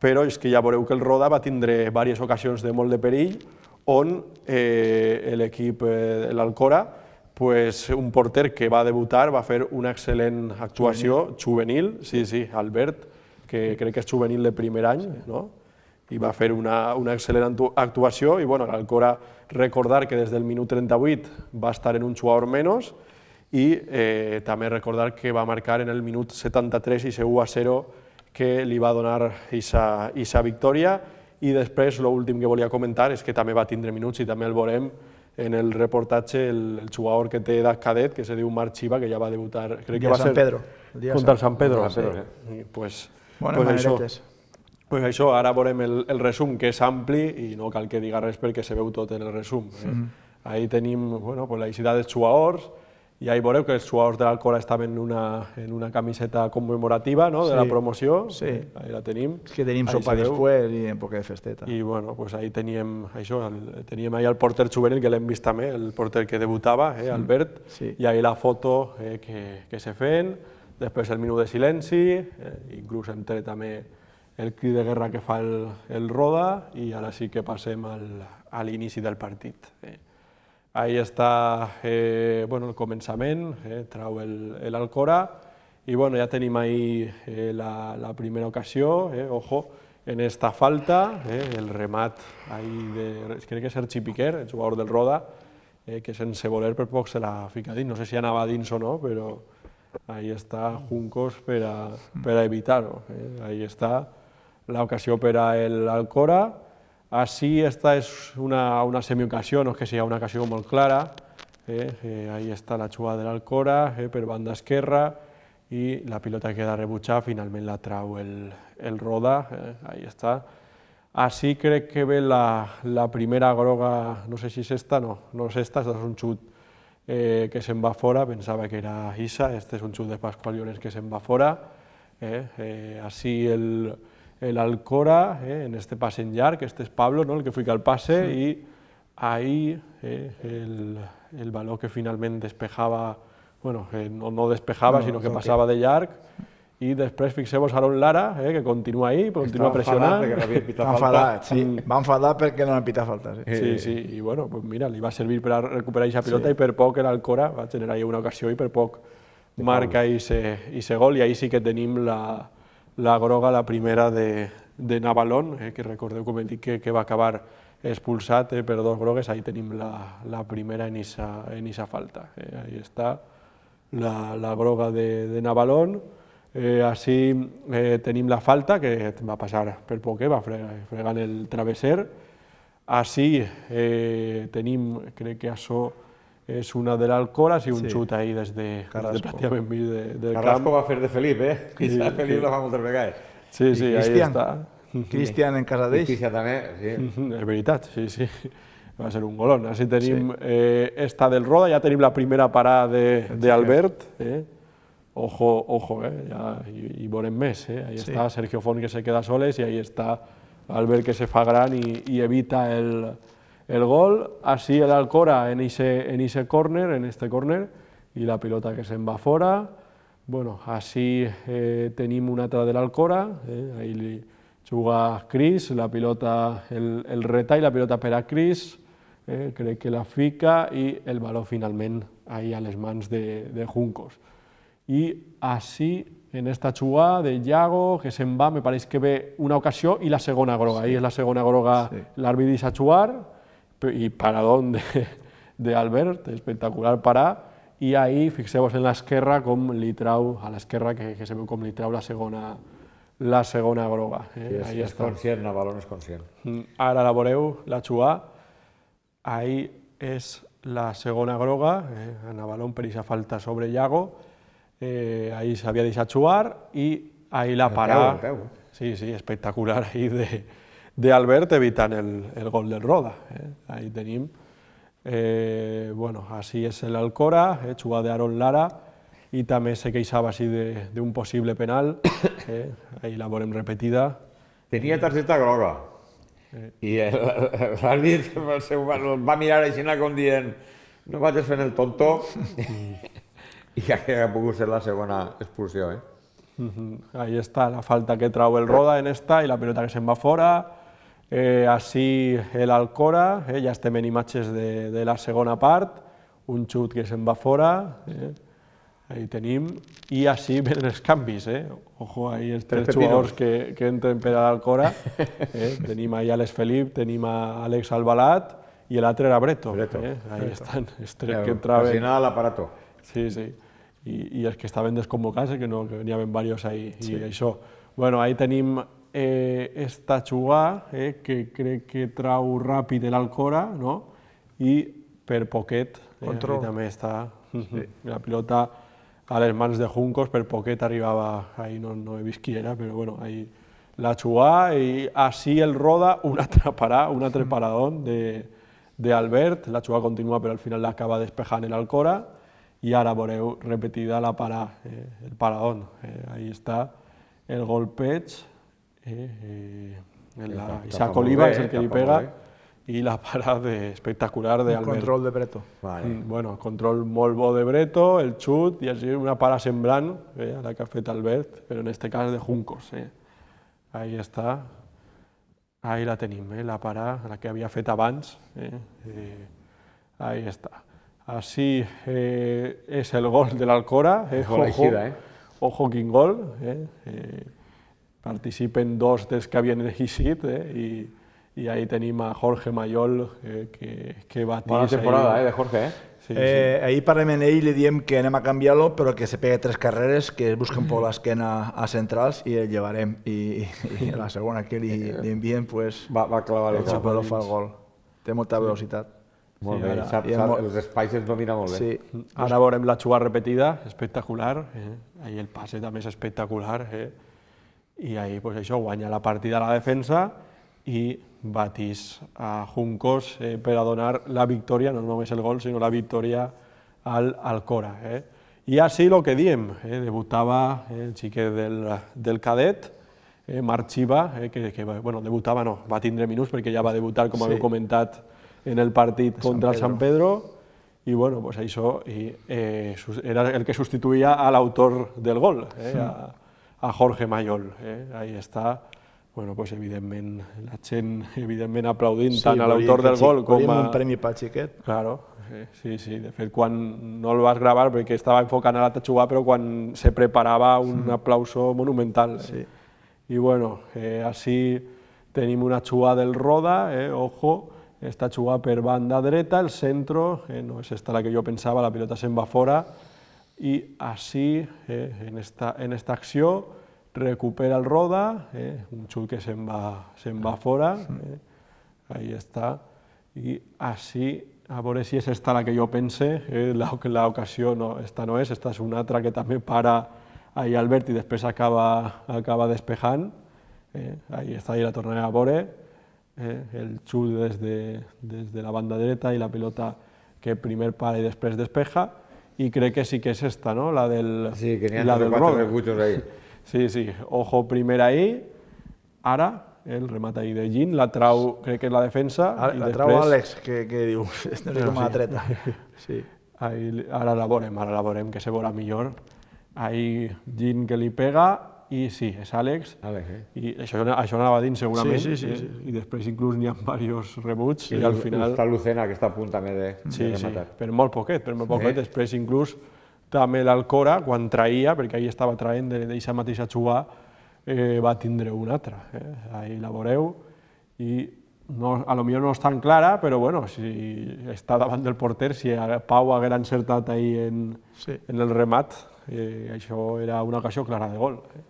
B: però és que ja veureu que el Roda va tindre diverses ocasions de molt de perill on eh, l'equip, eh, l'Alcora, pues, un porter que va debutar va fer una excel·lent actuació juvenil, sí, sí, Albert, que crec que és juvenil de primer any, no? I va fer una, una excel·lent actuació i bueno, l'Alcora recordar que des del minut trenta-vuit va estar en un jugador menys i eh, també recordar que va marcar en el minut setanta-tres i u a zero que li va donar aquesta victòria i després l'últim que volia comentar és que també va tindre minuts i també el veurem en el reportatge el, el jugador que té edat cadet que se diu Marc Chiva que ja va debutar crec que va ser contra el Sant Pedro. Pues això. Pues això, ara veurem el, el resum, que és ampli i no cal que diga res perquè se veu tot en el resum. Eh? Mm. Ahí tenim bueno, pues la identitat dels jugadors i ahí veureu que els jugadors de l'Alcora estaven en una, en una camiseta commemorativa no? de sí. la promoció.
D: Sí.
B: Ahí la tenim.
D: És que tenim sopa després i un poc de festeta.
B: I bueno, pues ahí teníem això, el, teníem ahí el porter juvenil que l'hem vist també, el porter que debutava, eh, Albert, sí. i ahí la foto eh, que, que se feien, després el minut de silenci, eh, inclús hem tret també el crit de guerra que fa el, el Roda i ara sí que passem al, a l'inici del partit. Eh. Ahí està eh, bueno, el començament, eh, trau l'Alcora i bueno, ja tenim ahí eh, la, la primera ocasió, eh, ojo, en esta falta, eh, el remat ahí de, crec que és Sergi Piquer, el jugador del Roda, eh, que sense voler per poc se l'ha ficat dins, no sé si anava dins o no, però ahí està Juncos per a, per a evitar-ho, eh. Ahí està l'ocasió per a l'Alcora. Així esta és una, una semiocasió, no és que sigui una ocasió molt clara. Eh? Eh, ahí està la jugada de l'Alcora eh, per banda esquerra i la pilota queda rebutjada, finalment la trau el, el Roda. Eh? Ahí està. Així crec que ve la, la primera groga, no sé si és esta, no, no és esta, és un xut eh, que se'n va fora, pensava que era Isa, este és un xut de Pascual Llorens que se'n va fora. Eh? Eh, així el l'Alcora, eh, en este pase en llarg, este és Pablo, ¿no? El que fica el pase, sí. I ahí eh, el, el baló que finalment despejava bueno, eh, no, no despejava, no, sinó que passava que... de llarg, i després fixeu-vos Aaron Lara, eh, que continua ahí, continua pressionant.
D: Va enfadar, sí, va enfadar perquè no l'han pitat falta. Sí,
B: sí, sí, i bueno, pues mira, li va servir per a recuperar aquesta pilota sí. I per poc l'Alcora va generar una ocasió i per poc marca aquest gol, i ahí sí que tenim la, la groga, la primera de, de Navalón, eh, que recordeu, com hem dit, que, que va acabar expulsat eh, per dos grogues, ahí tenim la, la primera en aquesta falta. Eh, ahí està la, la groga de, de Navalón. Eh, així eh, tenim la falta, que va passar per poc, eh, va fregant el travesser. Així eh, tenim, crec que això és una de l'Alcora, sí, un sí. Xut ahí des de, des de pràcticament mig de, del camp.
C: Carrasco va fer de Felip, eh? I sí, Felip sí. Lo fa moltes vegades.
B: Sí, sí, ahí està.
D: Cristian en casa d'ells.
C: Cristian també, sí.
B: És veritat, sí, sí. Va ser un golón. Així tenim sí. eh, esta del Roda, ja tenim la primera parada d'Albert. Eh? Ojo, ojo, eh? Ja hi, hi veurem més. Eh? Ahí sí. Està Sergio Font, que se queda soles, i ahí està Albert, que se fa gran i, i evita el, el gol. Així l'Alcora en ese córner, en este córner, i la pilota que se'n va fora. Bueno, així eh, tenim una altra de l'Alcora, eh? Ahí li juga Cris, la pilota, el, el retall, la pilota per a Cris, eh? Crec que la fica i el valor finalment ahí a les mans de, de Juncos. I així, en esta jugada de Yago, que se'n va, me pareix que ve una ocasió i la segona groga. Ahí és la segona groga, sí. L'àrbit deixa jugar, i paradón d'Albert, espectacular parar, i ahí fixeu-vos en l'esquerra com li trau, a l'esquerra que, que se veu com li trau la segona, la segona groga. Eh?
C: Sí, és,
B: ahí
C: és conscient, Navalón és conscient.
B: Ara la veureu, la jugada, ahí és la segona groga, eh? Navalón per aquesta falta sobre Yago, Eh, ahí s'havia deixat jugar i ahí la parada, sí, sí, espectacular ahí d'Albert evitant el, el gol del Roda. Eh? Ahí tenim, eh, bueno, així és l'Alcora, eh, jugada d'Aaron Lara, i també se queixava així d'un possible penal, eh? Ahí la veurem repetida.
C: Tenia targeta groga, eh. I l'àrbit va mirar així com dient no vaig fent el tonto, i que ha pogut ser la segona expulsió. Eh?
B: Uh-huh. Ahí està la falta que trau el Roda en esta i la pilota que se'n va fora. Eh, així l'Alcora, eh, ja estem en imatges de, de la segona part, un xut que se'n va fora, eh? Ahí tenim, i així venen els canvis. Eh? Ojo, ahí els tres jugadors que, que entren per a l'Alcora. Eh? Tenim ahí a Alex Felip, tenim a Àlex Albalat i l'altre era Breto.
C: Breto.
B: Eh? Ahí
C: Breto.
B: estan els tres que entraven.
C: Al final l'aparato.
B: Sí, sí. I, i els que estaven desconvocats, que no, que n'hi havia diversos ahí, sí. I això. Bueno, ahí tenim eh, esta jugada, eh, que crec que trau ràpid l'Alcora, no? I per poquet, eh, ahí també està sí. La pilota a les mans de Juncos, per poquet arribava, ahí no, no he vist qui era, però bueno, ahí la jugada, i així el Roda, un altre parà, un altre paradón d'Albert, la jugada continua, però al final l'acaba despejant l'Alcora, i ara veureu repetida la parada, eh, el paradón. Eh, ahí està el golpeig, eh, eh, la Isaac Oliva és el que li pega, i la parada espectacular d'Albert.
D: El control de Breto.
B: Vale. Bueno, control molt bo de Breto, el xut, i així una parada semblant eh, a la que ha fet Albert, però en aquest cas de Juncos. Eh. Ahí està, ahí la tenim, eh, la parada, la que havia fet abans. Eh, eh, ahí està. Així eh, és el gol de l'Alcora. Eh, ojo,
C: eh?
B: Ojo, quin gol. Eh, eh, participen dos dels que havien eixit, eh, i, i ahí tenim a Jorge Mayol, eh, que, que batís...
C: Bona temporada, ahí, eh, de Jorge, eh?
D: Sí, eh, sí. Ahir parlem amb ell i li diem que anem a canviar-lo, però que se pegue tres carreres, que es busquen per l'esquena a centrals i el llevarem. I, i la segona que li, li envien, pues,
C: va, va clavar el,
D: el xupador fa el gol. Té molta velocitat.
C: Molt sí, bé, ara, sap, sap, molt... els espais ens domina molt bé.
B: Sí. Ara veurem la jugada repetida, espectacular. Eh? Ahí el passe també és espectacular. Eh? I ahí pues, això guanya la partida a la defensa i batís a Juncos eh, per a donar la victòria, no només el gol, sinó la victòria al Alcora. Eh? I així el que diem, eh? debutava eh, el xiquet del, del cadet, eh, Marc Xiva, eh, que, que bueno, debutava no, va tindre minuts perquè ja va debutar, com sí. Haveu comentat, en el partit contra el San Pedro, i bueno, pues això i, eh, era el que substituïa a l'autor del gol, eh, a, a Jorge Mayol. Eh, ahí està. Bueno, pues evidentment, la gent evidentment aplaudint sí, tant a l'autor del gol com a...
D: Volíem un premi pel xiquet.
B: Claro, eh, sí, sí. De fet, quan no el vas gravar perquè estava enfocant a l'altre jugar, però quan se preparava un mm. aplauso monumental. Eh. Sí. I bueno, eh, així tenim una jugada del Roda, eh, ojo, esta jugada per banda dreta, el centro, eh, no és esta la que jo pensava, la pilota se'n va fora, i així, eh, en, esta, en esta acció, recupera el Roda, eh, un xut que se'n va, se'n va fora, eh, ahí està, i així, a veure si és esta la que jo pense, eh, l'ocasió no, esta no és, esta és una altra que també para ahí Albert i després acaba, acaba despejant, eh, ahí està, i la tornaré a veure, eh, el xut des de, des de la banda dreta i la pilota que primer para i després despeja, i crec que sí que és esta, no?, la del,
C: sí, que n'hi ha
B: la del
C: quatre rebutjos ahí.
B: Sí, sí, ojo primer ahí, ara, el remat ahí de Gin, la trau, crec que és la defensa.
D: La,
B: i
D: la
B: després...
D: trau Àlex, que, que diu, no sé com la treta. Sí.
B: Ahí, ara la veurem, ara la veurem, que se veurà millor. Ahí Gin que li pega, i sí, és Àlex,
C: Àlex eh?
B: i això, això anava dins segurament,
D: sí, sí, sí, sí.
B: i després inclús n'hi ha diversos rebuts,
C: i,
B: i al final...
C: Està Lucena, que està a punt també de,
B: sí,
C: de rematar.
B: Sí, per molt poquet, per molt poquet, eh? Després inclús també l'Alcora, quan traïa, perquè ahir estava traient d'aquesta mateixa jugada, eh, va tindre una altra. Eh? Ahí la veureu, i no, a lo millor no és tan clara, però bueno, si està davant del porter, si Pau haguera encertat ahir en, sí. en el remat, eh, això era una ocasió clara de gol. Eh?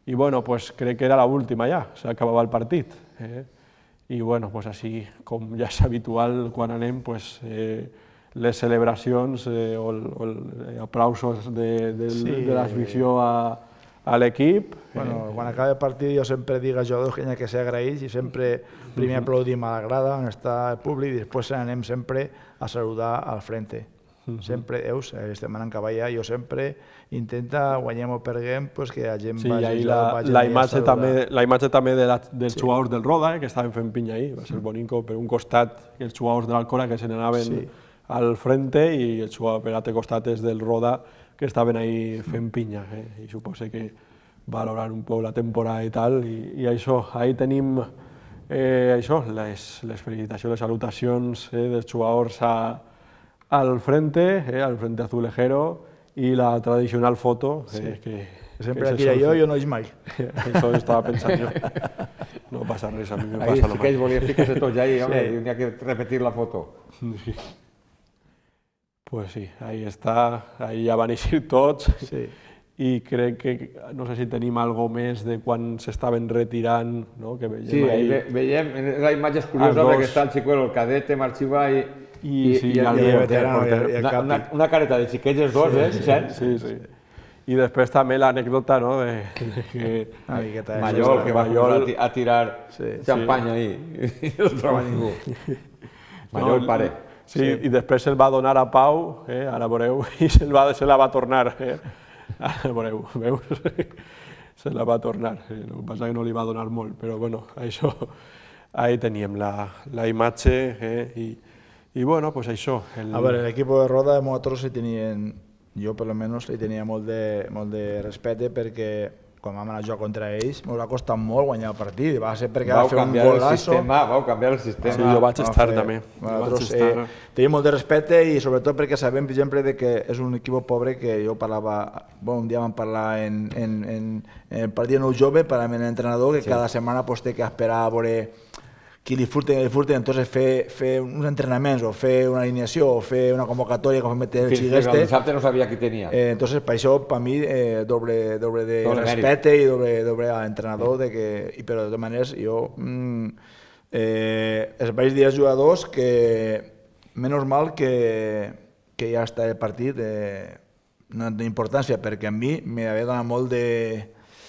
B: I bueno, pues crec que era l'última ja, s'acabava el partit. Eh? I bueno, pues així, com ja és habitual quan anem, pues, eh, les celebracions eh, o, el, o els aplausos de, de, sí. de l'afició a, a l'equip.
D: Bueno, eh, quan acaba el partit jo sempre dic als jugadors que hi ha que ser agraïts i sempre primer uh -huh. aplaudim a la grada on està el públic i després anem sempre a saludar al frente. Uh -huh. Sempre, eus, estem anant cap allà, jo sempre intenta, guanyem o perguem, pues, que la gent
B: sí,
D: vagi,
B: la,
D: vagi
B: la, imatge també, la imatge també de la, dels
D: sí.
B: jugadors del Roda, eh, que estaven fent pinya ahir, va ser bonico, per un costat els jugadors de l'Alcora que se n'anaven sí. al frente i el jugador per l'altre costat és del Roda que estaven ahí fent pinya, eh? I suposo que valorar un poc la temporada i tal, i, i això, ahí tenim eh, això, les, les felicitacions, les salutacions eh, dels jugadors a, al frente, eh, al frente azulejero, i la tradicional foto, eh,
D: sí.
B: que,
D: sempre
B: que
D: la tira jo, jo no és mai.
B: Això estava pensant jo. No passa res, a mi me passa
C: ahí
B: lo
C: sí
B: mateix.
C: que ells volien ficar-se tots allà, home, sí. i n'hi ha que repetir la foto.
B: Sí. Pues sí, ahí està, ahí ja van eixir tots, sí. i crec que, no sé si tenim algo més de quan s'estaven retirant, no? Que veiem
C: sí,
B: ahí...
C: ve, veiem, la imatge és curiosa perquè està el xicuelo, el cadete, Marxiva i...
B: I, sí, i,
C: i,
B: el,
C: i, el,
B: porter,
C: el, porter, el, una, una, una careta de xiquets els dos, eh, Vicent?
B: Sí, sí. I després també l'anècdota, no?, de, de que
D: Ai, que
C: Mayol, que va
B: Mayol...
C: a, a tirar sí, xampanya sí. ahí, i no es troba ningú. Mayol, no, pare.
B: Sí, sí, i després se'l va donar a Pau, eh, ara veureu, i se'l va, se la va tornar, eh. Ara veureu, veus? Se la va tornar, eh. El que passa que no li va donar molt, però bueno, això, ahí teníem la, la imatge, eh, i, i bueno, pues això. El...
D: A veure, l'equip de Roda, nosaltres li tenien, jo per almenys li tenia molt de, molt de respecte perquè quan vam anar a jugar contra ells ens va costar molt guanyar el partit, va ser perquè va fer un golasso.
C: Vau canviar el sistema.
B: Sí, jo vaig estar també.
D: Nosaltres eh, tenim molt de respecte i sobretot perquè sabem, per exemple, de que és un equip pobre que jo parlava, bueno, un dia vam parlar en, en, en, en el partit nou jove, parlàvem amb l'entrenador, que sí. cada setmana pues, té que esperar a veure qui li furten, li furten, entonces fer, fer uns entrenaments o fer una alineació o fer una convocatòria com meter el xigueste.
C: El dissabte no sabia qui tenia.
D: Eh, entonces, per això, per mi, eh, doble, doble de doble respecte mèrit. I doble, doble a l'entrenador, de que, i, però de totes maneres, jo mm, eh, els vaig dir als jugadors que, menys mal que, que ja està el partit, eh, no té importància, perquè a mi m'havia donat molt de...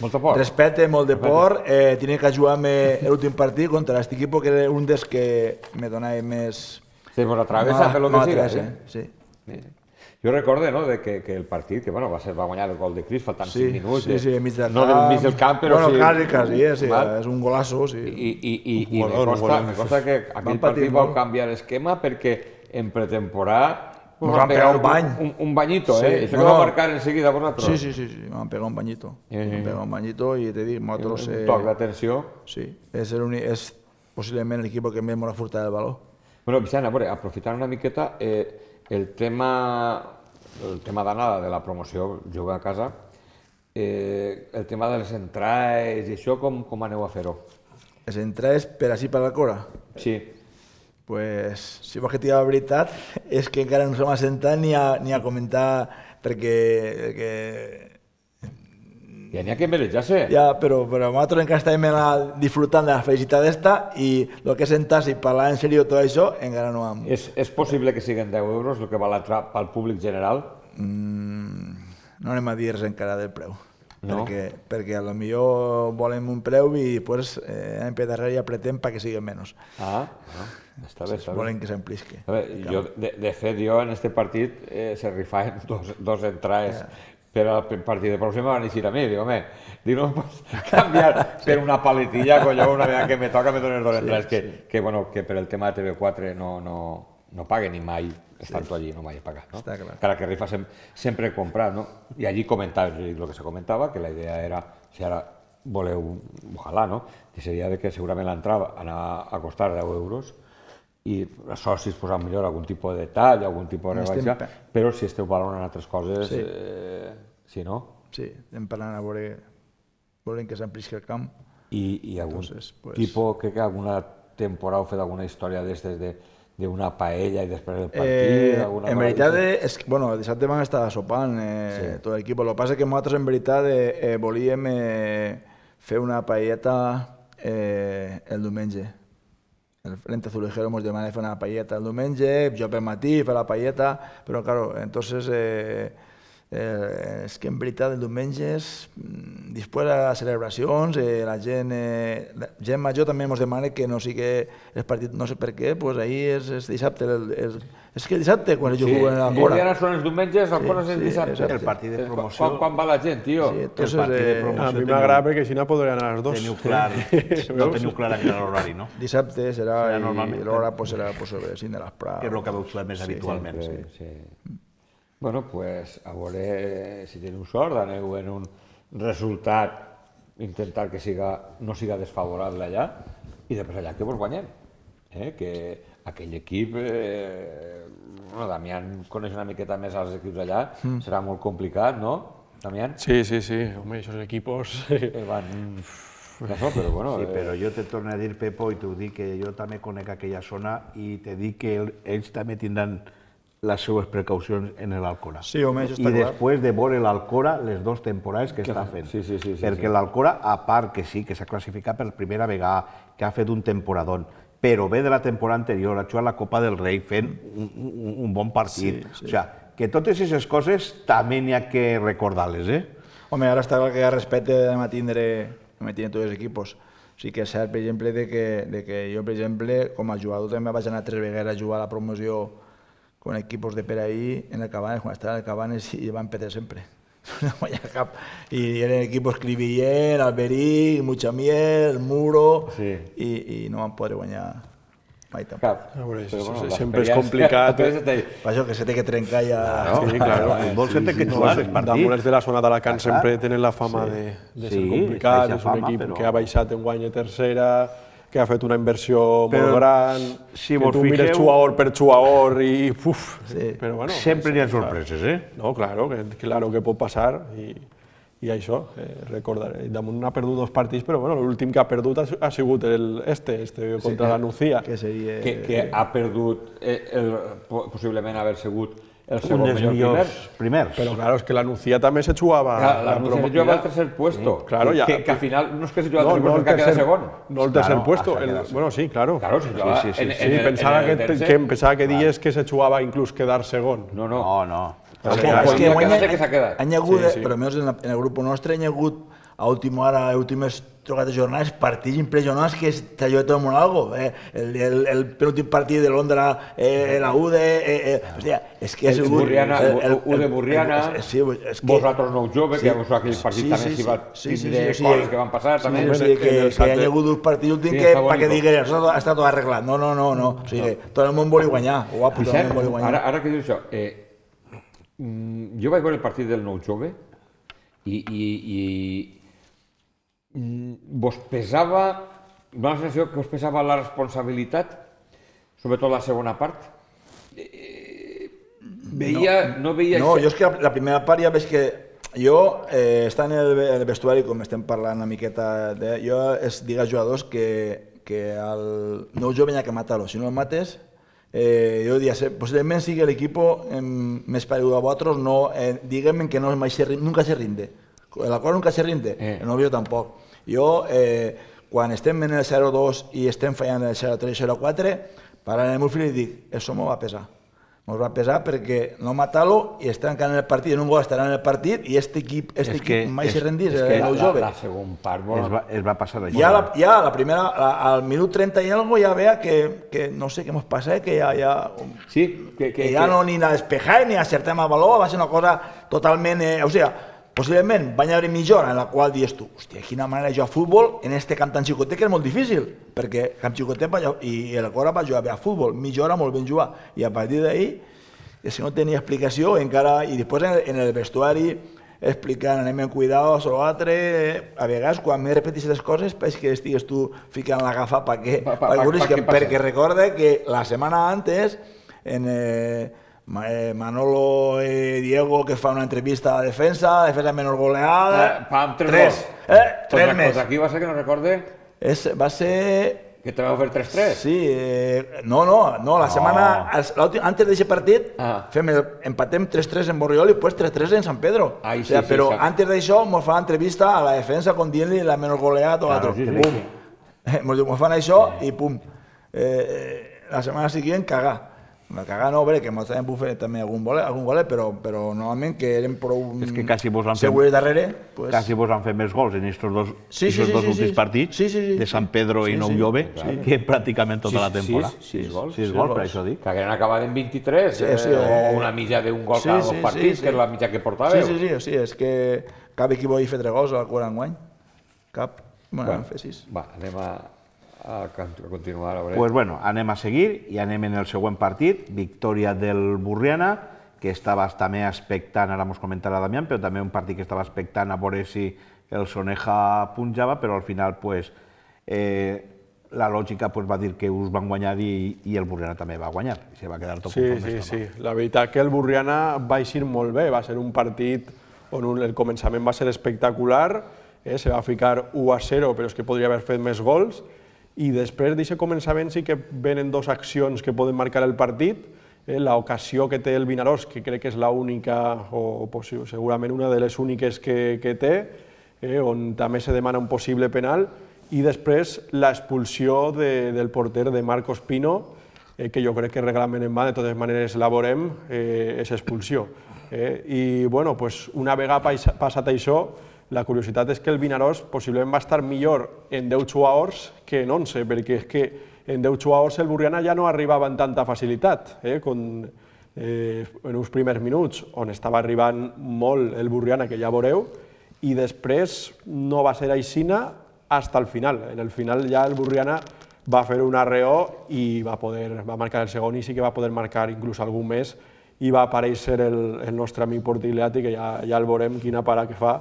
C: Molt de por.
D: Respecte, molt de por. Eh, tenia que jugar-me l'últim partit contra aquest equip, que era un dels que me donava més...
C: Sí, pues la travessa, per lo que siga.
D: Sí. Sí.
C: Sí. Jo recordo, no, de que, que el partit, que bueno, va, ser, va guanyar el gol de Cris, faltant
D: sí,
C: cinc minuts.
D: Sí, sí, mig del
C: no
D: camp.
C: del mig del camp, però
D: bueno,
C: sí.
D: Bueno, quasi, quasi, eh, sí, és un golasso, sí.
C: I, i, i, i me, costa, me costa que aquell partit va canviar l'esquema perquè en pretemporada
D: Nos han pegado un bany.
C: Un, un bañito,
D: Sí,
C: ¿eh? Eso
D: no,
C: que va a
D: no.
C: marcar enseguida vosotros.
D: Sí, sí, sí, sí, me han pegado un bañito.
C: Eh.
D: Me han pegado un bañito y te digo, nosotros...
C: Un
D: eh,
C: toc d'atenció.
D: Sí, és, el uni, és possiblement l'equip que més m'ha furtat el valor.
C: Bueno, Vicent, a veure, aprofitant una miqueta, eh, el tema, el tema d'anada de la promoció, jugar a casa, eh, el tema de les entrades i això, com, com aneu a fer-ho?
D: Les entrades per així per la Cora?
C: Sí.
D: Pues, si vols que t'hi la veritat, és que encara no s'hem assentat ni a, ni a comentar, perquè... perquè
C: Ja n'hi ha que mereixar-se.
D: ja, però, però nosaltres encara estàvem la, disfrutant de la felicitat d'esta i el que és sentar-se i parlar en sèrio tot això, encara no hem...
C: És, és possible que siguin deu euros el que val l'entrada pel públic general?
D: Mm, no anem a dir res encara del preu.
C: No?
D: Perquè, perquè a lo millor volem un preu i després eh, anem per darrere i apretem perquè sigui menys.
C: Ah, ah, està bé, està bé.
D: Volen que s'emplisqui.
C: A veure, jo, de, de fet, jo en este partit eh, se rifaven dos, dos entrades yeah. per al partit de pròxim van eixir a mi, dic, home, dic, no em pots canviar per una paletilla, colló, una vegada que me toca me dones dos entrades, sí, que, sí. que, bueno, que per el tema de T V quatre no, no, no paguen ni mai, estan sí. allí, no mai he pagat, no?
D: Està clar.
C: Cara que rifa sem sempre he comprat, no? I allí comentava, el que se comentava, que la idea era, si ara voleu, ojalà, no? Que seria de que segurament l'entrada anava a costar deu euros, i els socis posaran millor algun tipus de detall, algun tipus de rebaixa, però si esteu valorant altres coses, sí, eh, sí no?
D: Sí, estem parlant a veure, volem que s'emplisqui el camp.
C: I, i algun
D: Entonces, pues...
C: tipus, crec que alguna temporada heu fet alguna història d'estes de d'una paella i després del partit?
D: Eh,
C: alguna
D: en veritat, és, bueno, dissabte van estar sopant eh, sí. tot l'equip. El que passa és que nosaltres en veritat eh, eh, volíem eh, fer una paelleta eh, el diumenge. El Frente Azulejero ens demana fer una paelleta el diumenge, jo per matí fer la paelleta, però claro, entonces eh, eh, és que en veritat el diumenge és després de les celebracions, eh, la gent, eh, la gent major també ens demana que no sigui el partit, no sé per què, pues ahir és, és dissabte, el, el, és que el dissabte quan ells sí. juguen a la Cora.
C: I ara són els diumenges, el Cora sí, és el dissabte.
A: Sí, el partit de promoció.
C: Quan, quan va la gent, tio?
D: Sí, entonces,
A: el partit de
D: eh,
A: promoció.
B: A mi m'agrada perquè si no podrien anar a les dos.
A: Teniu clar, no teniu clar encara l'horari, no?
D: Dissabte serà,
A: serà
D: i l'hora pues, serà pues, sobre cinc de les Prades.
A: Que és el que veu fer més habitualment.
C: Sí, sí. Bueno, pues a veure si teniu sort, aneu en un resultat, intentar que siga, no siga desfavorable allà, i després allà que vos guanyem. Eh? Que aquell equip, eh, bueno, Damián coneix una miqueta més als equips allà, mm. serà molt complicat, no, Damián?
B: Sí, sí, sí, home, aquests equipos...
C: Eh, van... No, però bueno...
A: Sí, però jo te torno a dir, Pepo, i t'ho dic, que jo també conec aquella zona i te dic que ells també tindran les seues precaucions en l'Alcora.
D: Sí, home, això està
A: I
D: clar.
A: després de veure l'Alcora les dues temporades que, que està fent.
C: Sí, sí, sí, sí,
A: Perquè
C: sí.
A: l'Alcora, a part que sí, que s'ha classificat per primera vegada, que ha fet un temporadón, però ve de la temporada anterior, ha jugat la Copa del Rei fent un, un, un bon partit. Sí, sí. O sigui, que totes aquestes coses també n'hi ha que recordar-les, eh?
D: Home, ara està clar que hi ha respecte de tindre, de tindre tots els equipos. Sí que és cert, per exemple, de que, de que jo, per exemple, com a jugador també vaig anar tres vegades a jugar a la promoció con equipos de per ahí en el Cabanes, quan estava en el Cabanes i van perder sempre. No guanyar cap. I eren equipos Cribillén, Alberic, Muchamiel, Muro, sí. i, i no van poder guanyar mai tampoc.
C: Cap.
B: A veure,
C: Però, bueno,
B: sempre és complicat.
C: Eh?
D: Per això que se té que trencar ja...
B: No, sí, claro.
A: El futbol se té que jugar els partits.
B: Damunt de la zona d'Alacant sempre tenen la fama sí. de, de ser
A: sí,
B: complicat, és un
A: fama,
B: equip
A: però...
B: que ha baixat en guany de tercera, que ha fet una inversió
A: però,
B: molt gran,
A: si
B: que tu mires jugador per jugador i... Uf,
D: sí.
B: però bueno,
A: sempre n'hi ha sorpreses, eh?
B: No, claro, que, claro que pot passar i, i això, eh, recordar, Damunt ha perdut dos partits, però bueno, l'últim que ha perdut ha, ha sigut el, este, este contra sí, la Nucía.
D: Que, seria...
C: que, que ha perdut, eh, el, possiblement haver sigut el segon millor
A: millors primers.
B: Però claro, és que la Nucía també se jugava...
C: Claro, la Nucía se jugava al tercer puesto. Sí, claro, ya, que, que al final no es que se jugaba al tercer puesto, que queda segon.
B: No el tercer claro, puesto, el, bueno, sí, claro.
C: Claro, se jugaba
B: sí, sí, sí,
C: en,
B: sí,
C: en,
B: sí,
C: en
B: pensava
C: en el
B: que,
C: tercer.
B: que, pensava que dies que se jugava inclús quedar segon.
C: No, no.
A: No, no.
D: És que
C: han
D: hagut, però almenys en el grup nostre, han hagut a última hora, a últimes trocades jornades, partits impressionants que t'ajuda tot el món algo. El penúltim partit de Londra, la U D E... Hòstia, és que ha sigut...
C: U D Burriana, vosaltres nou jove, que aquell partit també s'hi va tindre coses que van passar, també.
D: O sigui, que hi ha hagut uns partits últims que, perquè diguin, això està tot arreglat. No, no, no, no. O sigui, tot el món vol guanyar. Guapo, tot el món vol guanyar.
C: Ara que dius això, jo vaig veure el partit del nou jove i vos pesava, una sensació que us pesava la responsabilitat, sobretot la segona part. Veia, no veia...
D: No, jo és que la primera part ja veig que jo, estant en el vestuari, com estem parlant una miqueta, jo es dic als jugadors que el nou jove n'hi ha que matar-lo. Si no el mates, jo diria, possiblement sigui l'equip més paregut a vosaltres, diguem que nunca se rinde. La cosa nunca se rinde, el novio tampoc. Jo, quan estem en el zero dos i estem fallant el zero tres zero quatre, parlant amb el meu fill i dic, això m'ho va pesar. M'ho va pesar perquè no matar-lo i estar encara en el partit, en un gol estarà en el partit i aquest equip mai se rendís, el nou jove.
C: La segona part
A: es va passar d'això.
D: Ja la primera, al minut trenta i algo ja veia que no sé què ens passa, que ja no ni a despejar ni a acertar amb el valor, va ser una cosa totalment... O sigui, possiblement va haver mitja hora en la qual dius tu, hòstia, quina manera de jugar a futbol en este camp tan xicotet que és molt difícil, perquè camp xicotet i el Cora va jugar bé a futbol, mitja hora molt ben jugar, i a partir d'ahí, si no tenia explicació, encara, i després en el vestuari, explicant, anem en cuidados o l'altre, a vegades quan m'he repetit les coses, és que estigues tu ficant la gafa perquè recorde que la setmana antes, en... Manolo y Diego, que fa una entrevista a la defensa, defensa menor goleada...
C: Pam, tres
D: gols. Tres més.
C: Aquí va ser que no recorde...
D: Va ser...
C: Que te vau fer tres tres?
D: Sí, no, no, la setmana... Antes d'aquest partit, empatem tres tres en Borriol i després tres tres en San Pedro. Però antes d'això, ens fa l'entrevista a la defensa con dient-li la menor goleada, tot l'altre. Ens fan això i pum. La setmana següent, cagar. La cagada no, bé, que ens vam fer també algun golet, però normalment que eren prou segurs darrere...
A: Quasi vos han fet més gols en aquests dos últims partits de San Pedro i Nou Jove que pràcticament tota la temporada.
C: Sis gols.
A: Sis gols, per això dic.
C: Que hagueren acabat en vint-i-tres o una mitja d'un gol cada dos partits, que és la mitja que portàveu.
D: Sí, sí, sí, és que cap equip vol fer tres gols a la cura enguany. Cap. Bueno, vam fer sis.
C: Va, anem a... a continuar. A
A: pues bueno, anem a seguir i anem en el següent partit, victòria del Burriana, que estava també expectant, ara mos comentarà Damián, però també un partit que estava expectant a veure si el Soneja punjava, però al final pues, eh, la lògica pues, va dir que us van guanyar i, i el Burriana també va guanyar. I se va quedar tot
B: sí, sí, sí. La veritat que el Burriana va eixir molt bé, va ser un partit on un, el començament va ser espectacular, eh, se va ficar u a zero, però és que podria haver fet més gols, i després d'aquest començament sí que venen dues accions que poden marcar el partit, l'ocasió que té el Vinaròs, que crec que és l'única, o segurament una de les úniques que té, on també se demana un possible penal, i després l'expulsió del porter de Marcos Pino, que jo crec que reglament en va, de totes maneres la veurem, és expulsió. I una vegada passat això, la curiositat és que el Vinaròs possiblement va estar millor en deu jugadors que en onze, perquè és que en deu jugadors el Burriana ja no arribava amb tanta facilitat. En uns primers minuts, on estava arribant molt el Burriana, que ja veureu, i després no va ser aixina fins al final. En el final ja el Burriana va fer un arreó i va marcar el segon i sí que va poder marcar inclús algun més i va aparèixer el nostre amic Portigliati, que ja el veurem quina para que fa.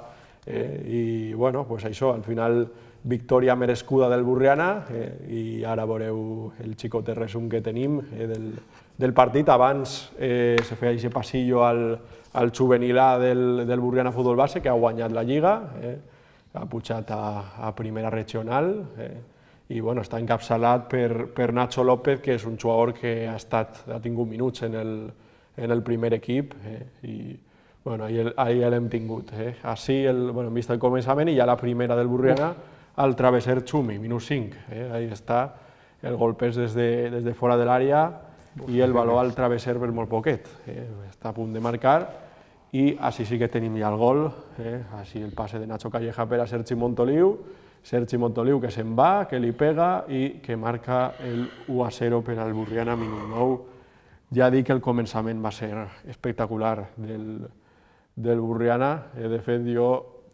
B: I bueno, pues això, al final victòria merescuda del Burriana i ara veureu el xicot resum que tenim del partit. Abans se feia aquest passillo al juvenil A del Burriana Futbol Base, que ha guanyat la Lliga, ha pujat a primera regional i està encapçalat per Nacho López, que és un jugador que ha tingut minuts en el primer equip i ahir l'hem tingut. Així hem vist el començament i ja la primera del Burriana al travesser Xumi, minus cinc. Ahí està, el golpes des de fora de l'àrea i el valor al travesser per molt poquet. Està a punt de marcar i així sí que tenim ja el gol, així el passe de Nacho Calleja per a Sergi Montoliu, Sergi Montoliu que se'n va, que li pega i que marca el u a zero per al Burriana, minut nou. Ja dic que el començament va ser espectacular del Burriana, de fet jo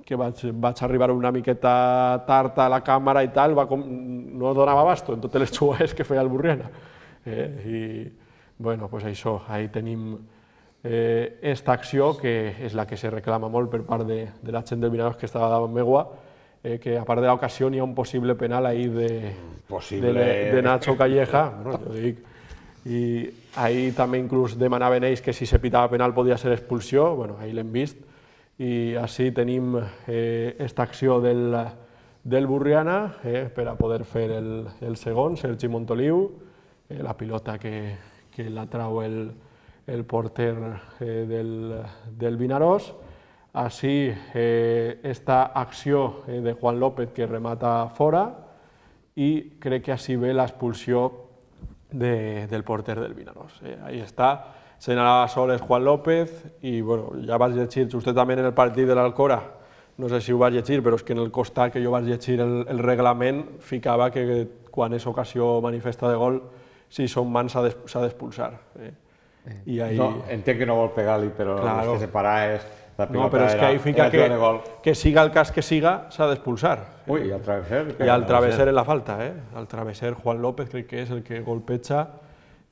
B: que vaig arribar una miqueta tard a la càmera i tal, no donava abasto en totes les jugades que feia el Burriana. I, bueno, doncs això, ahí tenim esta acció, que és la que se reclama molt per part de la gent del Vinaros que estava davant meua, que a part de l'ocasió hi ha un possible penal ahí de Nacho Calleja, jo dic, i ahí també inclús demanaven ells que si se pitava penal podia ser expulsió, bueno, ahí l'hem vist, i així tenim esta acció del Burriana per a poder fer el segon, Sergi Montoliu, la pilota que la trau el porter del Vinaròs. Així, esta acció de Juan López que remata fora i crec que així ve l'expulsió del porter del Vinaròs. Ahí està, senyalava soles Juan López i ja vaig llegir justament en el partit de l'Alcora, no sé si ho vaig llegir, però és que en el costat que jo vaig llegir el reglament ficava que quan és ocasió manifesta de gol, si són mans s'ha d'expulsar.
C: Entenc que no vol pegar-li, però el que separa és...
B: No, però és que ahí fica que siga el cas que siga, s'ha d'expulsar.
C: Ui, i el travesser?
B: I el travesser en la falta, eh? El travesser Juan López crec que és el que golpeja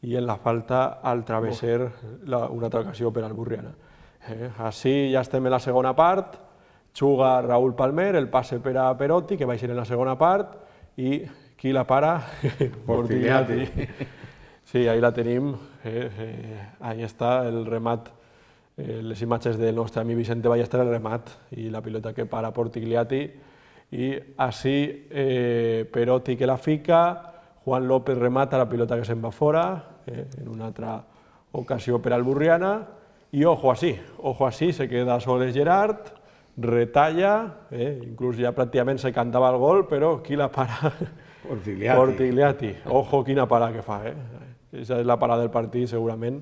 B: i en la falta al travesser una altra ocasió per al Burriana. Així ja estem en la segona part, juga Raúl Palmer, el passe per a Perotti, que va ser en la segona part, i qui la para?
C: Portigliati.
B: Sí, ahí la tenim, ahí està el remat, les imatges del nostre amic Vicente Ballester, el remat i la pilota que para Portigliati, i així Perotti que la fica, Juan López remata la pilota que se'n va fora, en una altra ocasió per al Burriana, i ojo així, ojo així, se queda soles Gerard, retalla, inclús ja pràcticament se cantava el gol, però qui la para? Portigliati. Ojo quina parada que fa, eh? Aquesta és la parada del partit, segurament,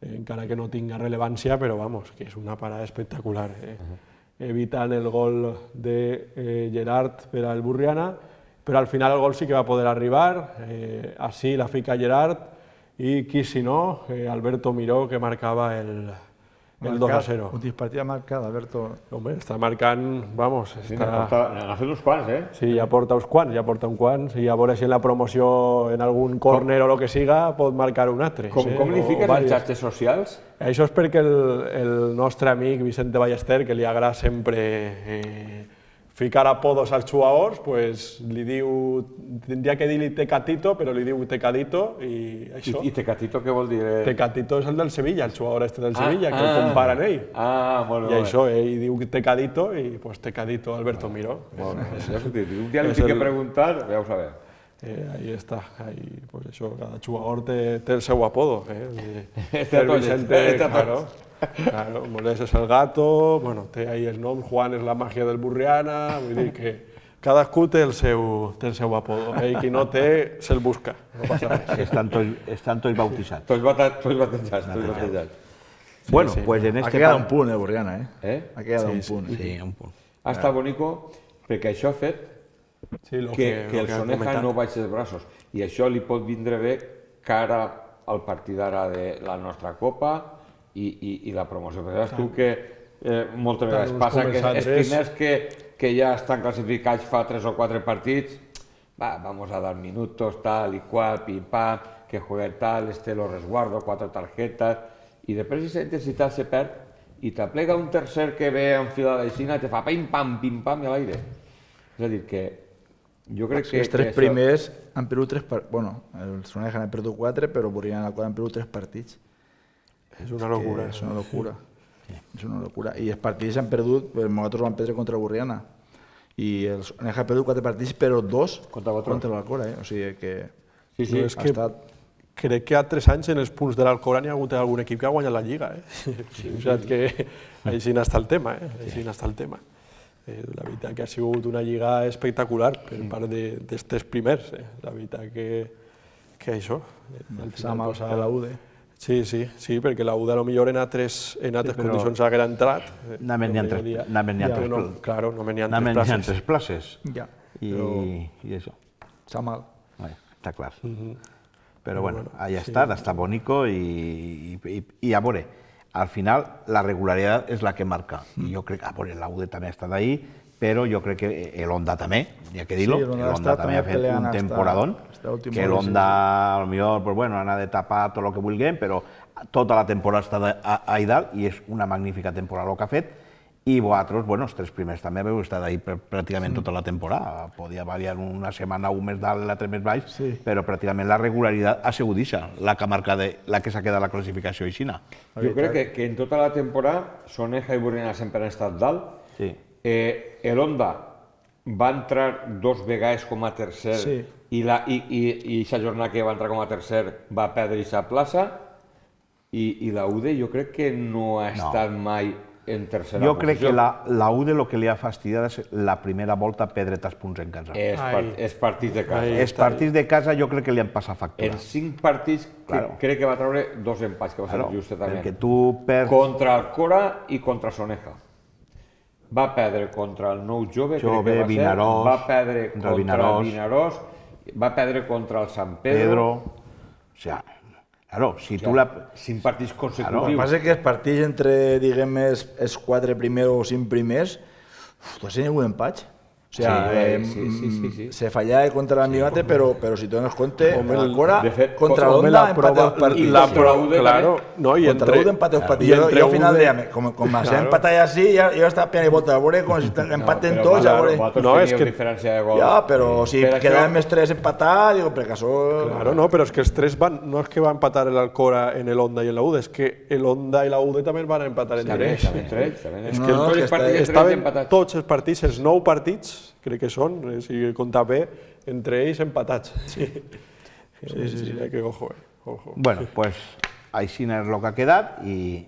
B: encara que no tinga rellevància, però vamos, que és una parada espectacular. Evitant el gol de Gerard per al Burriana, però al final el gol sí que va poder arribar, així la fica Gerard, i qui si no, Alberto Miró, que marcava el dos a zero.
D: Un partida marcat, Alberto.
B: Home, està marcant, vamos...
C: N'ha fet uns quants, eh?
B: Sí, ja porta uns quants, ja porta uns quants, i a veure si en la promoció, en algun córner o el que siga, pot marcar un altre.
C: Com li fiques en xarxes socials?
B: Això és perquè el nostre amic Vicente Ballester, que li agrada sempre ficar apodos als jugadors, pues li diu, tindria que dir-li Tecatito, però li diu Tecadito i això.
C: I Tecatito què vol dir?
B: Tecatito és el del Sevilla, el jugador este del Sevilla, que el comparen ell.
C: Ah, molt bé.
B: I això, ell diu Tecadito i pues Tecadito Alberto Miró.
C: Un dia li tinc que preguntar, ja ho sabem.
B: Ahí està, pues això, cada jugador té el seu apodo.
C: Este a tots, este a tots.
B: Claro, Molés és el gato, bueno, té ahí el nom, Juan és la màgia del Burriana, vull dir que cadascú té el seu apodo, i qui no té, se'l busca, no passa res.
A: Estan tots bautitzats.
C: Tots batejats, tots batejats.
A: Bueno, pues en este...
D: Ha quedat un punt, eh, Burriana, eh?
C: Ha
D: quedat un punt.
F: Sí, un punt.
C: Ha estat bonico, perquè això ha fet que el Soneja no baixi els braços, i això li pot vindre bé cara al partit d'ara de la nostra Copa, i la promoció. Perquè saps tu que moltes vegades passa que els primers que ja estan classificats fa tres o quatre partits, va, vamos a dar minutos, tal i qual, pim pam, que juegue tal, este lo resguardo, quatre tarjetes, i després aquesta intensitat se perd i t'aplega un tercer que ve enfilada d'aixina i te fa pim pam, pim pam i a l'aire. És a dir, que jo crec que...
D: Els tres primers han perdut tres partits, bueno, el Soneja han perdut quatre, però Burriana han perdut tres partits.
B: És una locura.
D: És una locura. És una locura. I els partits s'han perdut, nosaltres vam perdre contra Burriana. I el Soneja ha perdut quatre partits, però dos contra l'Alcora. O sigui que
B: ha estat... Crec que a tres anys en els punts de l'Alcora n'hi ha hagut algun equip que ha guanyat la Lliga. O sigui que així n'està el tema. Així n'està el tema. La veritat que ha sigut una Lliga espectacular per part d'aquests primers. La veritat que això...
D: Sam a la U D E.
B: Sí, sí, sí, perquè la U D A potser en altres, en altres sí, condicions haguera entrat.
A: Només n'hi ha tres,
B: no, claro, només n'hi ha tres
A: places.
B: places.
A: tres places.
D: Ja.
A: I, i això.
D: Està mal.
A: Bueno, està clar. Uh -huh. Però bueno, ahí sí. Està, està bonico i, i, i a veure, al final la regularitat és la que marca. I jo crec que, a veure, la U D A també ha estat ahí, però jo crec que l'Honda també, hi ha que dir-ho, sí, l'Honda també ha fet un temporadón, que l'Honda, potser, pues bueno, anar de tapar tot el que vulguem, però tota la temporada està ahí dalt i és una magnífica temporada el que ha fet, i vosaltres, bueno, els tres primers també heu estat ahí pràcticament tota la temporada. Podia variar una setmana un més dalt, l'altre més baix, sí. Però pràcticament la regularitat ha sigut això, la que marca de, la que s'ha quedat la classificació aixina.
C: Jo crec que, que en tota la temporada Soneja i Burriana sempre han estat dalt.
A: Sí.
C: Eh, L'Honda va entrar dos vegades com a tercer sí. i aquesta jornada que va entrar com a tercer va perdre aquesta plaça i, i la U D A jo crec que no ha estat no. mai en tercera
A: jo
C: posició.
A: Crec que la, la U D A el que li ha fastidiat és la primera volta perdre tants punts en casa.
C: És, part, és partits de casa.
A: Ai, els partits de casa jo crec que li han passat factura.
C: En cinc partits claro. crec que va treure dos empats, que va
A: claro,
C: ser just també.
A: Perquè tu perds...
C: Contra el Cora i contra Soneja. Va perdre contra el Nou Jove,
A: Jove
C: crec que va
A: Vinaròs,
C: ser. Va perdre contra el
A: Vinaròs,
C: Vinaròs, va perdre contra el Sant Pedro.
A: Pedro. O sigui, claro, si tu la...
C: Cinc partits consecutius.
D: Claro, el que passa és que els partits entre, diguem, els, els quatre primers o cinc primers, uf, tu has tingut un empat. O sigui,
C: sí,
D: eh,
C: sí, sí, sí, sí.
D: se fallava contra l'Amigate, sí, però, però si dones compte,
B: home,
D: el Cora
B: fet,
D: contra l'Honda empate dos partits.
B: La prova, claro, no, i
D: contra l'Honda empate dos partits. Jo, jo al final deia, com, com m'has
B: claro.
D: empatat així, ja, jo estava piant i volta, a veure com si empaten
C: no,
D: tots, a veure...
C: No, és que... diferència de gol.
D: Ja, però si
C: per
D: quedàvem els tres empatats, digo, per caso...
B: Claro, no, però és que els tres van, no és que va empatar l'Alcora en l'Honda i en la U D A, és que l'Honda i la U D A també van empatar entre ells. És que estaven tots els partits, els nou partits, crec que són, si compta bé, entre ells empatats. Sí, sí, sí, sí. Que ojo, eh. Ojo.
A: Bueno, pues així és el que ha quedat i,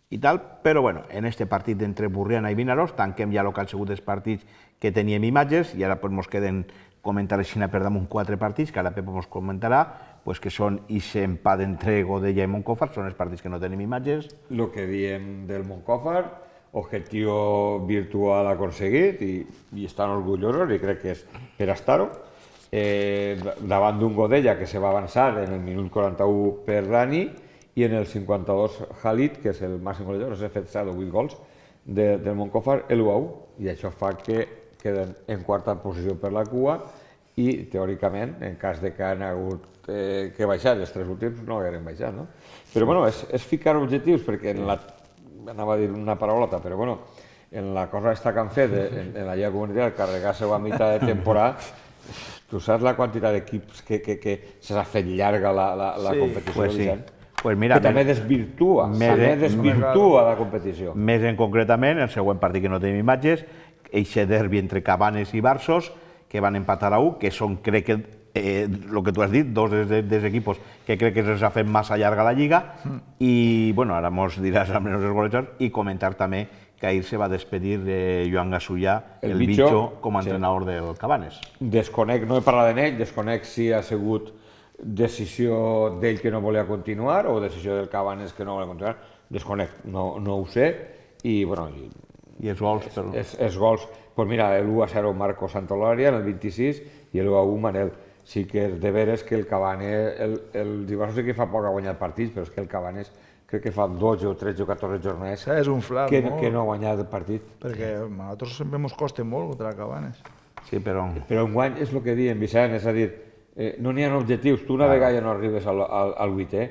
A: i tal, però bueno, en este partit entre Burriana i Vinaròs tanquem ja el que han sigut els partits que teníem imatges i ara pues mos queden comentar així per damunt quatre partits, que ara Pepo mos comentarà, pues que són aquest empat entre Godella i Montcòfar, són els partits que no tenim imatges.
C: El que diem del Montcòfar, objectiu virtual aconseguit i, i estan orgullosos i crec que és per estar-ho. Eh, davant d'un Godella que se va avançar en el minut quaranta-u per Dani i en el cinquanta-dos Halit, que és el màxim golejador, s'ha fet set o vuit gols de, del Montcòfar, l'u a u, i això fa que queden en quarta posició per la cua i teòricament, en cas de que han hagut eh, que baixar els tres últims, no hagueren baixat, no? Però bueno, és, és ficar objectius perquè en la anava a dir una paraulota, però bueno, en la cosa aquesta que han fet, en, en la llei comunitària, carregar-se a mitjà de temporada, tu saps la quantitat d'equips que, que, que s'ha fet llarga la, la, la sí, competició,
A: pues sí. Pues mira,
C: que també desvirtua, també desvirtua la competició.
A: Més en concretament, el següent partit que no tenim imatges, eixe derbi entre Cabanes i Barços, que van empatar a u, que són, crec que, eh, el que tu has dit, dos dels de, equipos que crec que s'ha fet massa llarga la Lliga, mm. i, bueno, ara mos diràs almenys els golejadors, i comentar també que ahir se va despedir de Joan Gasullà, el, el Bicho, Bicho, com a sí. entrenador del Cabanes.
C: Desconec, no he parlat d'ell, desconec si ha sigut decisió d'ell que no volia continuar o decisió del Cabanes que no volia continuar, desconec, no, no ho sé, i, bueno... I,
A: I els gols,
C: és,
A: però...
C: És, és gols, pues mira, l'u a zero Marco Santolària en el vint-i-sis i l'u a u Manel. Sí que és de veres que el Cabanes, el, el Dibarso sí que fa poc ha guanyat partits, però és que el Cabanes crec que fa dotze o tretze o catorze jornades
D: és un flac,
C: que,
D: no?
C: que no ha guanyat el partit.
D: Perquè a nosaltres sempre ens costa molt contra el Cabanes.
A: Sí, però...
C: Però un guany és el que diem, Vicent, és a dir, eh, no n'hi ha objectius. Tu una ah. vegada ja no arribes al, al, al vuitè,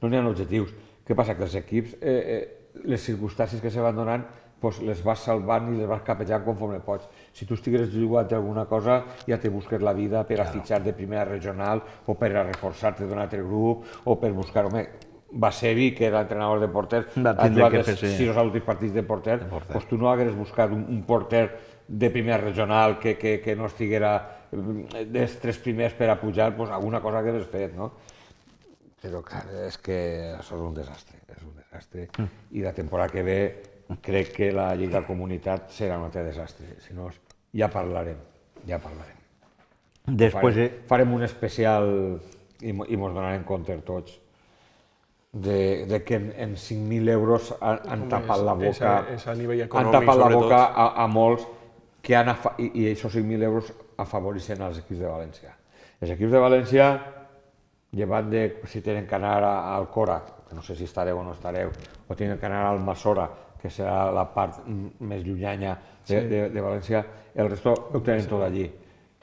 C: no n'hi ha objectius. Què passa? Que els equips, eh, eh, les circumstàncies que se van donant, pues les vas salvant i les vas capejant conforme pots. Si tu estigueres jugant alguna cosa, ja te busques la vida per a fitxar de primera regional o per a reforçar-te d'un altre grup o per buscar... Home, Basevi, que era entrenador de porter, ha jugat els sis o últims partits de porter, doncs tu no hagueres buscat un, un porter de primera regional que, que, que no estiguera dels tres primers per a pujar, doncs alguna cosa hagueres fet, no? Però clar, és que això és un desastre, és un desastre, i la temporada que ve crec que la Lliga Comunitat serà un altre desastre, si no ja parlarem, ja parlarem.
A: Després...
C: Farem, farem un especial i, i mos donarem compte tots. de que en cinc mil euros han tapat la boca,
B: han
C: tapat la boca a molts que han, i aquests cinc mil euros afavoreixen els equips de València. Els equips de València, llevant de si tenen que anar al Cora, que no sé si estareu o no estareu, o tenen que anar al Masora, que serà la part més llunyana de València, el resto ho tenen tot allí.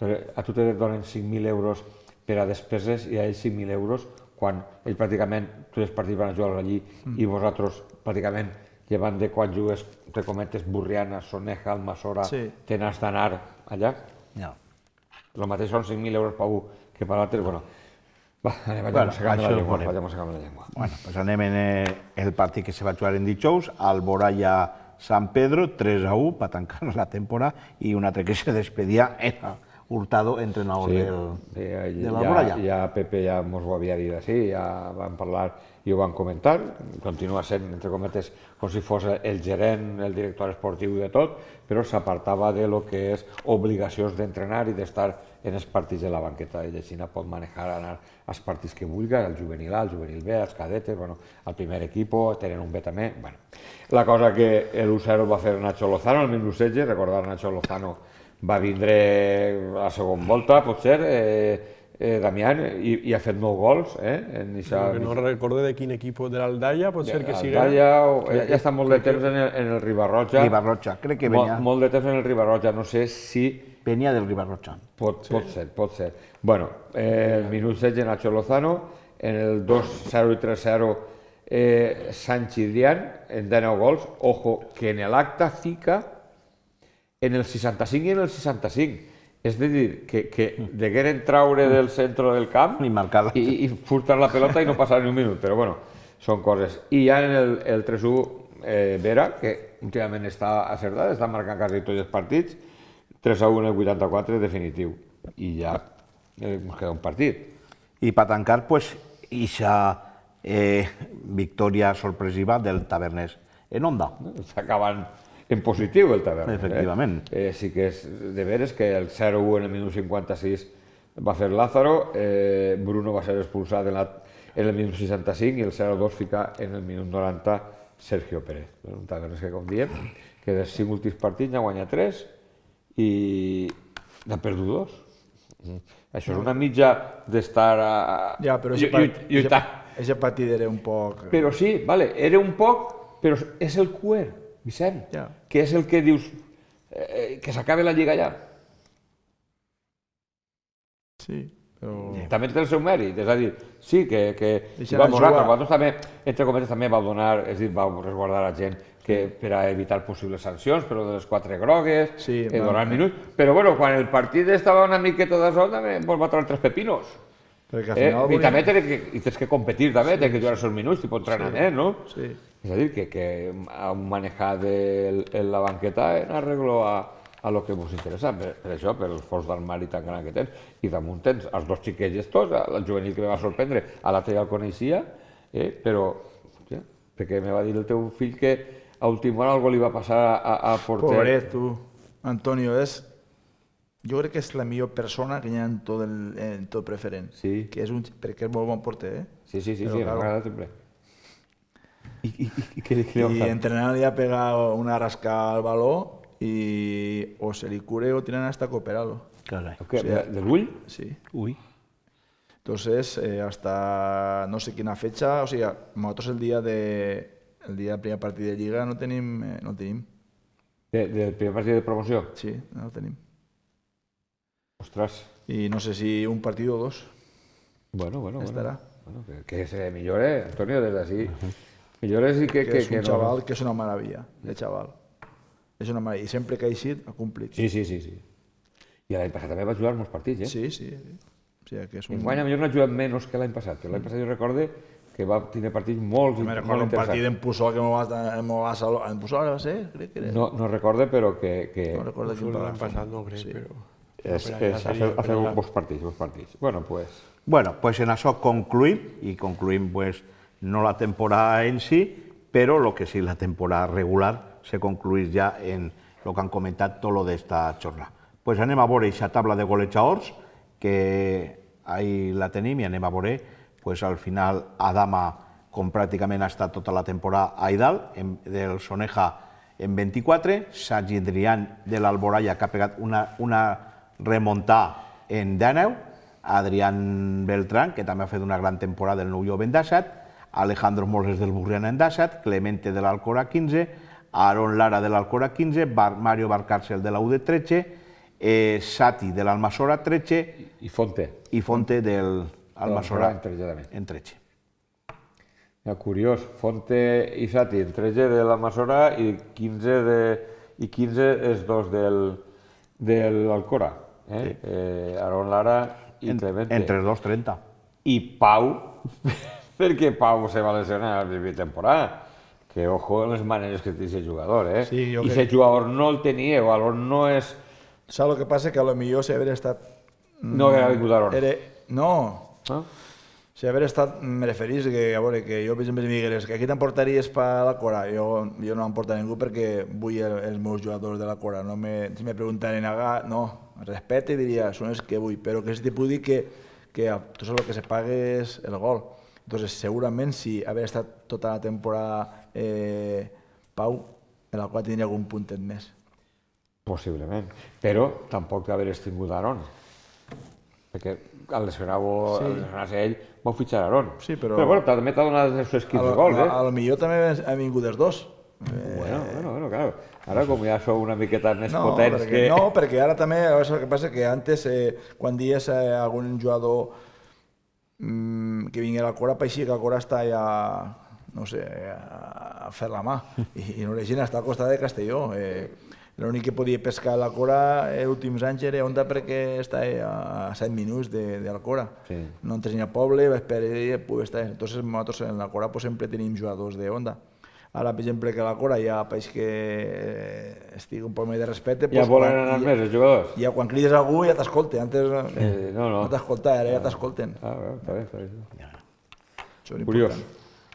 C: A tu te donen cinc mil euros per a despeses i a ells cinc mil euros quan ells pràcticament, tots els partits van a jugar allí i vosaltres pràcticament, llevant de quan jugues, te comentes, Burriana, Soneja, Almassora, tens d'anar allà. El mateix són cinc mil euros per un que per l'altre, bueno, va, anem a secar la llengua, anem a secar la llengua.
A: Bueno, pues anem en el partit que se va jugar en dijous, al Boralla San Pedro, tres a u, per tancar la temporada, i un altre que se despedia era Hurtado, entrenador de la Boralla.
C: Ja Pepe ja mos ho havia dit així, ja van parlar i ho van comentar, continua sent, entre cometes, com si fos el gerent, el director esportiu de tot, però s'apartava de lo que és obligacions d'entrenar i d'estar en els partits de la banqueta. Ell així pot manejar, anar als partits que vulgui, al juvenil A, al juvenil B, als cadetes, al primer equip, tenen un B també. La cosa que l'u zero va fer Nacho Lozano, el minut setze, recordar Nacho Lozano va vindre a la segona volta, potser, Damián, i ha fet nou gols.
B: No recorde de quin equip de l'Aldaya, pot ser que sigui...
C: Aldaya, ja està molt de temps en el Ribarroja.
A: Ribarroja, crec que venia...
C: Molt de temps en el Ribarroja, no sé si...
A: Venia del Ribarroja.
C: Pot ser, pot ser. Bueno, el minut setze Nacho Lozano, en el dos zero i tres zero Sánchez Dián, en dinou gols. Ojo, que en l'acte fica en el seixanta-cinc i en el seixanta-cinc. És a dir, que degueren traure del centre del camp i furtar la pelota i no passar ni un minut, però bueno, són coses. I ja en el tres a u, Vera, que últimament està acertada, està marcant quasi tots els partits, tres a u en el vuitanta-quatre definitiu, i ja ens queda un partit.
A: I per tancar, doncs, ixa victòria sorpresiva del Taverners en Onda.
C: S'acaben en positiu el Tavernes.
A: Efectivament.
C: Sí que és de veres que el zero a u en el minut cinquanta-sis va fer Lázaro, Bruno va ser expulsat en el minut seixanta-cinc i el zero a dos fica en el minut noranta Sergio Pérez. Un Tavernes que, com diem, que dels cinc últims partits n'ha guanyat tres i n'ha perdut dos. Això és una mitja d'estar lluitant.
D: Aquest partit era un poc...
C: Però sí, era un poc, però és el cuer, Vicent, que és el que dius que s'acabe la Lliga ja.
D: Sí, però...
C: També té el seu mèrit, és a dir, sí que va donar, però vosaltres també, entre cometes, també vau donar, és a dir, vau resguardar la gent per a evitar possibles sancions, però de les quatre grogues, donar minuts, però bueno, quan el partit estava una miqueta de sol, també vos va treure tres pepinos. I també tens que competir, també, tens que jugar els seus minuts, tipus entrenament, no?
D: Sí.
C: És a dir, que a un manejat de la banqueta en arreglo a lo que vos interessa, per això, per el fons d'armari tan gran que tens. I damunt tens els dos xiquets estos, el juvenil que me va sorprendre, a l'altre ja el coneixia, però, perquè me va dir el teu fill que a última hora algo li va passar al porter.
D: Pobret, tu. Antonio, és... Jo crec que és la millor persona que hi ha en tot el preferent.
C: Sí.
D: Perquè és molt bon porter, eh?
C: Sí, sí, sí, m'agrada sempre.
D: I entrenant li ha pegat una rascada al baló i o se li cure o tienen hasta cooperarlo.
C: ¿De l'ull?
D: Sí.
A: Uy.
D: Entonces, hasta no sé quina fecha, o sigui, nosotros el dia de el dia del primer partit de Lliga no tenim... No tenim.
C: Del primer partit de promoció?
D: Sí, no el tenim.
C: Ostres.
D: I no sé si un partit o dos.
C: Bueno, bueno,
D: estarà.
C: Bueno, que se millore, Antonio, des d'ací. Millores i que...
D: Que és un xaval que és una maravilla, de xaval. És una maravilla. I sempre que ha eixit, ha complit.
C: Sí, sí, sí. I l'any passat també va jugar molts partits, eh?
D: Sí, sí.
C: Enguany, potser no ha jugat menys que l'any passat, però l'any passat jo recorde que va tenir partits molt interessants.
D: Me recordo un partit en Pusol que m'ho va salvar. En Pusol va ser? Crec que era.
C: No recorde, però que...
D: No recordo quin
B: l'any passat, no crec, però...
C: Ha fet bons partits, bons partits. Bueno, pues...
A: Bueno, pues en això concluïm, i concluïm, pues, no la temporada en si, però el que sí, la temporada regular se concluís ja en el que han comentat tot lo d'esta jornada. Pues anem a veure aquesta tabla de golejadors, que ahí la tenim, i anem a veure, pues al final Adama com pràcticament ha estat tota la temporada a Aidal, del Soneja en vint-i-quatre, Sergi Adrián de l'Alboraya, que ha pegat una remuntada en dènou, Adrián Beltrán, que també ha fet una gran temporada del Nou Jove en dèsset, Alejandro Moses del Burriana en dèsset, Clemente de l'Alcora quinze, Aaron Lara de l'Alcora quinze, Mario Barcárcel de la U D tretze, Sati de l'Almassora tretze
C: i Fonte
A: i Fonte de l'Almassora en tretze.
C: Curiós, Fonte i Sati en tretze de l'Almassora i quinze és dos de l'Alcora. Aaron Lara i Clemente.
A: Entre els dos, trenta.
C: I Pau, perquè Pau se va lesionar a la primera temporada. Que ojo en les maneres que té aquest jugador, eh? I aquest jugador no el tenia, o aleshores no és...
D: Saps el que passa? Que potser si haver estat...
C: No haguera vingut Aaron.
D: No. Si haver estat, me referís que, a veure, que jo, per exemple, si m'hi que aquí t'emportaries per la Cora, jo no m'emporta ningú perquè vull els meus jugadors de la Cora. Si me preguntaren, no, respecte, diria, són els que vull, però que si te puc dir que tu saps el que se paga és el gol. Entonces, segurament, si haver estat tota la temporada Pau, en la qual tindria algun puntet més.
C: Possiblement, però tampoc haver estingut Aaron, perquè al lesionar-se ell vau fitxar Aaron. Però bueno, també t'ha donat els seus quinze gols, eh?
D: A lo millor també han vingut els dos.
C: Bueno, bueno, claro. Ara com ja sou una miqueta més potents que...
D: No, perquè ara també, el que passa que antes, quan dies algun jugador que vingui a la Cora, pareixia que la Cora està ja, no sé, a fer la mà. I no la gent està al costat de Castelló. L'únic que podia pescar a la Cora els últims anys era Onda perquè està a set minuts de la Cora. No entres ni al poble, va esperar i pugui estar. Entonces nosaltres en la Cora sempre tenim jugadors de Onda. Ara, per exemple, que la Cora ja pareix que estigui un poc més de respecte.
C: Ja volen anar més els jugadors?
D: Ja quan crides algú ja t'escolta. Antes no t'escolta, ara ja t'escolten.
C: Ah, està bé, està bé.
A: Curiós.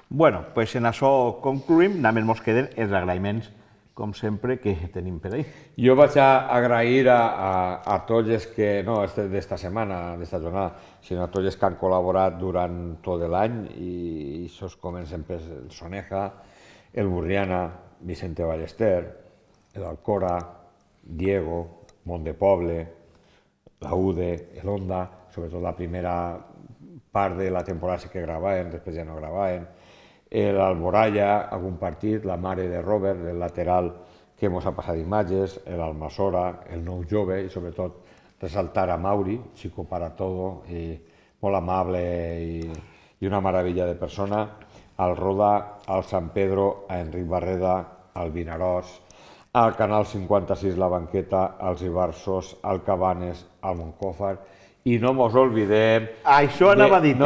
A: Bueno, doncs en això concluïm. Només ens queden els agraïments, com sempre, que tenim per ahí.
C: Jo vaig a agrair a tots els que, no d'esta setmana, d'esta jornada, sinó a tots els que han col·laborat durant tot l'any, i això comencen per el Soneja, el Burriana, Vicente Ballester, l'Alcora, Diego, Montdepoble, la U D E, l'Onda, sobretot la primera part de la temporada sí que gravaven, després ja no gravaven, l'Alboraya, algun partit, la mare de Robert, el lateral que ens ha passat imatges, l'Almassora, el Nou Jove, i sobretot resaltar a Mauri, chico para todo, molt amable i una meravella de persona, al Roda, al San Pedro, a Enric Barreda, al Vinaròs, al Canal cinquanta-sis La Banqueta, als Ibarsos, al Cabanes, al Moncòfar, i no mos oblidem...
A: Això anava a dir,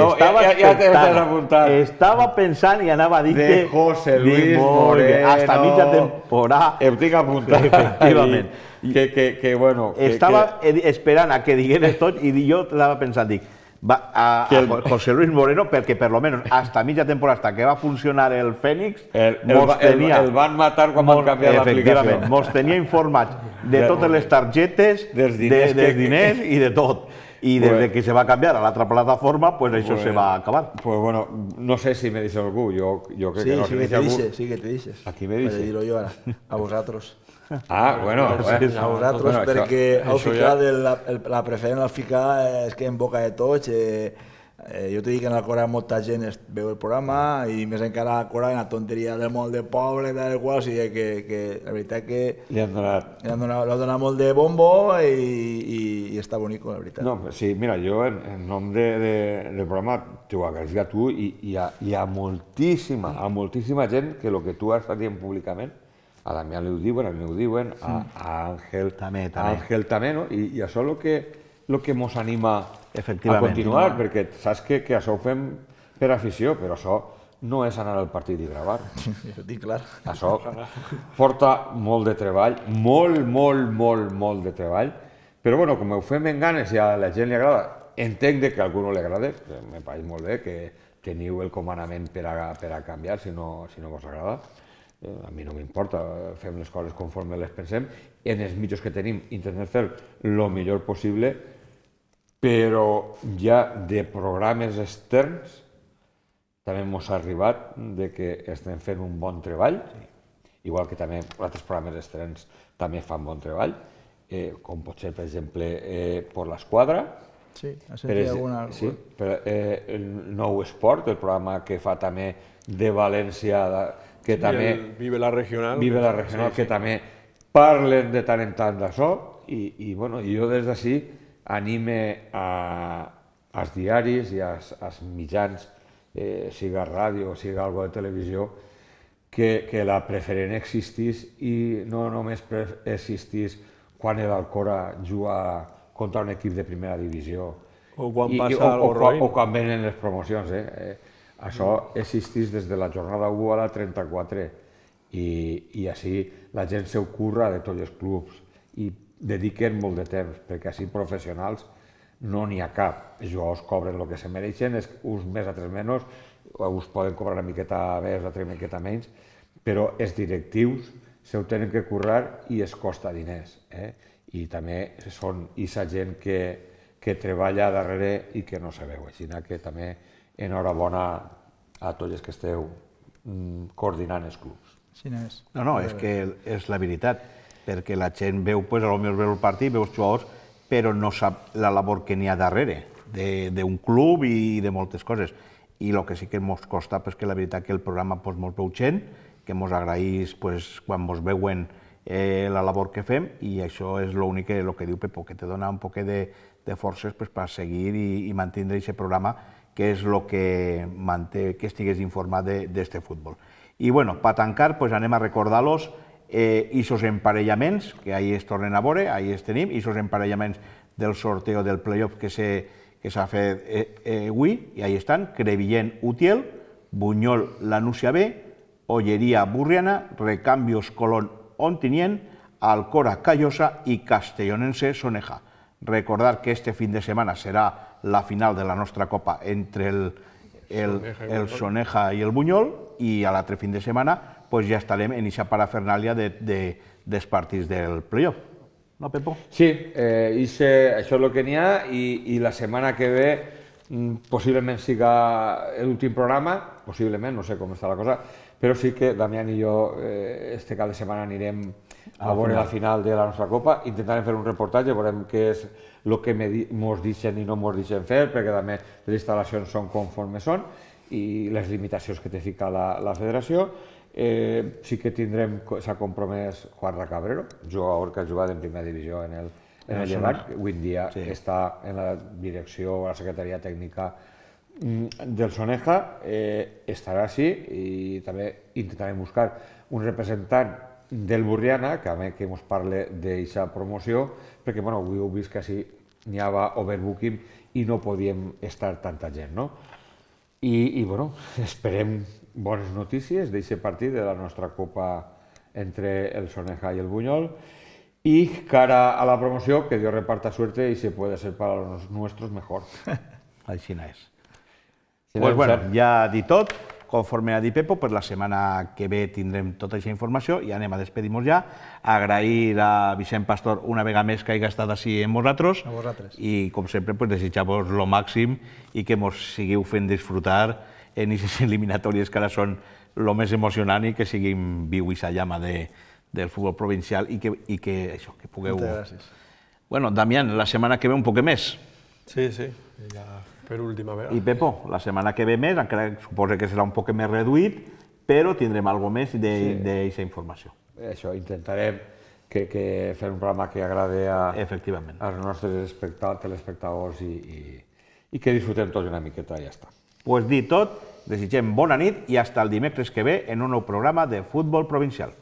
A: estava pensant i anava a dir
C: de José Luis Moreno,
A: hasta mitja temporada.
C: Ho tinc apuntat.
A: Efectivament.
C: Que, bueno...
A: Estava esperant a que digueres tot i jo estava pensant, dic, a José Luis Moreno, perquè per lo menos hasta mitja temporada, hasta que va funcionar el Fénix,
C: el van matar quan van canviar l'aplicació.
A: Mos tenia informats de totes les targetes, dels diners i de tot. I des que se va canviar a l'altra plataforma, pues això se va acabar.
C: Pues bueno, no sé si me dice algú, yo creo que no.
D: Sí, sí que te dice, sí que te dices.
C: ¿A quién me dice?
D: Para dir-ho jo ara, a vosaltres.
C: Ah, bueno,
D: a vosaltres, perquè al ficar la preferent al ficar és que en boca de tots. Jo t'he dit que en la Cora molta gent veu el programa i més encara a la Cora en la tonteria del molt de poble, tal qual, o sigui que la veritat que
C: li han donat
D: l'ha donat molt de bombo i està bonico, la veritat.
C: No, sí, mira, jo en nom del programa t'ho agraeixo a tu i a moltíssima, a moltíssima gent que el que tu has estat dient públicament, a Damià li ho diuen, a mi ho diuen, a Àngel també, no? I això és el que ens anima a continuar, perquè saps que això ho fem per afició, però això no és anar al partit i gravar.
D: Ho tinc clar.
C: Això porta molt de treball, molt, molt, molt, molt de treball, però bueno, com ho fem en ganes i a la gent li agrada, entenc que a algú no li agrada, me pareix molt bé que teniu el comandament per a canviar si no vos agrada. A mi no m'importa, fem les coses conforme les pensem, en els mitjans que tenim intentem fer el millor possible, però ja de programes externs també ens ha arribat de que estem fent un bon treball, igual que també altres programes estrenats també fan bon treball, com pot ser, per exemple, per l'esquadra.
D: Sí, ha sentit alguna...
C: Sí, el Nou Esport, el programa que fa també de València, que també...
B: Vive la Regional.
C: Vive la Regional, que també parlen de tant en tant d'això, i jo des d'ací anime als diaris i als mitjans, siga ràdio o siga alguna de televisió, que la preferent existís i no només existís quan l'Alcora juga contra un equip de primera divisió
B: o quan passa algo roïn
C: o quan venen les promocions. Això existís des de la jornada u a la trenta-quatre i així la gent s'ho curra de tots els clubs i dediquen molt de temps, perquè així professionals no n'hi ha cap. Els jugadors cobren el que se mereixen, uns més, altres menys, uns poden cobrar una miqueta més, altres una miqueta menys, però els directius s'ho tenen que currar i es costa diners. I també són aquesta gent que treballa darrere i que no se veu. Així que també enhorabona a tots els que esteu coordinant els clubs.
A: No, no, és que és la veritat, perquè la gent veu, potser potser veu el partit, veu els jugadors, però no sap la labor que n'hi ha darrere d'un club i de moltes coses. I el que sí que ens costa és que la veritat que el programa molt veu gent, que ens agraeix quan ens veuen la labor que fem, i això és l'únic que diu Pepo, que te dona un poc de forces per seguir i mantenir aquest programa, que és el que manté que estigués informat d'aquest futbol. I bueno, per tancar, anem a recordar-los aquests emparellaments, que ahir es tornen a veure, ahir els tenim, aquests emparellaments del sorteo del play-off que s'ha fet avui, i ahí estan: Crevillent Utiel, Buñol Lanúcia B, Olleria Burriana, Recambios Colón Ontinyent, Alcora Callosa i Castellonense Soneja. Recordar que este fin de setmana serà la final de la nostra Copa entre el Soneja i el Buñol, i a l'altre fin de setmana ja estarem en aquesta parafernàlia dels partits del play-off. No, Pepo?
C: Sí, això és el que n'hi ha, i la setmana que ve possiblement siga l'últim programa, possiblement, no sé com està la cosa, però sí que Damián i jo este cap de setmana anirem a veure la final de la nostra Copa, intentarem fer un reportatge, veurem què és el que ens deixen i no ens deixen fer, perquè també les instal·lacions són conforme són i les limitacions que té fica la federació. Sí que tindrem, s'ha compromès Juan Cabrero, jugador que ha jugat en primera divisió en el Llevant, que avui en dia està en la direcció, a la secretaria tècnica del Soneja, estarà així, i també intentarem buscar un representant del Burriana, que a més que ens parli d'aquesta promoció, perquè avui heu vist que així n'hi havia overbooking i no podíem estar tanta gent. I esperem bones notícies d'aquest partit de la nostra Copa entre el Soneja i el Buñol, i cara a la promoció, que Dios reparta suerte y se puede ser para los nuestros mejor.
A: Així és. Doncs bueno, ja dit tot, conforme ha dit Pepo, per la setmana que ve tindrem tota aquesta informació i anem a despedir-nos ja. Agrair a Vicent Pastor una vegada més que hagi estat així amb nosaltres i, com sempre, desitjar-vos el màxim i que ens seguiu fent disfrutar en aquestes eliminatòries que ara són el més emocionant i que siguin viu aquesta llama del futbol provincial i que això, que pugueu...
D: Moltes gràcies.
A: Bueno, Damián, la setmana que ve un poc més.
B: Sí, sí, ja per última vegada.
A: I Pepo, la setmana que ve més, encara suposo que serà un poc més reduït, però tindrem alguna més d'aquesta informació.
C: Això, intentarem fer un programa que agrade als nostres telespectadors i que disfrutem tots una miqueta i ja està.
A: Doncs dit tot, desitgem bona nit i fins el dimecres que ve en un nou programa de Futbol Provincial.